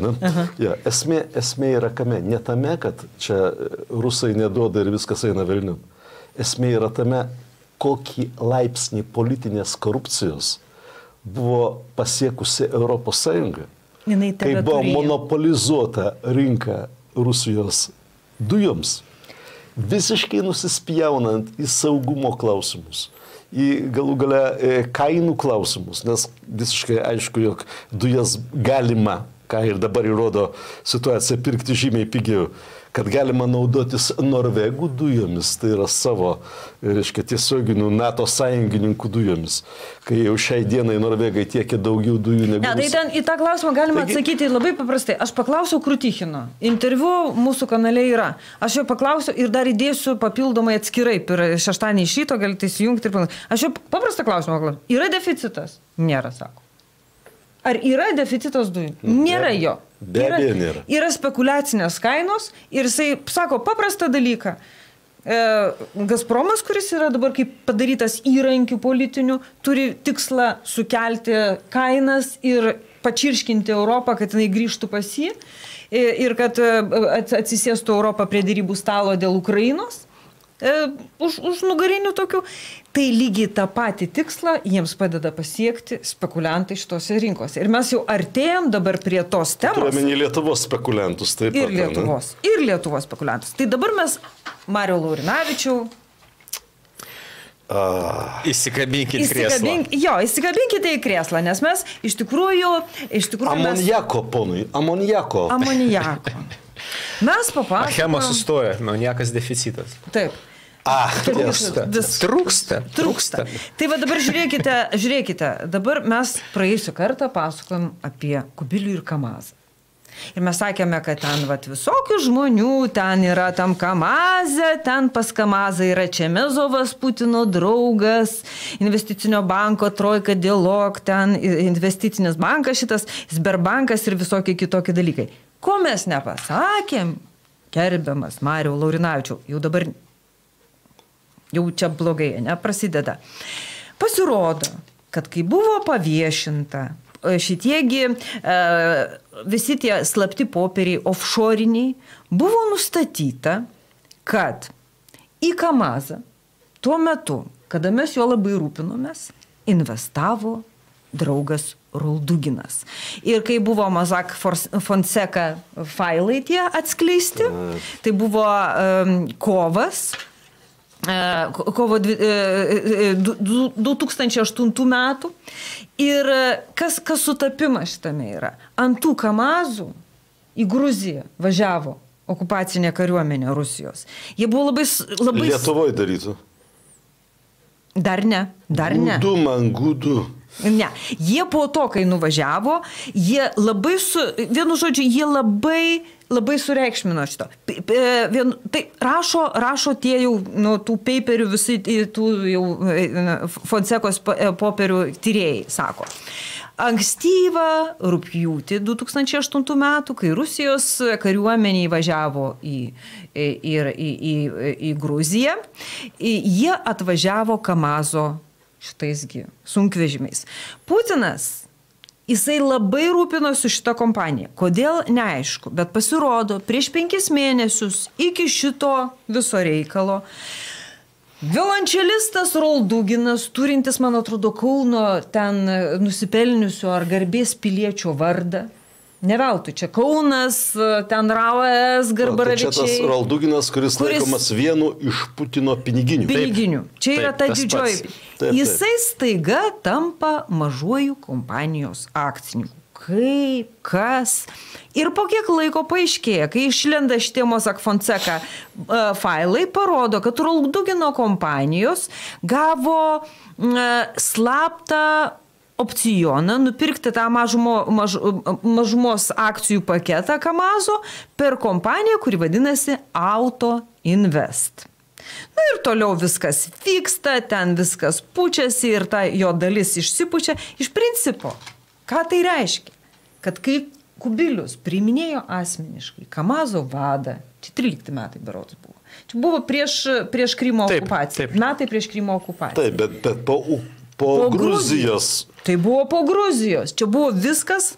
[SPEAKER 2] Esmė yra kame? Ne tame, kad čia rusai neduoda ir viskas eina velniu. Esmė yra tame, kokį laipsnį politinės korupcijos buvo pasiekusi Europos Sąjunga. Kai buvo monopolizuota rinka Rusijos dujoms, visiškai nusispjaunant į saugumo klausimus, į galų gale kainų klausimus, nes visiškai aišku, jog dujas galima, ką ir dabar įrodo situacija, pirkti žymiai pigiau, kad galima naudotis Norvegų dujomis, tai yra savo, reiškia, tiesioginių NATO sąjungininkų dujomis, kai jau šiai dienai Norvegai tiekia daugiau dujų negu...
[SPEAKER 1] Tai ten į tą klausimą galima atsakyti labai paprastai. Aš paklausiau Krutichino. Interviu mūsų kanale yra. Aš jo paklausiau ir dar įdėsiu papildomai atskirai. Per šeštadienį iš ryto galite įsijungti ir panašiai. Aš jo paprastą klausimą klausiau. Yra deficitas? Nėra, sako. Ar yra deficitas dujų? Nėra jo.
[SPEAKER 2] Be abejo nėra.
[SPEAKER 1] Yra spekuliacinės kainos ir jisai sako paprastą dalyką. Gazpromas, kuris yra dabar kaip padarytas įrankių politinių, turi tikslą sukelti kainas ir pačirškinti Europą, kad jinai grįžtų pas jį ir kad atsisėstų Europą prie derybų stalo dėl Ukrainos. Už nugarinių tokių, tai lygiai tą patį tikslą jiems padeda pasiekti spekuliantai šitose rinkose. Ir mes jau artėjom dabar prie tos temos.
[SPEAKER 2] Turime Lietuvos spekuliantus taip pat.
[SPEAKER 1] Ir Lietuvos spekuliantus. Tai dabar mes, Mariau Laurinavičiau.
[SPEAKER 3] Įsikabinkite krėslą.
[SPEAKER 1] Įsikabinkite į krėslą, nes mes iš tikrųjų
[SPEAKER 2] Amonijako, ponui, amonijako.
[SPEAKER 1] Mes papasakojom.
[SPEAKER 3] Achema sustoja, amonijakas deficitas.
[SPEAKER 1] Taip.
[SPEAKER 3] Trūksta.
[SPEAKER 1] Tai va dabar žiūrėkite, dabar mes praėjusią kartą pasakojom apie Kubilių ir Kamazą. Ir mes sakėme, kad ten visokių žmonių, ten yra tam Kamazė, ten pas Kamazą yra Čemezovas, Putino draugas, investicinio banko Trojka Dialog, ten investicinis bankas šitas, Sberbankas ir visokie kitokie dalykai. Ko mes nepasakėm, gerbiamas Mariau Laurinavičiau, jau čia blogai, prasideda. Pasirodo, kad kai buvo paviešinta šitiegi visi tie slapti popieriai offshoriniai, buvo nustatyta, kad į Kamazą tuo metu, kada mes jo labai rūpinomės, investavo draugas Rolduginas. Ir kai buvo Mossack Fonseca failai tie atskleisti, tai buvo kovo 2008 metų. Ir kas sutapimas šitame yra? Ant tų Kamazų į Gruziją važiavo okupacinė kariuomenė Rusijos. Jie buvo labai...
[SPEAKER 2] Lietuvoje darytų?
[SPEAKER 1] Dar ne.
[SPEAKER 2] Gudu.
[SPEAKER 1] Ne, jie po to, kai nuvažiavo, jie labai vienu žodžiu, jie labai sureikšmino šito. Tai rašo tie jau, tų paperių, visi tų jau Fonsekos popierių tyrėjai, sako. Ankstyvą rugpjūtį 2008 metų, kai Rusijos kariuomenė įvažiavo į Gruziją, jie atvažiavo Kamazo šitaisgi sunkvežimiais. Putinas, jisai labai rūpinosi šitą kompaniją. Kodėl? Neaišku, bet pasirodo, prieš 5 mėnesius iki šito viso reikalo violončelistas Rolduginas, turintis, man atrodo, Kauno ten nusipelniusio ar garbės piliečio vardą. Ne veltui, čia Kaunas, ten Raujas, Garbaravičiai.
[SPEAKER 2] Tai čia tas Rolduginas, kuris laikomas vienu iš Putino piniginių.
[SPEAKER 1] Čia yra ta didžioji. Jisai staiga tampa mažuoju kompanijos akcininku. Kaip, kas. Ir po kiek laiko paaiškėja, kai išlenda šitie Mossack Fonseca failai, parodo, kad Roldugino kompanijos gavo slaptą opcioną nupirkti tą mažumos akcijų paketą Kamazo per kompaniją, kuri vadinasi Auto Invest. Ir toliau viskas vyksta, ten viskas pučiasi ir ta jo dalis išsipučia. Iš principo, ką tai reiškia? Kad kai Kubilius priiminėjo asmeniškai Kamazo vadą, čia 13 metai berods buvo. Čia buvo prieš Krymo okupaciją. Metai prieš Krymo okupaciją.
[SPEAKER 2] Taip, bet po Gruzijos.
[SPEAKER 1] Tai buvo po Gruzijos. Čia buvo viskas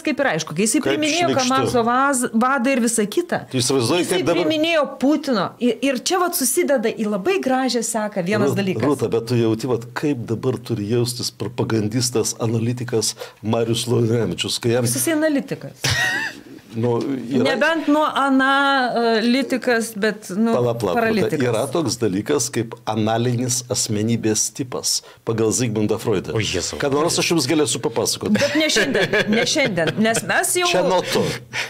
[SPEAKER 1] kaip ir aišku. Kai jisai priminėjo Kamazo vadą ir visą kitą. Jisai priminėjo Putino. Ir čia susideda į labai gražią seką vienas dalykas.
[SPEAKER 2] Rūta, bet tu jauti, kaip dabar turi jaustis propagandistas, analitikas Marius Laurinavičius.
[SPEAKER 1] Jisai analitikas. Nebent analitikas, bet paralitikas.
[SPEAKER 2] Yra toks dalykas kaip analinis asmenybės tipas pagal Zigmundą Freudą. Kad nors aš jums galėsiu papasakoti.
[SPEAKER 1] Bet ne šiandien, nes mes jau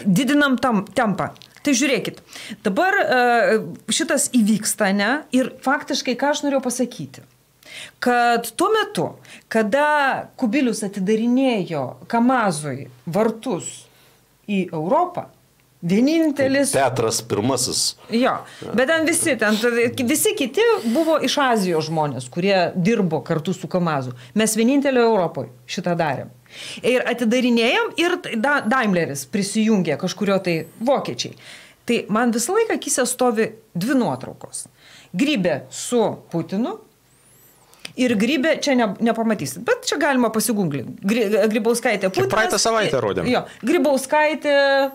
[SPEAKER 1] didinam tempą. Tai žiūrėkit, dabar šitas įvyksta, ne? Ir faktiškai, ką aš norėjau pasakyti, kad tuo metu, kada Kubilius atidarinėjo Kamazui vartus į Europą, vienintelis...
[SPEAKER 2] Petras pirmasis.
[SPEAKER 1] Jo, bet visi kiti buvo iš Azijos žmonės, kurie dirbo kartu su Kamazu. Mes vienintelio Europoje šitą darėm. Ir atidarinėjom ir Daimleris prisijungė kažkurio tai vokiečiai. Tai man visą laiką akyse stovi 2 nuotraukos. Grybė su Putinu. Ir Grybė, čia nepamatysit, bet čia galima pasigūglinti. Grybauskaitė Putinas.
[SPEAKER 3] Praeitą savaitę rodėm.
[SPEAKER 1] Jo, Grybauskaitė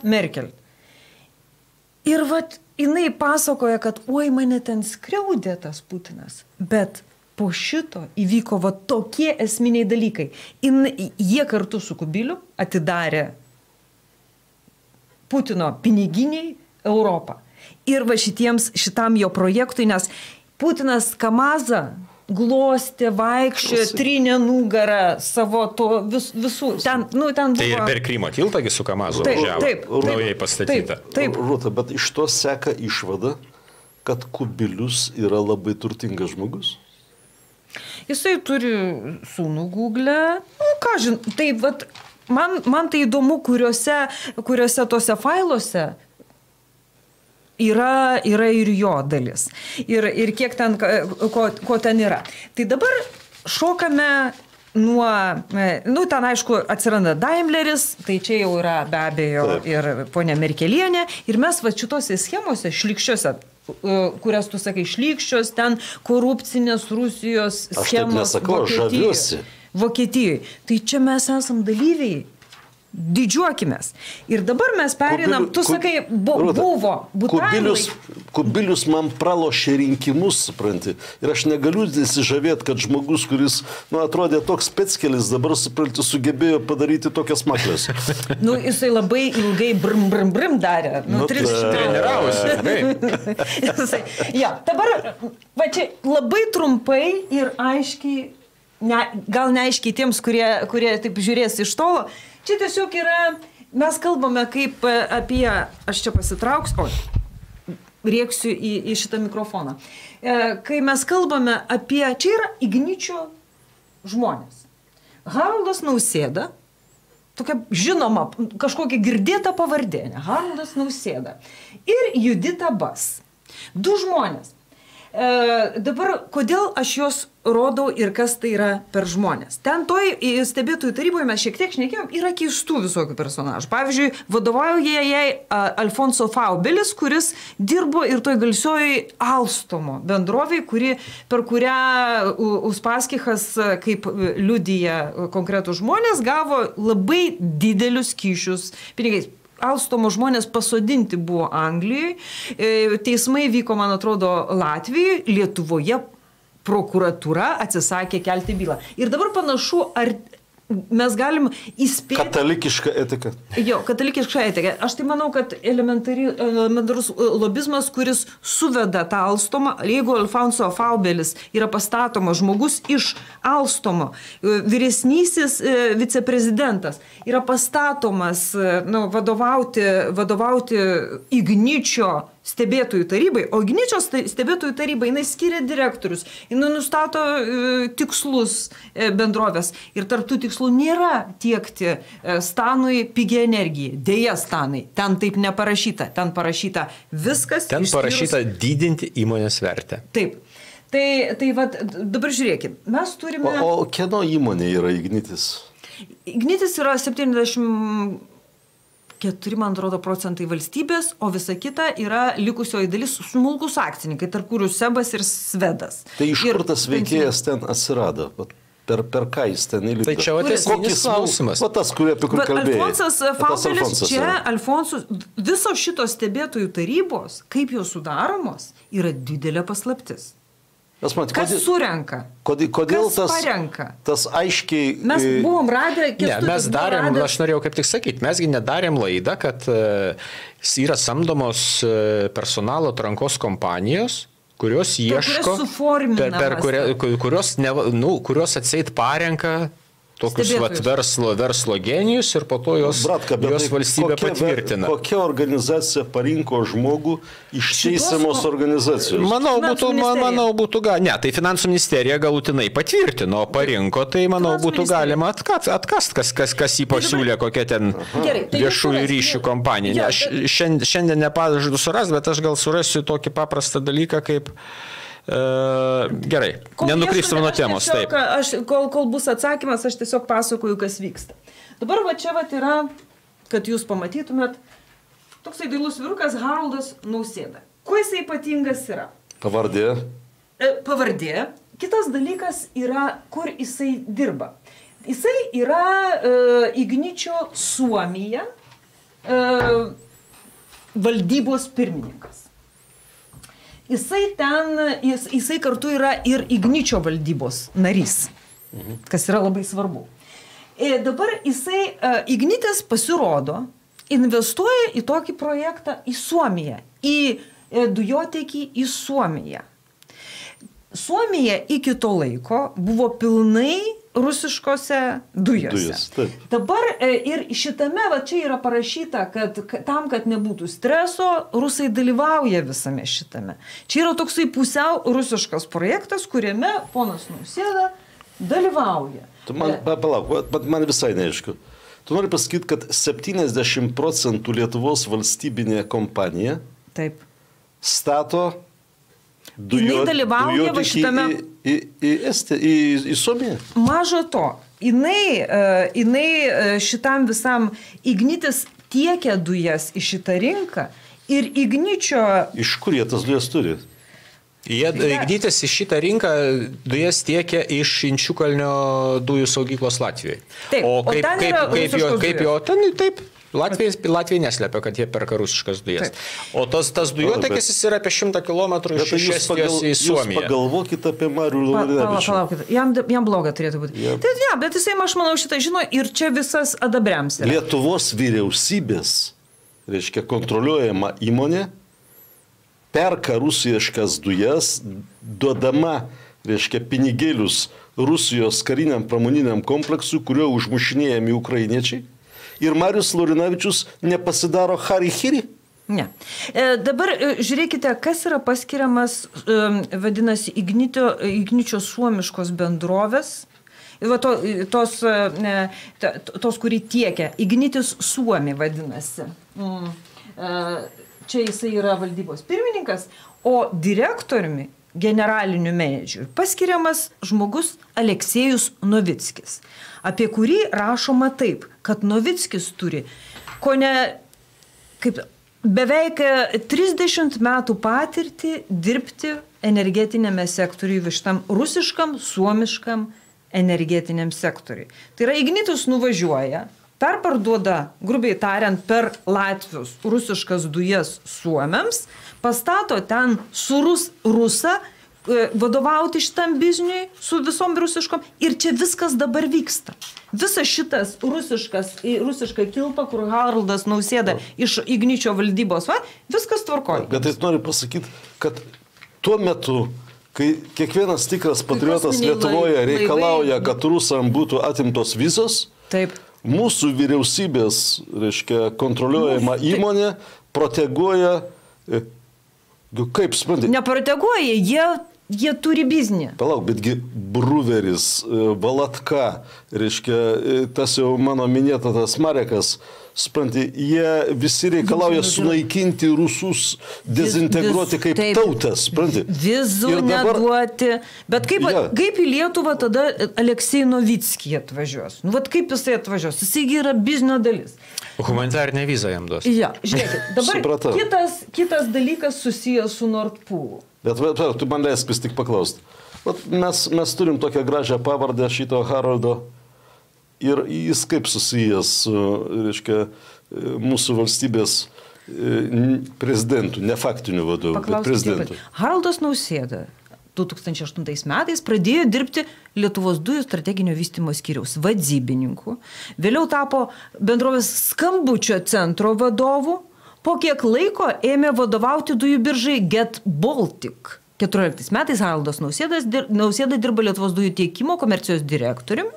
[SPEAKER 1] Merkel. Ir jinai pasakoja, kad mane ten skriaudė tas Putinas. Bet po šito įvyko tokie esminiai dalykai. Jie kartu su Kubiliu atidarė Putino piniginiai Europą. Ir šitam jo projektui, nes Putinas Kamazą glostė, vaikščiojo, trynė nugarą savo to visų. Ten buvo...
[SPEAKER 3] Tai ir per Krymo tiltągi su Kamazu važiavo, naujai pastatyta.
[SPEAKER 1] Taip.
[SPEAKER 2] Rūta, bet iš to seka išvada, kad Kubilius yra labai turtingas žmogus.
[SPEAKER 1] Jisai turi sūnų Google. Ką žin, tai vat, man tai įdomu, kuriuose tose failuose yra ir jo dalis. Ir kiek ten, ko ten yra. Tai dabar šokame nuo, ten aišku atsiranda Daimleris, tai čia jau yra be abejo ir ponia Merkelienė. Ir mes va šitose schemose, šlykščiose, kurias tu sakai, šlykščios, ten korupcinės Rusijos schemos Vokietijoje. Tai čia mes esam dalyviai. Didžiuokimės. Ir dabar mes perinam, tu sakai, buvo
[SPEAKER 2] Kubilius man pralošė rinkimus, supranti. Ir aš negaliu įsižavėti, kad žmogus, kuris, atrodė toks speckelis, dabar, supranti, sugebėjo padaryti tokias maklės.
[SPEAKER 1] Jisai labai ilgai brim darė.
[SPEAKER 3] 300
[SPEAKER 1] treniravausi. Dabar, va čia labai trumpai ir aiškiai, gal neaiškiai tiems, kurie taip žiūrės iš tolo, čia tiesiog yra, mes kalbame kaip apie, aš čia pasitrauksiu, rėksiu į šitą mikrofoną. Kai mes kalbame apie, čia yra Igničio žmonės. Haroldas Nausėda, tokia žinoma, kažkokia girdėta pavardė, Haroldas Nausėda ir Judita Bas. Du žmonės. Dabar, kodėl aš juos rodau ir kas tai yra per žmonės? Ten toj stebėtojų taryboje mes šiek tiek šnekėjom, yra keistų visokių personažų. Pavyzdžiui, vadovauja jai Alfonso Faubelis, kuris dirbo ir toj garsiojoj Alstomo bendrovėj, per kurią Uspaskichas, kaip liudija konkretų žmonės, gavo labai didelius kyšius pinigais. Alstomo žmonės pasodinti buvo Anglijoje, teismai vyko, man atrodo, Latvijoje, Lietuvoje prokuratūra atsisakė kelti bylą. Ir dabar panašu, ar mes galim įspėti...
[SPEAKER 2] Katalikiška etika.
[SPEAKER 1] Jo, katalikiška etika. Aš tai manau, kad elementarus lobizmas, kuris suveda tą Alstomą, jeigu Alfonso Faubelis yra pastatomas žmogus iš Alstomo, vyresnysis viceprezidentas, yra pastatomas vadovauti Igničio stebėtojų tarybai, o Igničio stebėtojų tarybai jinai skiria direktorius, jinai nustato tikslus bendrovės ir tarp tų tikslų nėra tiekti Stanui pigią energiją. Deja, Stanai, ten taip neparašyta, ten parašyta viskas.
[SPEAKER 3] Ten parašyta didinti įmonės vertę.
[SPEAKER 1] Taip. Tai vat, dabar žiūrėkime, mes turime...
[SPEAKER 2] O kieno įmonė yra Ignitis?
[SPEAKER 1] Ignitis yra 74, man atrodo, procentai valstybės, o visa kita yra likusioji dalis smulkus akcininkai, tarp kurių Sebas ir Svedas.
[SPEAKER 2] Tai iš kur tas veikėjas ten atsirado? Per ką jis ten įlipė?
[SPEAKER 3] Tai čia esminis klausimas.
[SPEAKER 2] O tas, apie kur kalbėjai.
[SPEAKER 1] Alfonsas Faubelis, visos šitos stebėtojų tarybos, kaip jos sudaromos, yra didelė paslaptis. Kas surenka?
[SPEAKER 2] Kodėl
[SPEAKER 1] kas parenka?
[SPEAKER 2] Tas aiškiai...
[SPEAKER 1] Mes buvom radę...
[SPEAKER 3] Mes darėm, aš norėjau kaip tik sakyti, mesgi nedarėm laidą, kad yra samdomos personalo atrankos kompanijos, kurios ieško, kurios atseit parenka tokius verslo genijus ir po to jos valstybė patvirtina.
[SPEAKER 2] Kokia organizacija parinko žmogų iš teisiamos organizacijos?
[SPEAKER 3] Manau, būtų galima. Ne, tai Finansų ministerija galutinai patvirtino, parinko, tai manau būtų galima atkast, kas jį pasiūlė, kokia ten viešųjų ryšių kompanija. Aš šiandien nepažadu surasti, bet aš gal surasiu tokį paprastą dalyką kaip... Gerai, nenukrypstam nuo temos.
[SPEAKER 1] Taip. Kol bus atsakymas, aš tiesiog pasakoju, kas vyksta. Dabar va čia yra, kad jūs pamatytumėt, toksai dailus vyrukas Haroldas Nausėda. Kuo jisai ypatingas yra?
[SPEAKER 2] Pavardė.
[SPEAKER 1] Pavardė. Kitas dalykas yra, kur jisai dirba. Jisai yra Igničio Suomija valdybos pirmininkas. Jisai kartu yra ir Igničio valdybos narys, kas yra labai svarbu. Dabar Ignitis pasirodo, investuoja į tokį projektą į Suomiją, į dujotiekį į Suomiją. Suomija iki to laiko buvo pilnai rusiškose dujose. Dabar ir šitame, va čia yra parašyta, kad tam, kad nebūtų streso, rusai dalyvauja visame šitame. Čia yra toksai pusiau rusiškas projektas, kuriame ponas Nausėda dalyvauja.
[SPEAKER 2] Palauk, man visai neaišku. Tu nori pasakyti, kad 70% Lietuvos valstybinė kompanija stato dujotekį į Suomiją.
[SPEAKER 1] Maža to, jinai šitam visam Ignitis tiekia dujas į šitą rinką ir Igničio...
[SPEAKER 2] Iš kur jie tas dujas turi?
[SPEAKER 3] Ignitis į šitą rinką dujas tiekia iš Inčiukalnio dujų saugyklos Latvijoje.
[SPEAKER 1] Taip,
[SPEAKER 3] kaip jo ten, taip. Latvija neslepia, kad jie perka rusiškas dujas. Taip. O tas dujotekis jis yra apie 100 km iš Estijos į Suomiją.
[SPEAKER 2] Jūs pagalvokite apie Marių Laurinavičių.
[SPEAKER 1] Palaukite, jam bloga turėtų būti. Bet jisai, aš manau, šitą žino ir čia visas adabriams yra.
[SPEAKER 2] Lietuvos vyriausybės, reiškia, kontroliuojama įmonė, perka rusiškas dujas, duodama, reiškia, pinigėlius Rusijos kariniam pramoniniam kompleksui, kurio užmušinėjami ukrainiečiai. Ir Marius Laurinavičius nepasidaro Hari-Hiri?
[SPEAKER 1] Ne. Dabar žiūrėkite, kas yra paskiriamas, vadinasi, Igničio suomiškos bendrovės. Tos, kurį tiekia. Ignitis Suomi vadinasi. Čia jisai yra valdybos pirmininkas, o direktoriumi, generaliniu menedžeriu, paskiriamas žmogus Aleksejus Novickis, apie kurį rašoma taip, kad Novickis turi beveik 30 metų patirtį dirbti energetinėme sektoriuje, šitam rusiškam, suomiškam energetiniam sektoriui. Tai yra Ignitis nuvažiuoja, perparduoda, grubiai tariant, per Latvius rusiškas dujas suomiams, pastato ten su rusą, vadovauti šitam bizniui su visom rusiškom ir čia viskas dabar vyksta. Visas šitas rusiška kilpa, kur Haroldas Nausėda iš Igničio valdybos, viskas tvarkoja.
[SPEAKER 2] Bet tai noriu pasakyti, kad tuo metu, kai kiekvienas tikras patriotas Lietuvoje reikalauja, kad rusam būtų atimtos vizos,
[SPEAKER 1] taip.
[SPEAKER 2] Mūsų vyriausybės, reiškia, kontroliuojama įmonė proteguoja, kaip suprantate?
[SPEAKER 1] Neproteguoja, jie turi biznį.
[SPEAKER 2] Palauk, betgi Bruveris, Valatka, reiškia, tas jau mano minėtas Marekas, suprantate, jie visi reikalauja sunaikinti rusus, dezintegruoti kaip tautas, suprantate.
[SPEAKER 1] Vizų neduoti. Bet kaip į Lietuvą tada Aleksej Novickį atvažiuos? Kaip jisai atvažiuos? Jisai yra biznio dalis.
[SPEAKER 3] Humanitarinę vizą jam duos.
[SPEAKER 1] Ja, žiūrėkit, dabar kitas dalykas susijęs su Nord Poolu.
[SPEAKER 2] Bet tu man leisk vis tik paklausti. Mes turim tokią gražią pavardę šito Haroldo ir jis kaip susijęs su, reiškia, mūsų valstybės prezidentų, ne faktinių vadovų, bet prezidentų.
[SPEAKER 1] Haroldas Nausėda 2008 metais pradėjo dirbti Lietuvos dujų strateginio vystymo skyriaus vadybininku, vėliau tapo bendrovės Skambučio centro vadovu, po kiek laiko ėmė vadovauti dujų biržai Get Baltic. 14 metais Haroldas Nausėda dirba Lietuvos dujų tiekimo komercijos direktoriumi,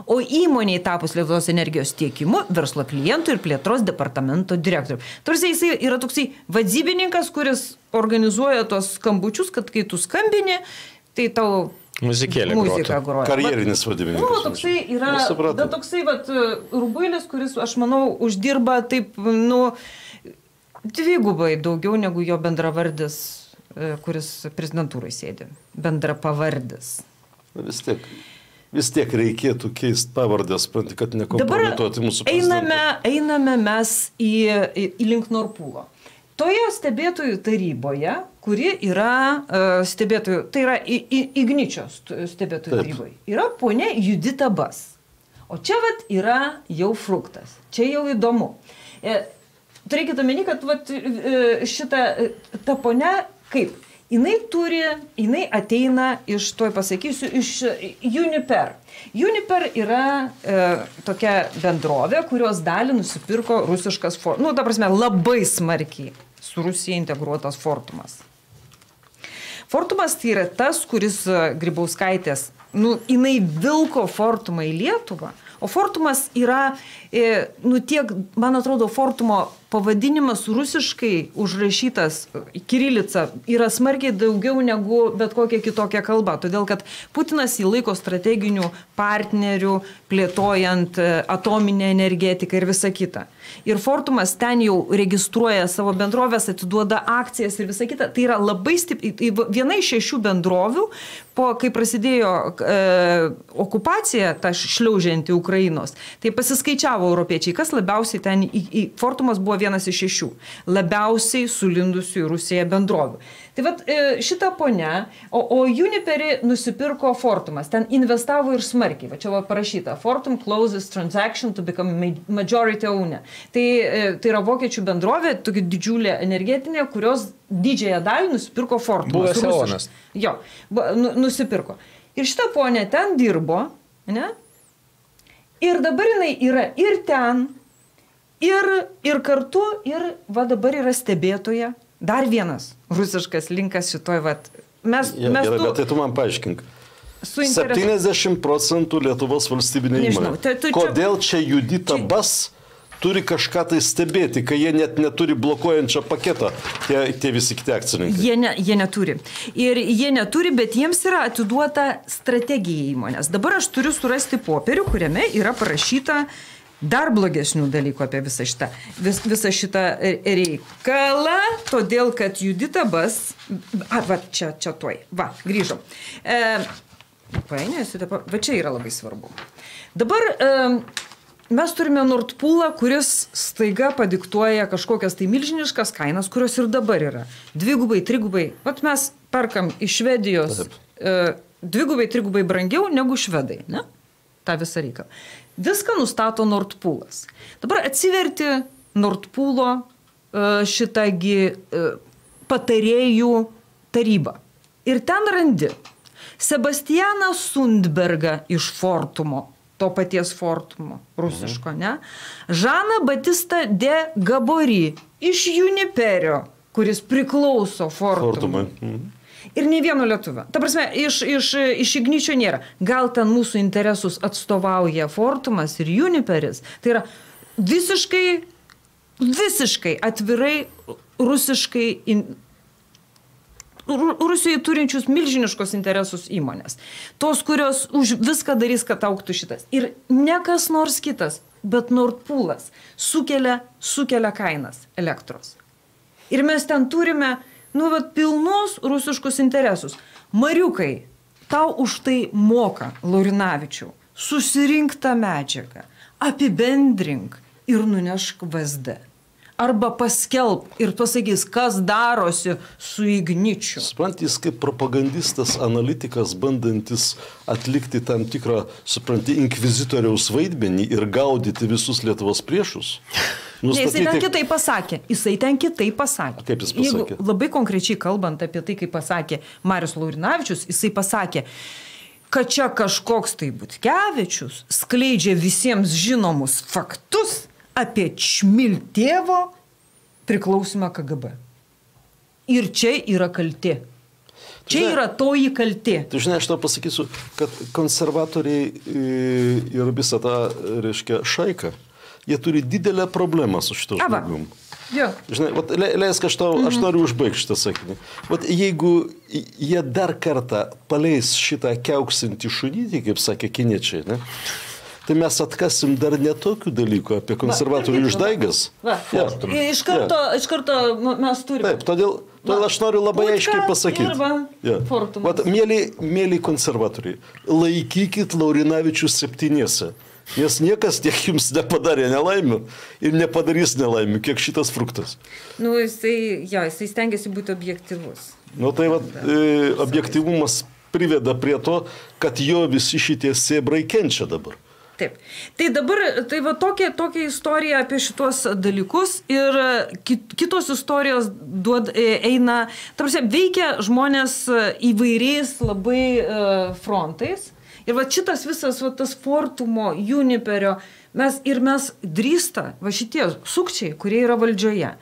[SPEAKER 1] o įmoniai tapus Lietuvos energijos tiekimu, verslo klientų ir plėtros departamento direktoriumi. Tarsi jisai yra toksai vadybininkas, kuris organizuoja tos skambučius, kad kai tu skambini, tai tau muzika groja.
[SPEAKER 2] Karjerinis vadybininkas.
[SPEAKER 1] Toksai yra, bet toksai rubuilis, kuris, aš manau, uždirba taip, dvigubai daugiau negu jo bendravardis, kuris prezidentūrai sėdi. Bendrapavardis.
[SPEAKER 2] Vis tiek reikėtų keisti pavardės, kad nekompromituoti mūsų prezidentą.
[SPEAKER 1] Einame mes į link Nord Poolo. Toje stebėtojų taryboje, kuri yra stebėtojų, tai yra Igničios stebėtojų taryboje, yra ponia Judita Bas. O čia yra jau fruktas. Čia jau įdomu. Turėkite omeny, kad ta ponia, kaip? Jinai ateina iš, tuoj pasakysiu, iš Uniper. Uniper yra tokia bendrovė, kurios dalį nusipirko rusiškas Fortumas. Ta prasme, labai smarkiai su Rusija integruotas Fortumas. Fortumas tai yra tas, kuris Grybauskaitės, jinai vilko Fortumą į Lietuvą, o Fortumas yra, tiek, man atrodo, Fortumo pavadinimas rusiškai užrašytas kirilica yra smarkiai daugiau negu bet kokia kitokia kalba, todėl kad Putinas jį laiko strateginių partnerių, plėtojant atominę energetiką ir visą kitą. Ir Fortumas ten jau registruoja savo bendrovės, atiduoda akcijas ir visą kitą. Tai yra labai viena iš 6 bendrovių, kai prasidėjo okupacija, ta šliaužianti Ukrainos, tai pasiskaičiavo europiečiai, kas labiausiai ten, Fortumas buvo vienas iš 6 labiausiai sulindusių į Rusiją bendrovių. Tai vat šitą ponia, o Uniperį nusipirko Fortumas, ten investavo ir smarkiai, va čia va parašyta, Fortum closes transaction to become majority owner. Tai yra vokiečių bendrovė, tokia didžiulė energetinė, kurios didžiąją dalį nusipirko Fortumas.
[SPEAKER 3] Buvęs Eonas.
[SPEAKER 1] Jo, nusipirko. Ir šitą ponę ten dirbo, ne? Ir dabar jinai yra ir ten, ir kartu, ir va dabar yra stebėtoja. Dar vienas rusiškas linkas šitoj, vat.
[SPEAKER 2] Gerai, bet tai tu man paaiškink. 70% Lietuvos valstybinė įmonė. Kodėl čia Judita Bas turi kažką tai stebėti, kai jie net neturi blokuojančio paketo, tie visi kiti akcininkai?
[SPEAKER 1] Jie neturi. Ir jie neturi, bet jiems yra atiduota strategija įmonės. Dabar aš turiu surasti popierių, kuriame yra parašyta dar blogesnių dalykų apie visą šitą reikalą, todėl kad Judita Bas, va, čia tuoj, va, grįžom. Va čia yra labai svarbu. Dabar mes turime Nord Poolą, kuris staiga padiktuoja kažkokias tai milžiniškas kainas, kurios ir dabar yra. 2, 3. Vat mes perkam iš Švedijos 2, 3 brangiau negu švedai, ne? Ta visą reikalą. Viską nustato Nord Poolas. Dabar atsiverti Nord Poolo šitągi patarėjų tarybą. Ir ten randi Sebastianą Sundbergą iš Fortumo, to paties Fortumo, rusiško, ne? Žaną Batistą de Gabory iš Uniperio, kuris priklauso Fortumui. Ir nei vieno lietuvio. Ta prasme, iš Igničio nėra. Gal ten mūsų interesus atstovauja Fortumas ir Uniperis. Tai yra visiškai atvirai Rusijoje turinčius milžiniškos interesus įmonės. Tos, kurios už viską darys, kad augtų šitas. Ir ne kas nors kitas, bet Nord Poolas sukelia kainas elektros. Ir mes ten turime pilnus rusiškus interesus. Mariukai, tau už tai moka, Laurinavičiau, susirink tą medžiagą, apibendrink ir nunešk VSD. Arba paskelb ir pasakys, kas darosi su Igničiu.
[SPEAKER 2] Supranti, jis kaip propagandistas, analitikas, bandantis atlikti tam tikrą, supranti, inkvizitoriaus vaidmenį ir gaudyti visus Lietuvos priešus.
[SPEAKER 1] Jisai ten kitaip pasakė.
[SPEAKER 2] Kaip jis pasakė?
[SPEAKER 1] Labai konkrečiai kalbant apie tai, kaip pasakė Marius Laurinavičius, jisai pasakė, kad čia kažkoks tai Butkevičius skleidžia visiems žinomus faktus apie Čmiltėvo priklausimą KGB. Ir čia yra kaltė. Čia yra toji kaltė.
[SPEAKER 2] Tu žinai, aš tau pasakysiu, kad konservatoriai ir visą tą, reiškia, šaiką, jie turi didelę problemą su šito žmogum. Žinai, leisk, aš noriu užbaigti šitą sakinį. Jeigu jie dar kartą paleis šitą kiauksintį šunytį, kaip sakė kiniečiai, ne? Tai mes atkasim dar netokių dalykų apie konservatorių išdaigas.
[SPEAKER 1] Iš karto mes turime.
[SPEAKER 2] Taip, todėl aš noriu labai aiškiai pasakyti. Mėly konservatoriai, laikykit Laurinavičius 7. Nes niekas tiek jums nepadarė nelaimių ir nepadarys nelaimių, kiek šitas fruktas.
[SPEAKER 1] Jisai stengiasi būti objektyvus.
[SPEAKER 2] Objektyvumas priveda prie to, kad jo visi šitie sėbrai kenčia dabar.
[SPEAKER 1] Taip. Tai dabar, tokia istorija apie šitos dalykus ir kitos istorijos eina, veikia žmonės įvairiais labai frontais. Ir šitas visas tas Fortumo, Uniperio, mes drįsta, šitie sukčiai, kurie yra valdžioje,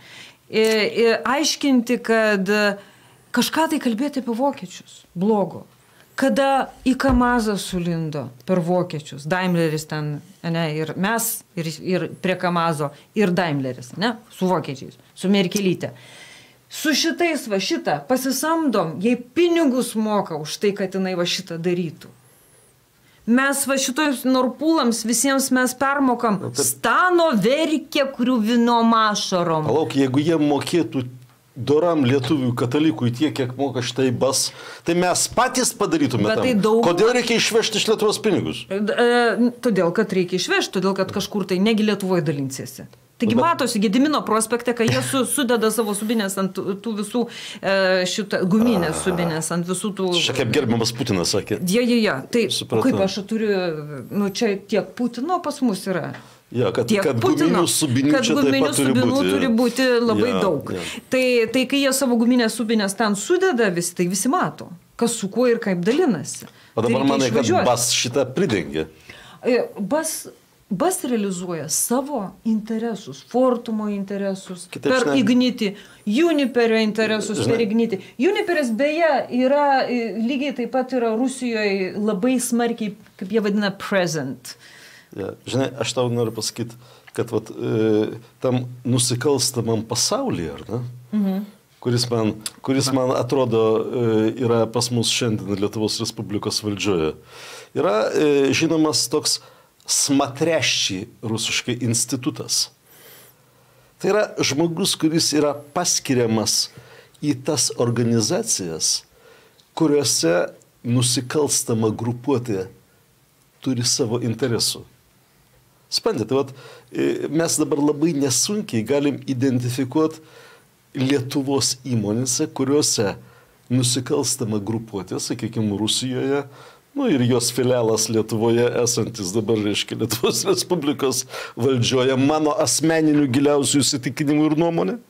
[SPEAKER 1] aiškinti, kad kažką tai kalbėti apie vokiečius, blogo. Kada į Kamazą sulindo per vokiečius, Daimleris ten, ne, ir mes, ir prie Kamazo, ir Daimleris, ne, su vokiečiais, su Merkelyte. Su šitais va šitą pasisamdom, jei pinigus moka už tai, kad jinai va šitą darytų. Mes va šitojus norpulams visiems mes permokam stano verkė, kurių vinom ašarom.
[SPEAKER 2] Palauk, jeigu jie mokėtų doram lietuvių katalikui tiek, kiek moka šitai bas, tai mes patys padarytume tam. Kodėl reikia išvežti iš Lietuvos pinigus?
[SPEAKER 1] Todėl, kad reikia išvežti, todėl, kad kažkur tai negi Lietuvoje dalinsiesi. Taigi matosi Gedimino prospekte, kai jie sudeda savo subinės ant tų visų guminės subinės, ant visų tų...
[SPEAKER 2] Čia kaip gerbiamas Putinas sakė.
[SPEAKER 1] Ja. Tai kaip aš turiu, nu čia tiek Putino pas mus yra.
[SPEAKER 2] Ja, kad guminių subinių čia taip pat
[SPEAKER 1] turi būti labai daug. Tai kai jie savo guminės subinės ten sudeda, tai visi mato, kas su kuo ir kaip dalinasi.
[SPEAKER 2] O dabar manai, kad bas šitą pridengia?
[SPEAKER 1] Bas realizuoja savo interesus, Fortumo interesus, per Ignitį, Juniperio interesus per Ignitį. Juniperis beje yra, lygiai taip pat yra Rusijoje labai smarkiai, kaip jie vadina, present.
[SPEAKER 2] Ja, žinai, aš tau noriu pasakyti, kad vat, tam nusikalstamam pasaulyje, ar ne? Kuris man atrodo yra pas mus šiandien Lietuvos Respublikos valdžioje, yra žinomas toks smatreščiai rusiškai institutas. Tai yra žmogus, kuris yra paskiriamas į tas organizacijas, kuriuose nusikalstama grupuotė turi savo interesų. Spandėte, mes dabar labai nesunkiai galim identifikuoti Lietuvos įmonėse, kuriuose nusikalstama grupuotė, sakykime, Rusijoje, nu ir jos filialas Lietuvoje esantis dabar, reiškia, Lietuvos Respublikos valdžioje, mano asmeninių giliausių įsitikinimų ir nuomonė,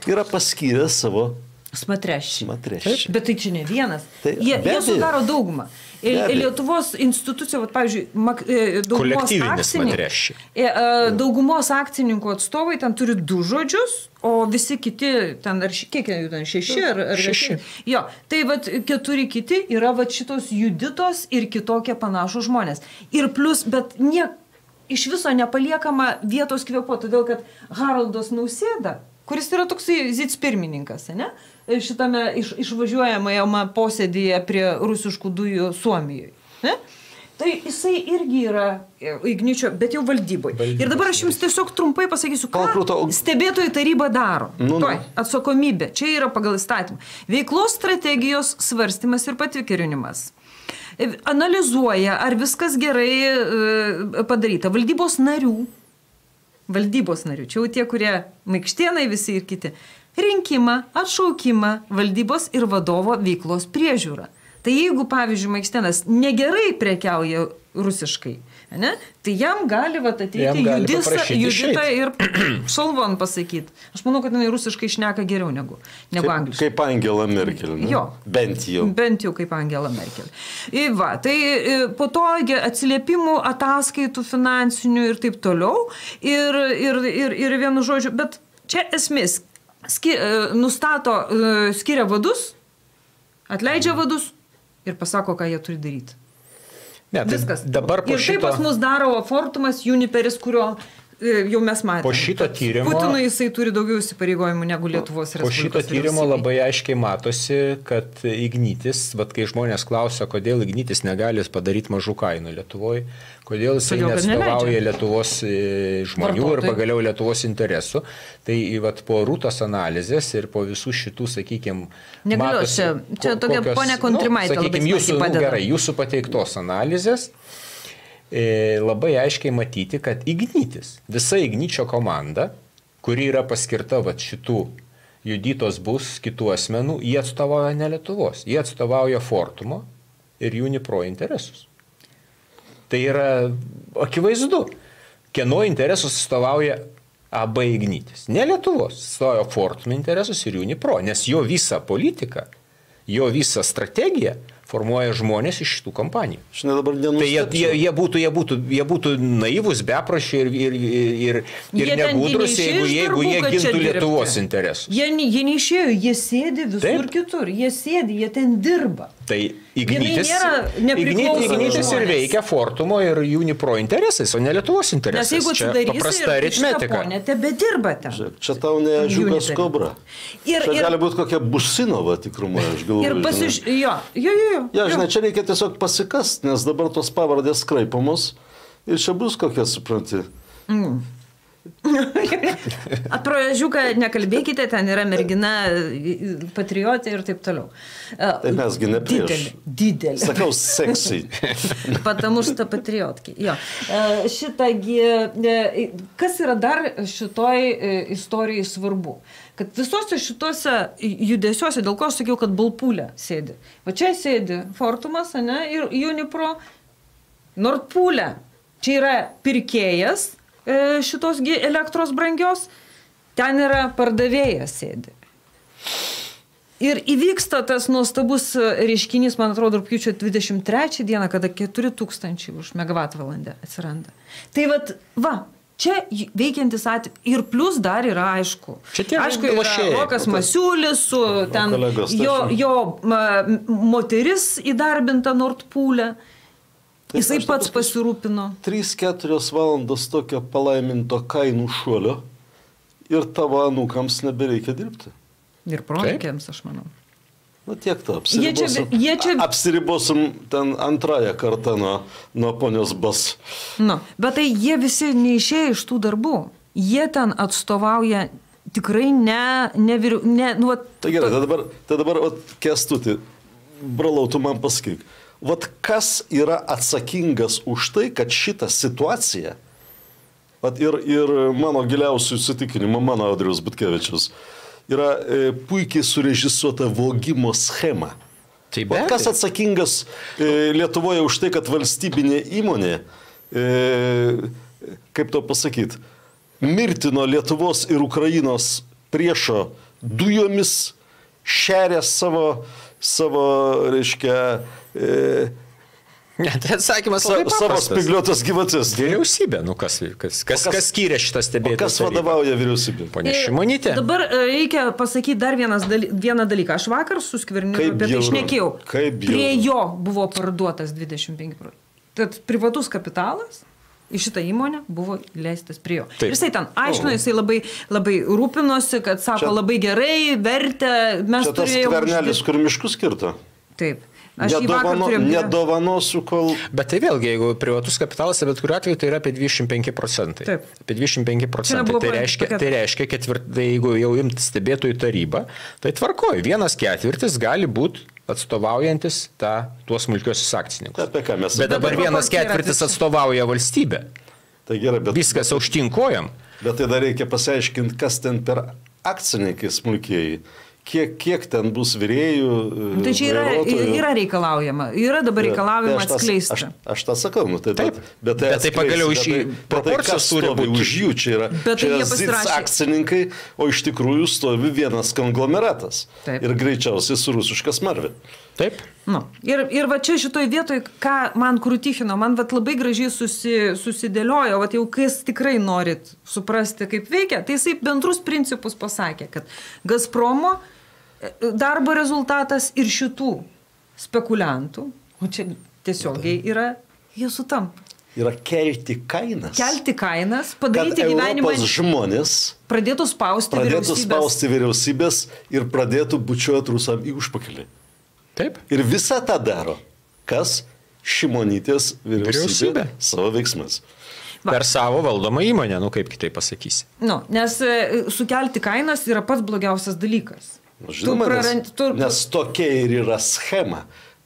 [SPEAKER 2] yra paskyręs savo
[SPEAKER 1] smatreščiai.
[SPEAKER 2] Bet
[SPEAKER 1] tai čia ne vienas. Jie sudaro daugumą. Lietuvos institucija, pavyzdžiui, daugumos akcininkų atstovai ten turi 2 žodžius, o visi kiti, ten, kiek jų ten, 6 ar 6? Jo, tai 4 kiti yra šitos Juditos ir kitokie panašų žmonės. Ir plus, bet iš viso nepaliekama vietos kvėpuoti, todėl kad Haroldas Nausėda, kuris yra toksai zicpirmininkas, ne? Šitame išvažiuojamame posėdyje prie rusiškų dujų Suomijoje. Ne? Tai jisai irgi yra Igničio, bet jau valdyboje. Ir dabar aš jums tiesiog trumpai pasakysiu, ką stebėtojų taryba daro. Atsakomybė. Čia yra pagal įstatymą. Veiklos strategijos svarstymas ir patikrinimas. Analizuoja, ar viskas gerai padaryta. Valdybos narių, čia jau tie, kurie Maikštėnai visi ir kiti, rinkimą, atšaukimą, valdybos ir vadovo veiklos priežiūrą. Tai jeigu, pavyzdžiui, Maikštėnas negerai prekiauja rusiškai, ne, tai jam gali ateiti Judita ir Šalvon pasakyti. Aš manau, kad jinai rusiškai šneka geriau negu angliškai.
[SPEAKER 2] Kaip Angela Merkel. Ne?
[SPEAKER 1] Jo.
[SPEAKER 2] Bent
[SPEAKER 1] jau kaip Angela Merkel. Tai po to atsiliepimų, ataskaitų finansinių ir taip toliau. Ir vienu žodžiu, bet čia esmės. Nustato, skiria vadus, atleidžia vadus ir pasako, ką jie turi daryti. Viskas.
[SPEAKER 3] Dabar
[SPEAKER 1] ir taip pas mus daro Fortumas, Juniperis, kurio jau mes matėme.
[SPEAKER 3] Po šito tyrimo...
[SPEAKER 1] Putinui jisai turi daugiau įsipareigojimų negu Lietuvos Respublikos.
[SPEAKER 3] Po šito tyrimo labai aiškiai matosi, kad Ignitis, kai žmonės klausia, kodėl Ignitis negali padaryti mažų kainų Lietuvoje, kodėl jisai neatstovauja Lietuvos žmonių ir pagaliau Lietuvos interesų, tai po Rūtos analizės ir po visų šitų, sakykime,
[SPEAKER 1] matosi... Čia tokia ponia Kontrimaitė labai smarkiai padeda.
[SPEAKER 3] Gerai, jūsų pateiktos analizės labai aiškiai matyti, kad Ignitis, visa Igničio komanda, kuri yra paskirta šitų Juditos bus, kitų asmenų, jie atstovauja ne Lietuvos, jie atstovauja Fortumo ir Unipro interesus. Tai yra akivaizdu, kieno interesus atstovauja AB Ignitis. Ne Lietuvos, atstovauja Fortumo interesus ir Unipro, nes jo visa politika, jo visa strategija formuoja žmonės iš šitų kompanijų.
[SPEAKER 2] Tai
[SPEAKER 3] jie būtų naivus, beprašiai ir negudrus, jeigu jie gintų Lietuvos interesus.
[SPEAKER 1] Jie neišėjo, jie sėdi visur kitur, jie ten dirba.
[SPEAKER 3] Tai Ignitis ir veikia Fortumo ir Unipro interesais, o ne Lietuvos interesais.
[SPEAKER 1] Nes jeigu atsidarysi ir šitą ponę, tebe dirba ten.
[SPEAKER 2] Čia tau ne Žiūgas Kobra. Čia gali būti kokia Businova tikrumo, aš galvoju. Ja, žinai, čia reikia tiesiog pasikast, nes dabar tos pavardės skraipamos ir čia bus kokia, supranti.
[SPEAKER 1] Pro Žiūką nekalbėkite, ten yra mergina patriotė ir taip toliau.
[SPEAKER 2] Tai mesgi ne prieš.
[SPEAKER 1] Didelė.
[SPEAKER 2] Sakau, seksy.
[SPEAKER 1] Потому что patriotki. Jo. Šitagi, kas yra dar šitoj istorijai svarbu? Kad visose šitose judesiuose, dėl ko aš sakiau, kad Balpūlė sėdi. Va čia sėdi Fortumas, ne, ir Unipro, Nordpūlė. Čia yra pirkėjas šitos elektros brangios, ten yra pardavėjas sėdi. Ir įvyksta tas nuostabus reiškinys, man atrodo, rugpjūčio 23 dieną, kada 4000 už megavatvalandę atsiranda. Tai čia veikiantis atvejai. Ir plus dar yra aišku. Aišku, yra Rokas Masiulis, su ten jo moteris įdarbinta Nordpūlė. Jisai pats pasirūpino.
[SPEAKER 2] 3-4 valandos tokio palaiminto kainų šuolio ir tavo anūkams nebereikia dirbti.
[SPEAKER 1] Ir proanūkiams, aš manau.
[SPEAKER 2] Na tiek to, apsiribosim ten antrąją kartą nuo ponios Bas.
[SPEAKER 1] Bet tai jie visi neišėjo iš tų darbų. Jie ten atstovauja tikrai
[SPEAKER 2] Tai gerai, tai dabar Kęstuti, brolau, tu man pasakyk. Vat kas yra atsakingas už tai, kad šitą situaciją, ir mano giliausių įsitikinimų, mano Audriaus Butkevičius, yra puikiai surežisuota vogimo schema. Kas atsakingas Lietuvoje už tai, kad valstybinė įmonė, kaip to pasakyti, mirtino Lietuvos ir Ukrainos priešo dujomis, šeria savo reiškia,
[SPEAKER 3] tai atsakymas
[SPEAKER 2] savo spigliuotas gyvatis.
[SPEAKER 3] Vyriausybė, kas skyrė šitą stebėtojų tarybą?
[SPEAKER 2] Kas vadovauja vyriausybė?
[SPEAKER 3] Ponia Šimonytė.
[SPEAKER 1] Dabar reikia pasakyti dar vieną dalyką. Aš vakar su Skverniu apie tai šnekėjau. Prie jo buvo parduotas 25%. Tad privatus kapitalas į šitą įmonę buvo leistas prie jo. Ir jisai ten aiškino, jisai labai rūpinosi, kad sako labai gerai, vertę mes turėjome.
[SPEAKER 2] Čia tas Skvernelis, kur miškus skirto?
[SPEAKER 1] Taip.
[SPEAKER 2] Nedovanosiu, kol...
[SPEAKER 3] Bet tai vėlgi, jeigu privatus kapitalas, bet kuriuo atveju tai yra apie 25%.
[SPEAKER 1] Taip.
[SPEAKER 3] Apie 25%. Tai reiškia, jeigu jau imti stebėtojų tarybą, tai tvarkoju. 1/4 gali būti atstovaujantis tuos smulkiuosius akcininkus. Bet dabar 1/4 atstovauja valstybę.
[SPEAKER 2] Tai gerai, bet...
[SPEAKER 3] Viskas aukštinkojam.
[SPEAKER 2] Bet tai dar reikia pasiaiškinti, kas ten per akcininkai smulkieji. Kiek ten bus vyrėjų.
[SPEAKER 1] Tai čia yra reikalaujama. Yra dabar reikalaujama atskleisti.
[SPEAKER 2] Aš tą sakau,
[SPEAKER 3] taip. Bet tai pagaliau iš proporcijos turi būti.
[SPEAKER 2] Už jų čia yra ZIC akcininkai, o iš tikrųjų stovi vienas konglomeratas. Ir greičiausiai su rusiška smarvė.
[SPEAKER 3] Taip.
[SPEAKER 1] Ir va čia šitoj vietoj, ką man Krutichino, man labai gražiai susidėliojo, jau kas tikrai norit suprasti, kaip veikia, tai jisai bendrus principus pasakė, kad Gazpromo darbo rezultatas ir šitų spekuliantų, o čia tiesiogiai yra, jie sutampa.
[SPEAKER 2] Yra kelti kainas.
[SPEAKER 1] Kelti kainas, padaryti gyvenimą.
[SPEAKER 2] Kad Europos žmonės
[SPEAKER 1] pradėtų spausti
[SPEAKER 2] vyriausybės ir pradėtų bučiuoti rusam į užpakalį.
[SPEAKER 3] Taip.
[SPEAKER 2] Ir visą tą daro. Kas? Šimonytės vyriausybė savo veiksmas.
[SPEAKER 3] Per savo valdomą įmonę, kaip kitaip pasakysi.
[SPEAKER 1] Nes sukelti kainas yra pats blogiausias dalykas.
[SPEAKER 2] Žinoma, nes tokia ir yra schema.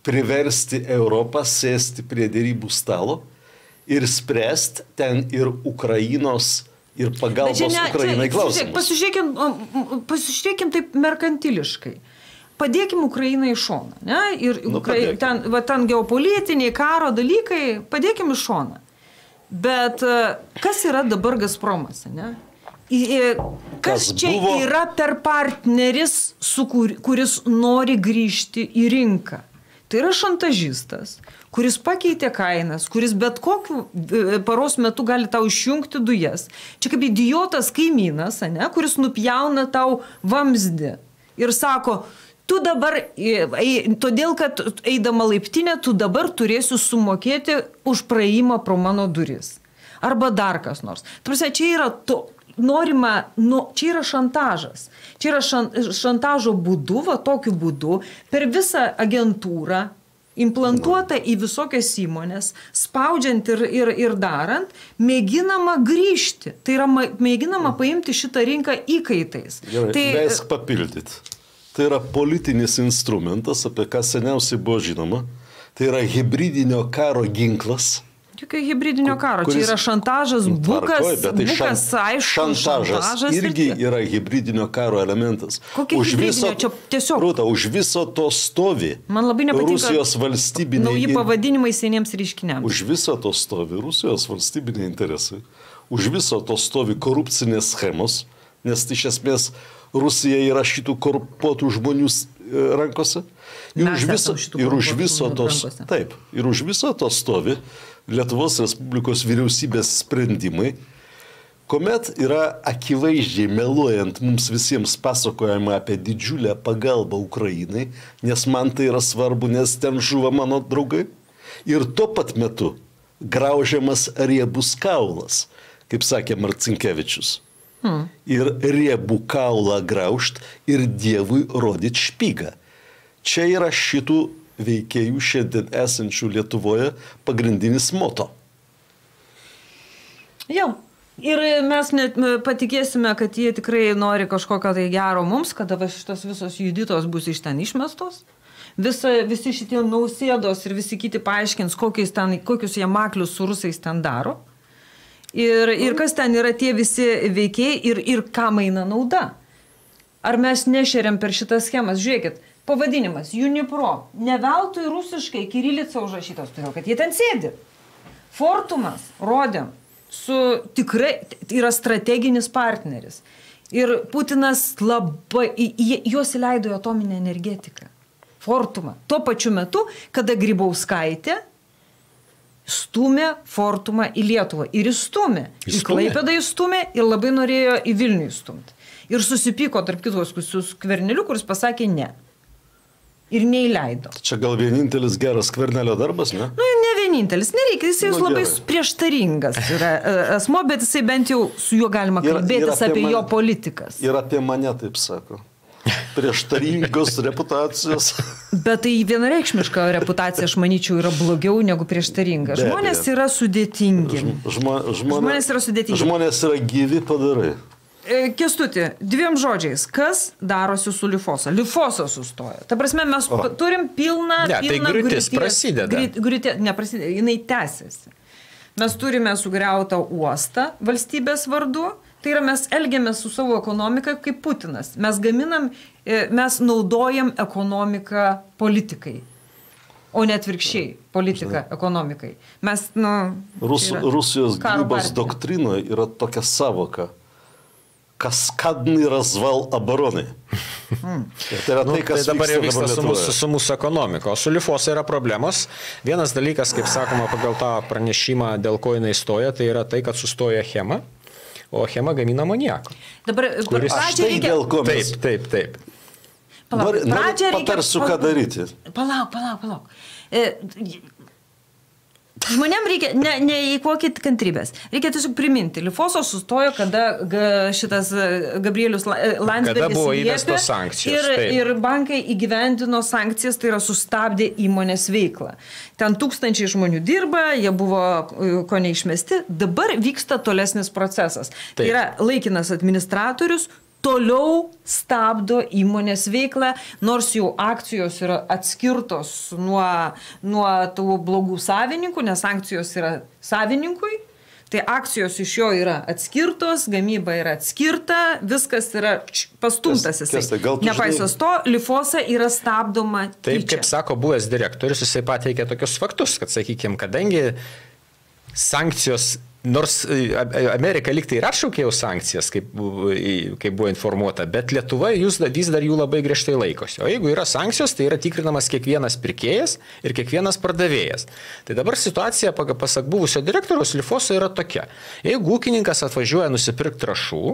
[SPEAKER 2] Priversti Europą sėsti prie dėrybų stalo ir spręsti ten ir Ukrainos ir pagalbos Ukrainai klausimus.
[SPEAKER 1] Pasižiūrėkim taip merkantiliškai. Padėkim Ukrainai į šoną. Ne? Ir ten geopolitiniai karo dalykai, padėkim į šoną. Bet kas yra dabar Gazpromas? Ne? Kas čia yra per partneris, kuris nori grįžti į rinką? Tai yra šantažistas, kuris pakeitė kainas, kuris bet kokiu paros metu gali tau išjungti dujas. Čia kaip idiotas kaimynas, ane, kuris nupjauna tau vamzdį ir sako, tu dabar, todėl kad eidama laiptinę, tu dabar turėsi sumokėti už praėjimą pro mano duris. Arba dar kas nors. Tarsi, čia yra norima, čia yra šantažas. Čia yra šantažo būdu, va tokiu būdu, per visą agentūrą, implantuota į visokias įmonės, spaudžiant ir darant, mėginama grįžti. Tai yra mėginama paimti šitą rinką įkaitais.
[SPEAKER 2] Gerai, leisk papildyti. Tai yra politinis instrumentas, apie ką seniausiai buvo žinoma. Tai yra hibridinio karo ginklas.
[SPEAKER 1] Jokio hibridinio karo, čia yra šantažas, bukas, aišku,
[SPEAKER 2] šantažas irgi yra hibridinio karo elementas.
[SPEAKER 1] Kokia hibridinio? Čia tiesiog.
[SPEAKER 2] Rūta, už viso to stovi Rusijos valstybiniai...
[SPEAKER 1] Nauji pavadinimai seniems reiškiniams.
[SPEAKER 2] Už viso to stovi Rusijos valstybiniai interesai. Už viso to stovi korupcinės schemos, nes iš esmės Rusija yra šitų korumpuotų žmonių rankose. Ir už viso to stovi Lietuvos Respublikos vyriausybės sprendimai, kuomet yra akivaizdžiai meluojant mums visiems pasakojama apie didžiulę pagalbą Ukrainai, nes man tai yra svarbu, nes ten žuva mano draugai. Ir tuo pat metu graužiamas riebus kaulas, kaip sakė Marcinkevičius. Ir riebų kaulą graužt ir Dievui rodyt špygą. Čia yra šitų veikėjų šiandien esančių Lietuvoje pagrindinis moto.
[SPEAKER 1] Jau. Ir mes net patikėsime, kad jie tikrai nori kažkokio tai gero mums, kada šitos visos juditos bus iš ten išmestos. Visi šitie Nausėdos ir visi kiti paaiškins, kokius jie maklius su rusais ten daro. Ir kas ten yra tie visi veikėjai ir kam eina nauda. Ar mes nešeriam per šitas schemas? Žiūrėkit, pavadinimas Unipro. Ne veltui rusiškai kirilica užrašytas, todėl kad jie ten sėdi. Fortumas, rodėm, tikrai yra strateginis partneris. Ir Putinas juos įleido į atominę energetiką. Fortumą. Tuo pačiu metu, kada Grybauskaitė stumė Fortumą į Lietuvą. Ir įstumė. Į Klaipėdą įstumė ir labai norėjo į Vilnių įstumti. Ir susipyko tarp kitos su Skverneliu, kuris pasakė ne. Ir neįleido.
[SPEAKER 2] Čia gal vienintelis geras Skvernelio darbas, ne?
[SPEAKER 1] Ne vienintelis, nereikia, jis labai prieštaringas yra asmo, bet jisai bent jau su juo galima kalbėtis apie jo politikas.
[SPEAKER 2] Ir apie mane taip sako. Prieštaringos reputacijos.
[SPEAKER 1] Bet tai vienareikšmiška reputacija, aš manyčiau, yra blogiau negu prieštaringa. Žmonės yra sudėtingi. Žmonės yra sudėtingi.
[SPEAKER 2] Žmonės yra gyvi padarai.
[SPEAKER 1] Kęstuti, dviem žodžiais, kas darosi su Lifosa? Lifosa sustojo. Ta prasme, mes turim pilną
[SPEAKER 3] tai griūtis prasideda.
[SPEAKER 1] Neprasideda, jinai tęsiasi. Mes turime sugriautą uostą valstybės vardu, tai yra mes elgiamės su savo ekonomika kaip Putinas. Mes naudojam ekonomiką politikai, o ne atvirkščiai politiką ekonomikai. Mes,
[SPEAKER 2] Rusijos gynybos doktrinoje yra tokia savoka. Kaskadny razval обороны.
[SPEAKER 3] Tai dabar jau vyksta su mūsų ekonomika. O su Lifosa yra problemos. Vienas dalykas, kaip sakoma, pagal tą pranešimą, dėl ko jinai stoja, tai yra tai, kad sustoja Achema, o Achema gamina amoniaką.
[SPEAKER 1] Dabar pradžią reikia...
[SPEAKER 3] Taip.
[SPEAKER 2] Patarsiu, ką daryti.
[SPEAKER 1] Palauk. Žmonėm reikia, neįkvokit kantrybės. Reikia tiesiog priminti. Lifosa sustojo, kada šitas Gabrielius Landsbergis
[SPEAKER 3] kada buvo įvestos sankcijos.
[SPEAKER 1] Ir bankai įgyvendino sankcijas, tai yra sustabdė įmonės veiklą. Ten 1000 žmonių dirba, jie buvo ko neišmesti. Dabar vyksta tolesnis procesas. Tai yra laikinas administratorius, toliau stabdo įmonės veiklą, nors jau akcijos yra atskirtos nuo tų blogų savininkų, nes akcijos yra savininkui, tai akcijos iš jo yra atskirtos, gamyba yra atskirta, viskas yra pastumtas jisai. Nepaisas to, Lifosa yra stabdoma tyčia.
[SPEAKER 3] Taip, kaip sako buvęs direktorius, jisai pateikė tokius faktus, kad, sakykime, kadangi sankcijos Nors Amerika liktai ir atšaukė jau sankcijas, kaip buvo informuota, bet Lietuva vis dar jų labai griežtai laikosi. O jeigu yra sankcijos, tai yra tikrinamas kiekvienas pirkėjas ir kiekvienas pardavėjas. Tai dabar situacija, pasak buvusio direktoriaus Lifoso, yra tokia. Jeigu ūkininkas atvažiuoja nusipirkti trąšų,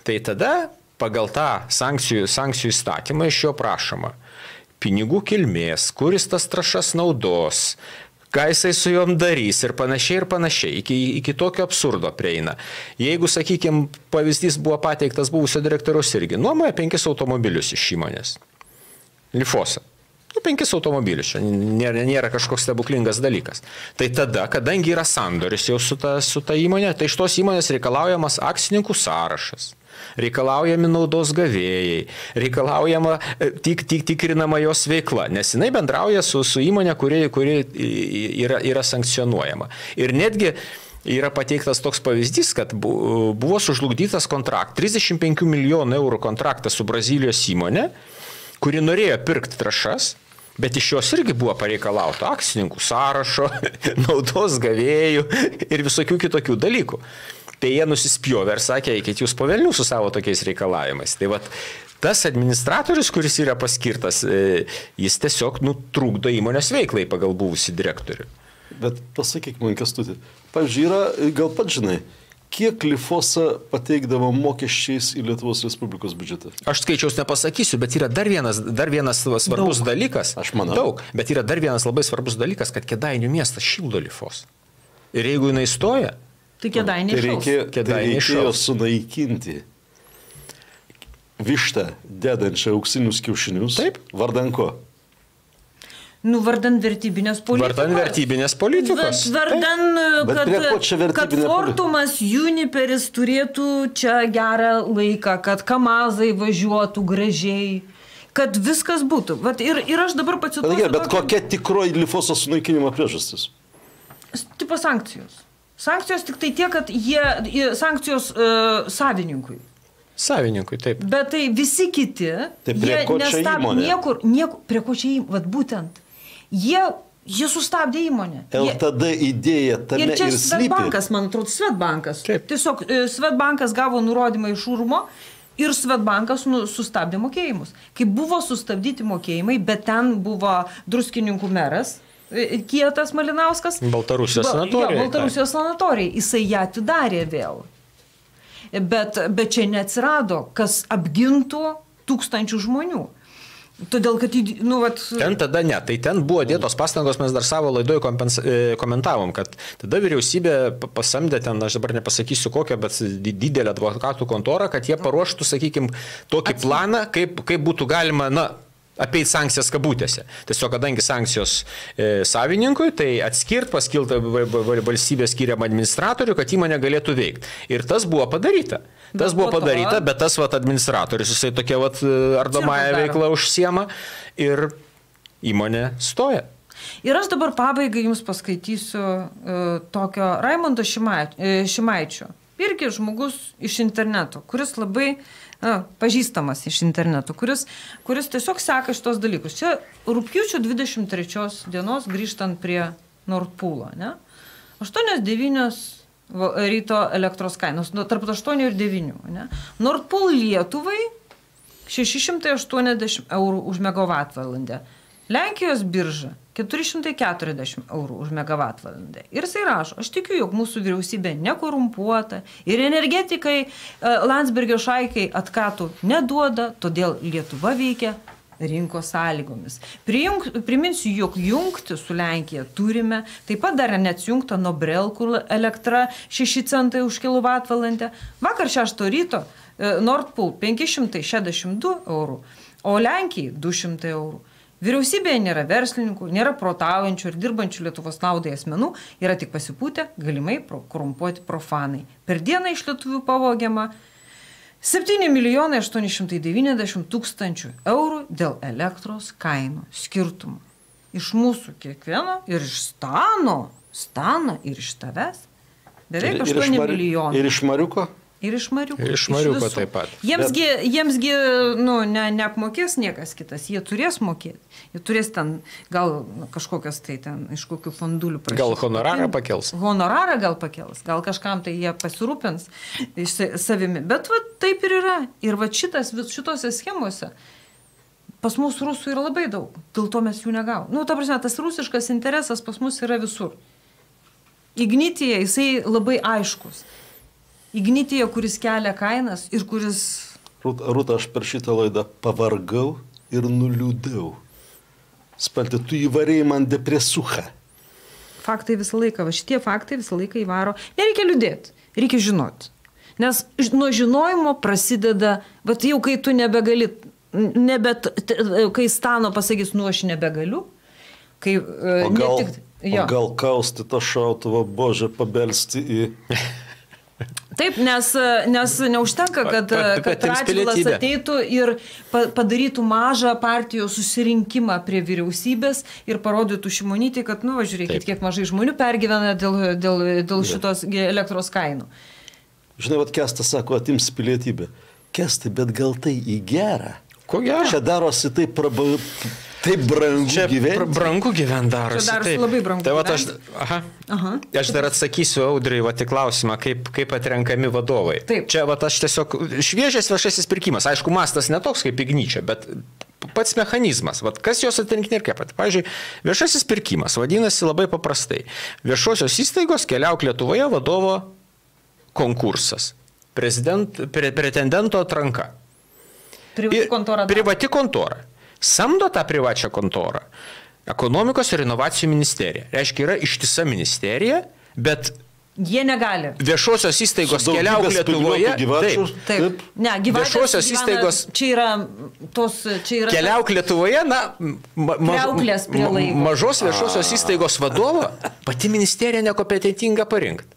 [SPEAKER 3] tai tada pagal tą sankcijų įstatymą iš jo prašoma pinigų kilmės, kuris tas trąšas naudos, ką jisai su juom darys ir panašiai. Iki tokio absurdo prieina. Jeigu, sakykime, pavyzdys buvo pateiktas buvusio direktoriaus irgi, nuomoja 5 automobilius iš įmonės. Lifosa. 5 automobilius, čia nėra kažkoks stebuklingas dalykas. Tai tada, kadangi yra sandoris jau su ta įmonė, tai iš tos įmonės reikalaujamas akcininkų sąrašas. Reikalaujami naudos gavėjai, reikalaujama tikrinama jos veikla, nes jinai bendrauja su įmonė, kuri yra sankcionuojama. Ir netgi yra pateiktas toks pavyzdys, kad buvo sužlugdytas 35 milijonų eurų kontraktas su Brazilijos įmonė, kuri norėjo pirkti trąšas, bet iš jos irgi buvo pareikalauta akcininkų sąrašo, naudos gavėjų ir visokių kitokių dalykų. Tai jie nusispjovė ir sakė, eikit jūs po velnių su savo tokiais reikalavimais. Tai vat, tas administratorius, kuris yra paskirtas, jis tiesiog trukdo įmonės veiklai pagal buvusį direktorių.
[SPEAKER 2] Bet pasakyk man, Kęstuti, pavyzdžiui, gal pat žinai, kiek Lifosa pateikdavo mokesčiais į Lietuvos Respublikos biudžetą?
[SPEAKER 3] Aš skaičiaus nepasakysiu, bet yra dar vienas svarbus dalykas.
[SPEAKER 2] Aš manau.
[SPEAKER 3] Daug, bet yra dar vienas labai svarbus dalykas, kad Kėdainių miestas šildo Lifosą. Ir jeigu jinai stoja,
[SPEAKER 1] tai Kėdainiai šaus.
[SPEAKER 2] Tai reikėjo sunaikinti vištą, dedančią auksinius kiaušinius.
[SPEAKER 3] Taip.
[SPEAKER 2] Vardan ko?
[SPEAKER 1] Vardan vertybinės politikos.
[SPEAKER 3] Vardan vertybinės politikos.
[SPEAKER 1] Kad Fortumas, Juniperis turėtų čia gerą laiką, kad Kamazai važiuotų gražiai, kad viskas būtų. Ir aš dabar pacituosiu.
[SPEAKER 2] Bet kokia tikroji Lifoso sunaikinimo priežastis?
[SPEAKER 1] Tipo sankcijos. Sankcijos tik tai tiek, kad sankcijos savininkui.
[SPEAKER 3] Savininkui, taip.
[SPEAKER 1] Bet tai visi kiti,
[SPEAKER 2] jie nestabdė
[SPEAKER 1] niekur, prie ko čia įmonė, būtent. Jie sustabdė įmonę.
[SPEAKER 2] LTD idėja tame ir slypi.
[SPEAKER 1] Ir čia Svetbankas, man atrodo, Svetbankas.
[SPEAKER 3] Taip.
[SPEAKER 1] Tiesiog Svetbankas gavo nurodymą iš Urmo ir Svetbankas sustabdė mokėjimus. Kai buvo sustabdyti mokėjimai, bet ten buvo Druskininkų meras, Kietas Malinauskas.
[SPEAKER 3] Baltarusijos sanatorija.
[SPEAKER 1] Baltarusijos sanatorija. Jisai ją atidarė vėl. Bet čia neatsirado, kas apgintų tūkstančių žmonių. Todėl, kad,
[SPEAKER 3] Ten tada ne. Tai ten buvo dėtos pastangos, mes dar savo laidoje komentavom, kad tada vyriausybė pasamdė ten, aš dabar nepasakysiu kokią, bet didelę advokatų kontorą, kad jie paruoštų, sakykime, tokį planą, kaip būtų galima, apeit sankcijas kabutėse. Tiesiog, kadangi sankcijos savininkui, tai paskilta valstybės skiriamą administratorių, kad įmonė galėtų veikti. Ir tas buvo padaryta. Bet tas administratorius, jisai tokia ardomąją veiklą užsiema ir įmonė stoja.
[SPEAKER 1] Ir aš dabar pabaigai jums paskaitysiu tokio Raimundo Šimaičio. Irgi žmogus iš interneto, kuris labai pažįstamas iš interneto, kuris tiesiog seka šitos dalykus. Čia rugpjūčio 23 dienos grįžtant prie Nord Pool'o, ne? 8-9 ryto elektros kainos, tarp 8 ir 9, ne? Nord Pool Lietuvai 680 eurų už megavatvalandę. Lenkijos birža 440 eurų už megavatvalandę. Ir jisai rašo, aš tikiu, jog mūsų vyriausybė nekorumpuota ir energetikai Landsbergio šaikai atkatų neduoda, todėl Lietuva veikia rinkos sąlygomis. Priminsiu, jog jungti su Lenkija turime, taip pat dar neatsijungta nuo Brelkų elektra 6 centai už kilovatvalandę. Vakar 6 ryto Nord Pool 562 eurų, o Lenkijai 200 eurų. Vyriausybėje nėra verslininkų, nėra protaujančių ir dirbančių Lietuvos naudai asmenų, yra tik pasipūtę, galimai korumpuoti profanai. Per dieną iš lietuvių pavogiama 7 890 000 eurų dėl elektros kainų skirtumų. Iš mūsų kiekvieno ir iš Stano ir iš tavęs beveik 8 milijonų.
[SPEAKER 2] Ir iš Mariuko?
[SPEAKER 1] Ir iš Mariuko.
[SPEAKER 3] Ir iš Mariuko taip pat.
[SPEAKER 1] Jiemsgi neapmokės niekas kitas, jie turės mokėti. Jie turės ten gal kažkokias tai ten iš kokių fondulių prašyti.
[SPEAKER 3] Gal honorarą pakels?
[SPEAKER 1] Honorarą gal pakels, gal kažkam tai jie pasirūpins savimi. Bet va, taip ir yra. Ir va šitose schemose pas mus rusų yra labai daug, dėl to mes jų negavom. Ta prasme, tas rusiškas interesas pas mus yra visur. Ignitija, jisai labai aiškus. Ignitija, kuris kelia kainas ir kuris...
[SPEAKER 2] Rūta, aš per šitą laidą pavargau ir nuliūdau. Spalti, tu įvarėjai man depresuchą.
[SPEAKER 1] Faktai visą laiką, šitie faktai visą laiką įvaro. Nereikia liūdėti, reikia žinoti. Nes nuo žinojimo prasideda, bet jau kai tu nebegali, kai Stano pasakys, aš nebegaliu, kai...
[SPEAKER 2] O gal kausti tą šautuvą, Bože, pabelsti į...
[SPEAKER 1] Taip, nes neužtenka, kad Radžvilas ateitų ir padarytų mažą partijų susirinkimą prie vyriausybės ir parodytų Šimonytei, kad, žiūrėkit, kiek mažai žmonių pergyvena dėl šitos elektros kainų.
[SPEAKER 2] Žinai, Kestas sako, atims pilietybę. Kestai, bet gal tai į gerą?
[SPEAKER 3] Ko gero?
[SPEAKER 2] Čia darosi taip brangu gyventi.
[SPEAKER 3] Brangu gyventi darosi.
[SPEAKER 1] Čia darosi labai brangu
[SPEAKER 3] gyventi. Aš dar atsakysiu Audriui į klausimą, kaip atrenkami vadovai.
[SPEAKER 1] Taip.
[SPEAKER 3] Čia aš tiesiog šviežias viešasis pirkimas. Aišku, mastas netoks kaip Igničio, bet pats mechanizmas. Kas jos atrinkinė ir kaip. Pavyzdžiui, viešasis pirkimas vadinasi labai paprastai. Viešosios įstaigos Keliauk Lietuvoje vadovo konkursas. Pretendento atranka. Privati kontora. Samdo tą privačią kontorą Ekonomikos ir inovacijų ministerija. Reiškia, yra ištisa ministerija, bet
[SPEAKER 1] jie negali.
[SPEAKER 3] Viešosios įstaigos Keliauk Lietuvoje.
[SPEAKER 1] Taip. Ne,
[SPEAKER 3] viešosios įstaigos.
[SPEAKER 1] Čia yra
[SPEAKER 3] Keliauk Lietuvoje,
[SPEAKER 1] mažos
[SPEAKER 3] viešosios įstaigos vadovo pati ministerija nekompetentinga parinkti.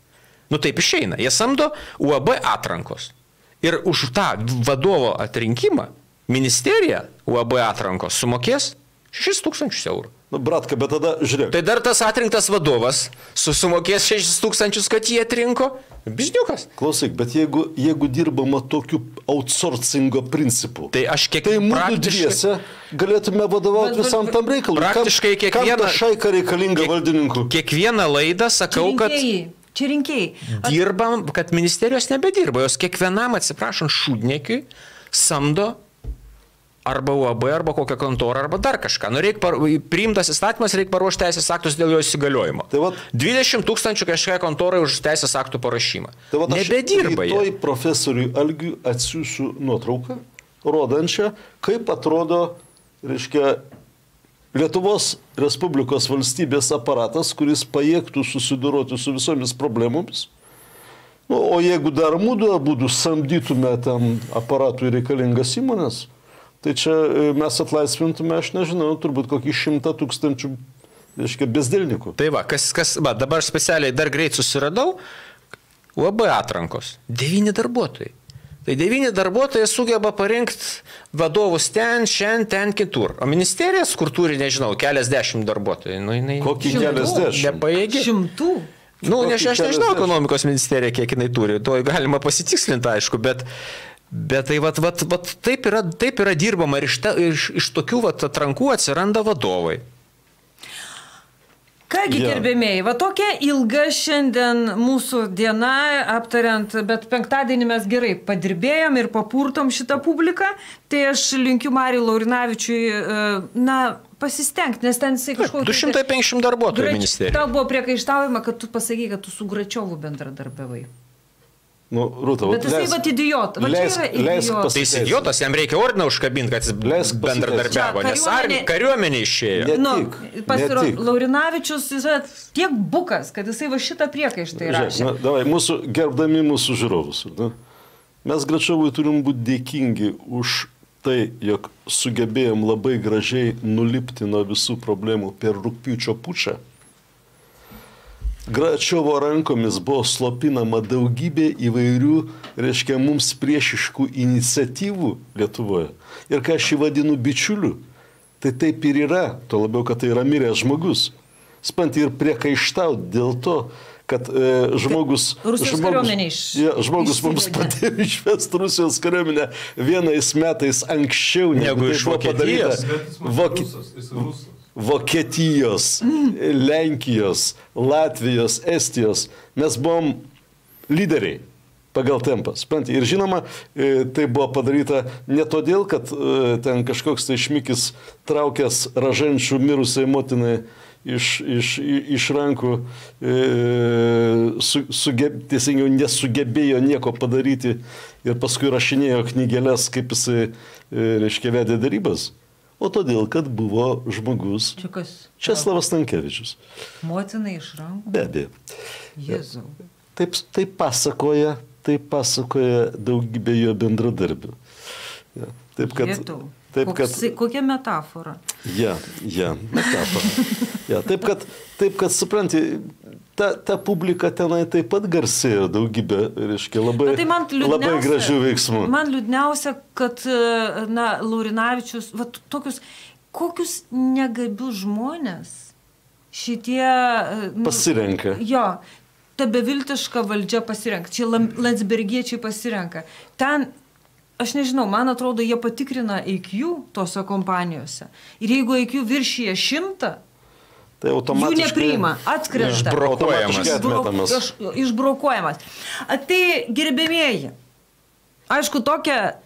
[SPEAKER 3] Taip išeina. Jie samdo UAB atrankos. Ir už tą vadovo atrinkimą ministerija UAB atrankos sumokės 6 000 eurų.
[SPEAKER 2] Bratka, bet tada žiūrėk.
[SPEAKER 3] Tai dar tas atrinktas vadovas sumokės 6 000, kad jie atrinko. Bizniukas.
[SPEAKER 2] Klausyk, bet jeigu dirbama tokiu outsourcingo principu,
[SPEAKER 3] tai
[SPEAKER 2] mūsų dviese galėtume vadovauti visam tam reikalui.
[SPEAKER 3] Praktiškai
[SPEAKER 2] kam ta šaika reikalinga valdininkų?
[SPEAKER 3] Kiekvieną laidą sakau, kad...
[SPEAKER 1] Čia rinkėjai.
[SPEAKER 3] Dirbam, kad ministerijos nebedirba. Jos kiekvienam, atsiprašant, šūdniekiui samdo arba UAB, arba kokią kontorą, arba dar kažką. Priimtas įstatymas, reikia paruošti teisės aktus dėl jo įsigaliojimo. 20 000 kažkokiai kontorai už teisės aktų parašymą. Nebedirba jie.
[SPEAKER 2] Rytoj profesoriui Algiui atsiųsiu nuotrauką, rodančią, kaip atrodo, Lietuvos Respublikos valstybės aparatas, kuris pajėgtų susidoroti su visomis problemomis. O jeigu dar abudu samdytume tam aparatui reikalingas įmonės, tai čia mes atlaisvintume, aš nežinau, turbūt kokį 100 000 bezdilnikų.
[SPEAKER 3] Tai dabar specialiai dar greit susiradau, UAB atrankos, 9 darbuotojai. Tai 9 darbuotojai sugeba parinkti vadovus ten, šiandien, ten, kitur. O ministerijas, kur turi, nežinau, keliasdešimt darbuotojų.
[SPEAKER 2] Kokį keliasdešimt?
[SPEAKER 3] Nepajėgi.
[SPEAKER 1] 100?
[SPEAKER 3] Aš nežinau ekonomikos ministerija, kiek jinai turi. To galima pasitikslinti, aišku, bet taip yra dirbama ir iš tokių atrankų atsiranda vadovai.
[SPEAKER 1] Kągi, gerbėmėjai, tokia ilga šiandien mūsų diena aptariant, bet penktadienį mes gerai padirbėjom ir papurtom šitą publiką, tai aš linkiu Mariui Laurinavičiui, pasistengti, nes ten jisai kažkokį...
[SPEAKER 3] 250 darbuotojų ministerija.
[SPEAKER 1] Tau buvo priekaištaujama, kad tu pasakai, kad tu su Gračiovu bendradarbiavai.
[SPEAKER 2] Rūta,
[SPEAKER 1] bet jisai idiotas.
[SPEAKER 3] Tai jis idiotas, jam reikia ordiną užkabinti, kad jis bendradarbiavo, nes kariuomenė išėjo.
[SPEAKER 1] Laurinavičius yra tiek bukas, kad jisai šitą priekaištą įrašė.
[SPEAKER 2] Gerbdami mūsų žiūrovus. Mes Gračiovui turim būti dėkingi už tai, jog sugebėjom labai gražiai nulipti nuo visų problemų per rugpjūčio pučą. Gračiovo rankomis buvo slopinama daugybė įvairių, mums priešiškų iniciatyvų Lietuvoje. Ir ką aš jį vadinu bičiuliu, tai taip ir yra, tuo labiau, kad tai yra miręs žmogus. Spanti ir priekaištauti dėl to, kad žmogus mums padėjo išvesti Rusijos kariuomenę vienais metais anksčiau negu iš
[SPEAKER 3] Vokietijos.
[SPEAKER 2] Vokietijos, Lenkijos, Latvijos, Estijos. Mes buvom lyderiai pagal tempą. Ir žinoma, tai buvo padaryta ne todėl, kad ten kažkoks tai šmikis traukęs raženčių mirusiai motinai iš rankų teisingiau nesugebėjo nieko padaryti ir paskui rašinėjo knygelės, kaip jisai, reiškia, vedė darybas. O todėl, kad buvo žmogus Česlavas Stankevičius.
[SPEAKER 1] Motinai iš rankų?
[SPEAKER 2] Be abejo.
[SPEAKER 1] Jėzau.
[SPEAKER 2] Tai pasakoja daugybė jo bendradarbių. Ja,
[SPEAKER 1] kokia metafora?
[SPEAKER 2] Metafora. Ja, taip kad supranti, ta publika tenai taip pat garsėjo daugybė, reiškia, labai gražių veiksmų.
[SPEAKER 1] Man liūdniausia, kad Laurinavičius, kokius negabius žmonės šitie
[SPEAKER 2] pasirenka.
[SPEAKER 1] Jo. Ta beviltiška valdžia pasirenka. Čia landsbergiečiai pasirenka. Ten, aš nežinau, man atrodo, jie patikrina IQ tose kompanijose. Ir jeigu IQ viršyje 100,
[SPEAKER 2] tai automatiškai
[SPEAKER 1] jų nepriima, atkrenta. Išbrokuojamas. Tai gerbėmieji, aišku, tokia,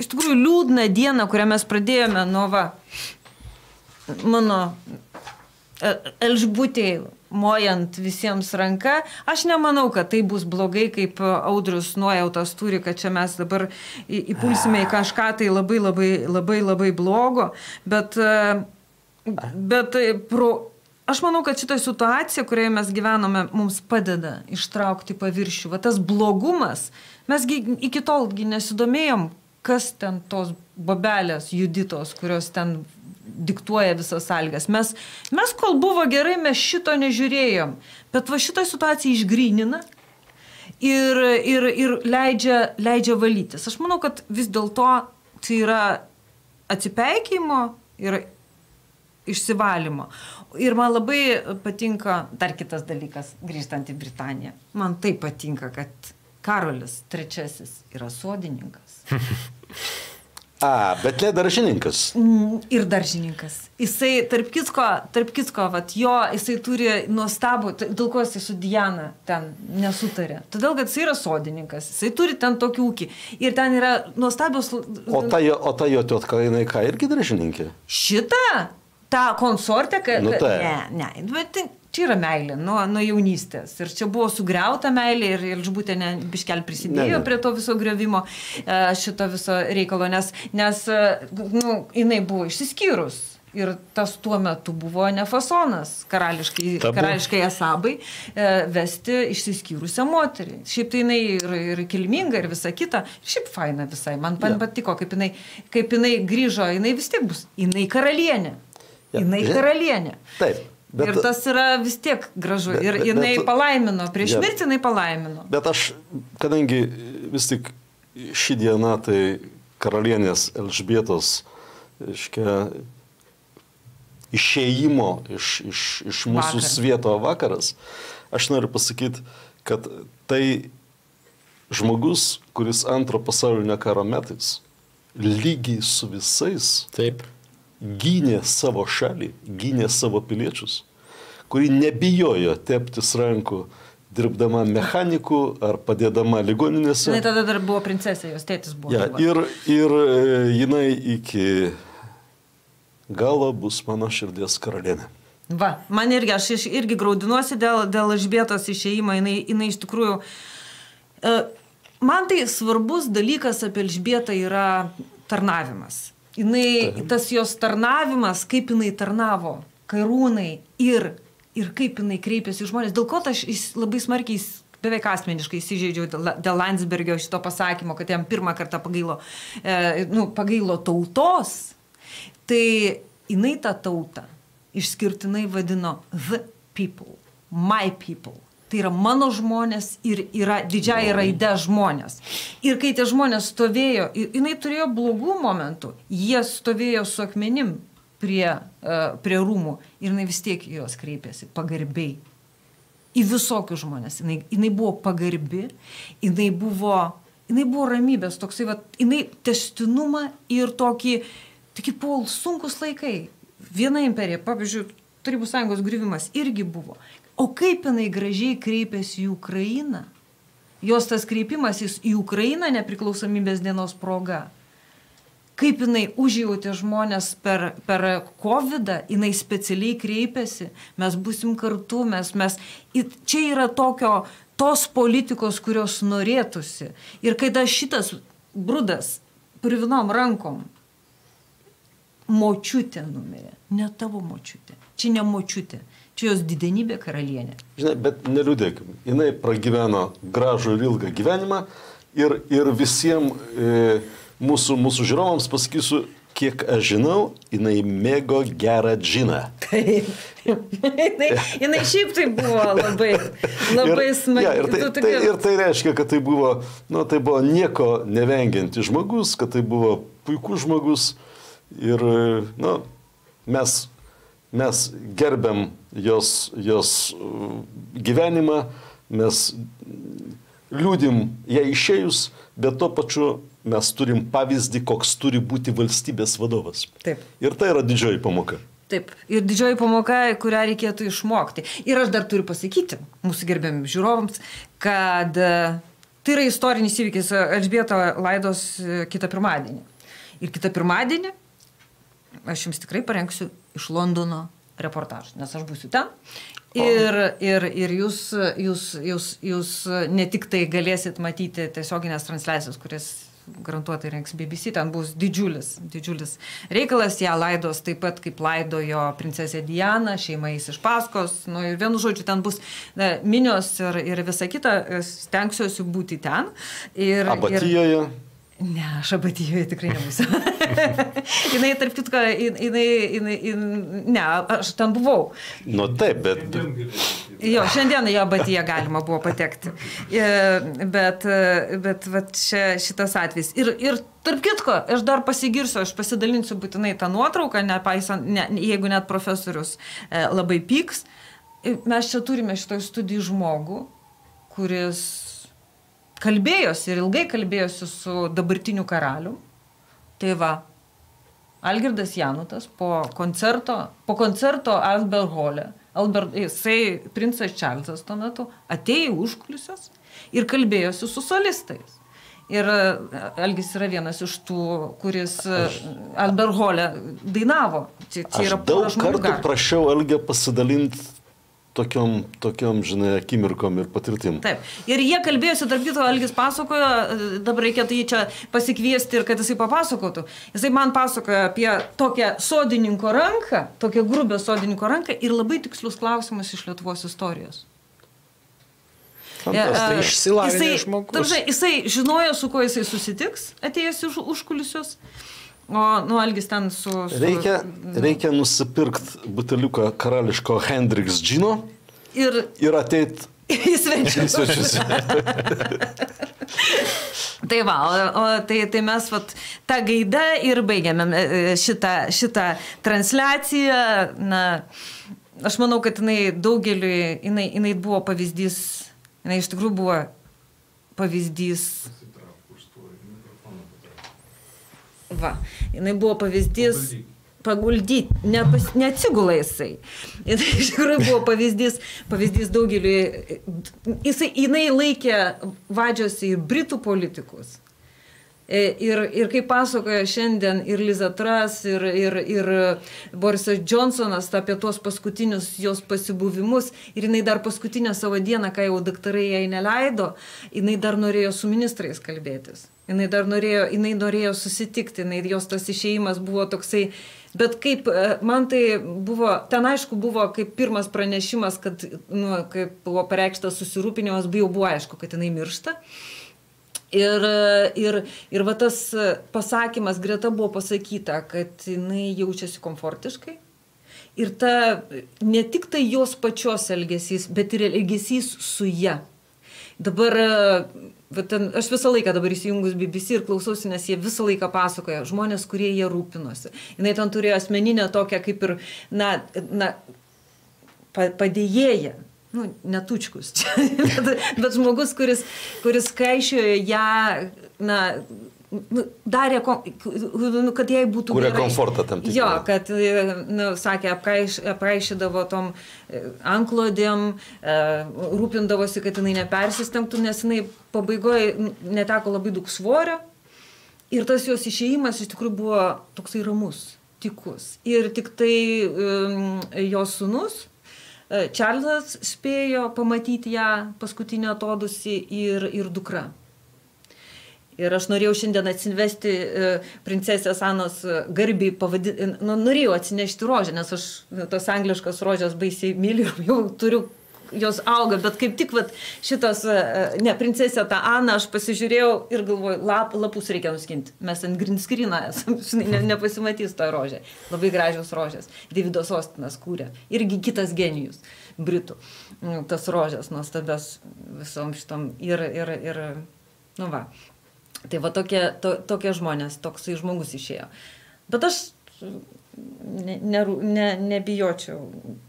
[SPEAKER 1] iš tikrųjų, liūdna diena, kurią mes pradėjome nuo mano Elžbutei mojant visiems ranka. Aš nemanau, kad tai bus blogai, kaip Audrius nuojautas turi, kad čia mes dabar įpulsime į kažką tai labai blogo, bet aš manau, kad šitą situaciją, kurioje mes gyvename, mums padeda ištraukti paviršių. Tas blogumas, mes iki tolgi nesidomėjom, kas ten tos bobelės Juditos, kurios ten diktuoja visas sąlygas. Mes kol buvo gerai, mes šito nežiūrėjom. Bet šitą situaciją išgrynina ir leidžia valytis. Aš manau, kad vis dėlto tai yra atsipeikėjimo ir išsivalymo. Ir man labai patinka dar kitas dalykas, grįžtant į Britaniją. Man tai patinka, kad Karolis III yra sodininkas.
[SPEAKER 2] Bet ne daržininkas.
[SPEAKER 1] Ir daržininkas. Jisai, tarp kitko, jisai turi nuostabų, dėl ko jisai su Diana ten nesutarė. Todėl, kad jisai yra sodininkas, jisai turi ten tokį ūkį. Ir ten yra nuostabios...
[SPEAKER 2] O ta jo tiotka, jinai ką, irgi daržininkė?
[SPEAKER 1] Šitą? Ta konsortė?
[SPEAKER 2] Ne,
[SPEAKER 1] bet čia yra meilė nuo jaunystės. Ir čia buvo sugriauta meilė ir Elžbutė biškel prisidėjo prie to viso griovimo šito viso reikalo, nes jinai buvo išsiskyrus. Ir tas tuo metu buvo nefasonas karališkai Asabai vesti išsiskyrusią moterį. Šiaip tai jinai ir kilminga ir visa kita. Šiaip faina visai. Man patiko, kaip jinai grįžo, jinai vis tiek bus. Jinai karalienė.
[SPEAKER 2] Taip.
[SPEAKER 1] Ir tas yra vis tiek gražu. Ir jinai palaimino, prieš mirtį jinai palaimino.
[SPEAKER 2] Bet aš, kadangi vis tik ši diena, tai karalienės Elžbietos, išėjimo iš mūsų svieto vakaras, aš noriu pasakyti, kad tai žmogus, kuris antro pasaulinio karo metais lygiai su visais gynė savo šalį, gynė savo piliečius, kuri nebijojo teptis rankų dirbdama mechaniku ar padėdama ligoninėse.
[SPEAKER 1] Jinai tada dar buvo princesė, jos tėtis buvo.
[SPEAKER 2] Ja, ir jinai iki galo bus mano širdies karalienė.
[SPEAKER 1] Man irgi, aš irgi graudinuosi dėl Elžbietos išėjimo, jinai iš tikrųjų... Man tai svarbus dalykas apie Elžbietą yra tarnavimas. Tas jos tarnavimas, kaip jinai tarnavo karūnai ir kaip jinai kreipėsi žmonės. Dėl ko aš labai smarkiai, beveik asmeniškai įsižeidžiau dėl Landsbergio šito pasakymo, kad jam pirmą kartą pagailo tautos. Tai jinai tą tautą išskirtinai vadino the people, my people. Tai yra mano žmonės ir yra didžiąja raide žmonės. Ir kai tie žmonės stovėjo, jinai turėjo blogų momentų, jie stovėjo su akmenim prie rūmų ir jinai vis tiek jos kreipėsi pagarbiai. į visokius žmonės. Jinai buvo pagarbi, jinai buvo ramybės, toksai, jinai tęstinumą ir tokį buvo sunkus laikai. Viena imperija, pavyzdžiui, Tarybų Sąjungos griuvimas irgi buvo. O kaip jinai gražiai kreipėsi į Ukrainą? Jos tas kreipimasis į Ukrainą nepriklausomybės dienos proga. Kaip jinai užjautė žmonės per COVID-ą, jinai specialiai kreipėsi, mes būsim kartu, čia yra tos politikos, kurios norėtųsi. Ir kai šitas brudas privinom rankom, močiutė numirė, ne tavo močiutė, čia ne močiutė, čia jos didenybė karalienė.
[SPEAKER 2] Žinai, bet neliūdėkim, jinai pragyveno gražų ir ilgą gyvenimą ir visiems mūsų žiūrovams pasakysiu, kiek aš žinau, jinai mėgo gerą džiną.
[SPEAKER 1] Taip. Jinai šiaip tai buvo labai smagi.
[SPEAKER 2] Ir tai reiškia, kad tai buvo nieko nevengiantis žmogus, kad tai buvo puikus žmogus. Ir mes gerbiam jos gyvenimą, mes liūdim ją išėjus, bet tuo pačiu mes turim pavyzdį, koks turi būti valstybės vadovas.
[SPEAKER 1] Taip.
[SPEAKER 2] Ir tai yra didžioji pamoka.
[SPEAKER 1] Taip. Ir didžioji pamoka, kurią reikėtų išmokti. Ir aš dar turiu pasakyti mūsų gerbiam žiūrovams, kad tai yra istorinis įvykis. Elžbieta laidos kitą pirmadienį. Ir kitą pirmadienį aš jums tikrai parengsiu iš Londono reportažą, nes aš būsiu ten. Ir jūs ne tik tai galėsit matyti tiesioginės transliacijos, kuris garantuotai rengs BBC, ten bus didžiulis reikalas, ją laidos taip pat kaip laidojo princesė Diana, šeima eis iš paskos, ir vienu žodžiu ten bus minios ir visa kita, stengsiuosi būti ten.
[SPEAKER 2] Abatijoje?
[SPEAKER 1] Ne, aš Abatijoje tikrai nebūsiu. Jinai, tarp kitko, ne, aš ten buvau.
[SPEAKER 2] Nu taip, bet...
[SPEAKER 1] Jo, šiandien į Abatiją galima buvo patekti. Bet šitas atvejs. Ir tarp kitko, aš dar pasigirsiu, aš pasidalinsiu būtinai tą nuotrauką, jeigu net profesorius labai pyks. Mes čia turime šitoj studijų žmogų, kuris kalbėjosi ir ilgai kalbėjosi su dabartiniu karalium. Tai va, Algirdas Janutas po koncerto Albert Hole, jisai princas Čarlzas tuo metu, atėjo užkulisius ir kalbėjosi su solistais. Ir Algis yra vienas iš tų, kuris Albert Hole dainavo.
[SPEAKER 2] Aš daug kartų prašiau Algę pasidalinti tokiom, žinai, akimirkom ir patirtim.
[SPEAKER 1] Taip. Ir jie kalbėjosi, tarp kito, Algis pasakojo, dabar reikėtų jį čia pasikviesti ir kad jisai papasakotų. Jisai man pasakojo apie tokią sodininko ranką, tokią grubę sodininko ranką ir labai tikslius klausimus iš Lietuvos istorijos.
[SPEAKER 3] Tai išsilavinęs žmogus.
[SPEAKER 1] Jisai žinojo, su kuo jisai susitiks, atėjęs iš užkulisius. O Algis ten su...
[SPEAKER 2] Reikia nusipirkti buteliuką karališko Hendriks džino ir ateit
[SPEAKER 1] į svečius. Tai va, tai mes tą gaidą ir baigiame šitą transliaciją. Na, aš manau, kad jinai daugeliui, jinai buvo pavyzdys, jinai iš tikrųjų buvo pavyzdys. Va, jinai buvo pavyzdys paguldyti, neatsigula jisai. Iš tikrųjų buvo pavyzdys daugeliui. Jinai laikė vadžiuosi ir britų politikus. Ir kaip pasakoja šiandien ir Liza Truss, ir Borisas Johnsonas apie tuos paskutinius jos pasibuvimus, ir jinai dar paskutinę savo dieną, kai jau daktarai jai neleido, jinai dar norėjo su ministrais kalbėtis. Jinai norėjo susitikti, jos tas išėjimas buvo toksai, bet kaip man tai buvo, ten aišku buvo kaip pirmas pranešimas, kad, kaip buvo pareikštas susirūpinimas, jau buvo aišku, kad jinai miršta. Ir va tas pasakymas greta buvo pasakyta, kad jinai jaučiasi komfortiškai. Ir ne tik tai jos pačios elgesys, bet ir elgesys su ja. Dabar, aš visą laiką dabar įsijungus BBC ir klausausi, nes jie visą laiką pasakoja žmonės, kurie jie rūpinosi. Jinai ten turėjo asmeninę tokią kaip ir, padėjėją. netučkus, bet žmogus, kuris kaišiojo ją, darė, kad jai būtų
[SPEAKER 2] Kuria
[SPEAKER 1] gerai.
[SPEAKER 2] Komfortą tam tikrą.
[SPEAKER 1] Jo, kad, sakė, apraišydavo tom anklodėm, rūpindavosi, kad jinai nepersistengtų, nes jinai pabaigoje neteko labai daug svorio ir tas jos išėjimas iš tikrųjų buvo toksai ramus, tikus. Ir tik tai jos sūnus, Čarlzas, spėjo pamatyti ją paskutinį atodusį ir dukra. Ir aš norėjau šiandien atsivesti princesės Anos garbį, norėjau atsinešti rožę, nes aš tos angliškas rožės baisiai myliu, jau turiu, jos auga, bet kaip tik šitas, princesė tą Aną, aš pasižiūrėjau ir galvoju, lapus reikia nuskinti. Mes ant green screen'ą esam, nepasimatys tą rožę. Labai gražios rožės. Davidas Ostinas kūrė. Irgi kitas genijus, britų. Tas rožės nuostabios visom šitom. Tai va tokie žmonės, toksai žmogus išėjo. Bet aš nebijočiau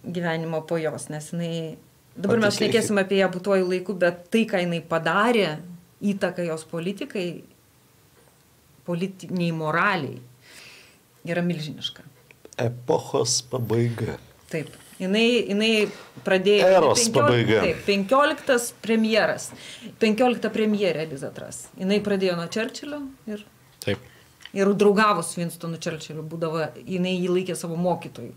[SPEAKER 1] gyvenimo po jos, nes jinai, dabar mes šnekėsim apie ją būtuoju laiku, bet tai, ką jinai padarė, įtaka jos politikai, politiniai moraliai, yra milžiniška.
[SPEAKER 2] Epochos pabaiga.
[SPEAKER 1] Taip. Jinai pradėjo...
[SPEAKER 2] Eros pabaiga.
[SPEAKER 1] Taip, 15 premjeras. 15 premjerė Liza Truss. Jinai pradėjo nuo Churchillio ir...
[SPEAKER 3] Taip.
[SPEAKER 1] Ir draugavo su Winstonu Churchilliu. Būdavo, jinai jį laikė savo mokytojų.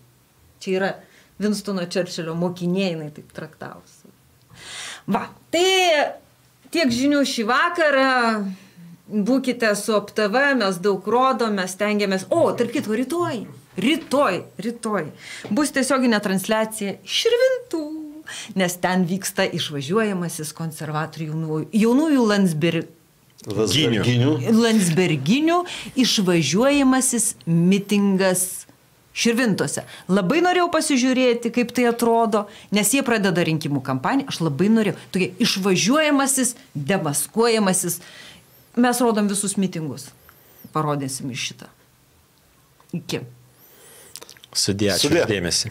[SPEAKER 1] Čia yra Winstono Churchillio mokinė, jinai taip traktavosi. Va, tai tiek žinių šį vakarą. Būkite su OpTV, mes daug rodom, mes stengiamės... tarp kitko, rytoj bus tiesioginė transliacija Širvintų, nes ten vyksta išvažiuojamasis konservatorių jaunųjų Landsberginių išvažiuojamasis mitingas Širvintose. Labai norėjau pasižiūrėti, kaip tai atrodo, nes jie pradeda rinkimų kampaniją, aš labai norėjau. Tokie išvažiuojamasis, demaskuojamasis. Mes rodom visus mitingus. Parodėsim iš šitą. Iki.
[SPEAKER 3] Sudė, ačiū dėmesį.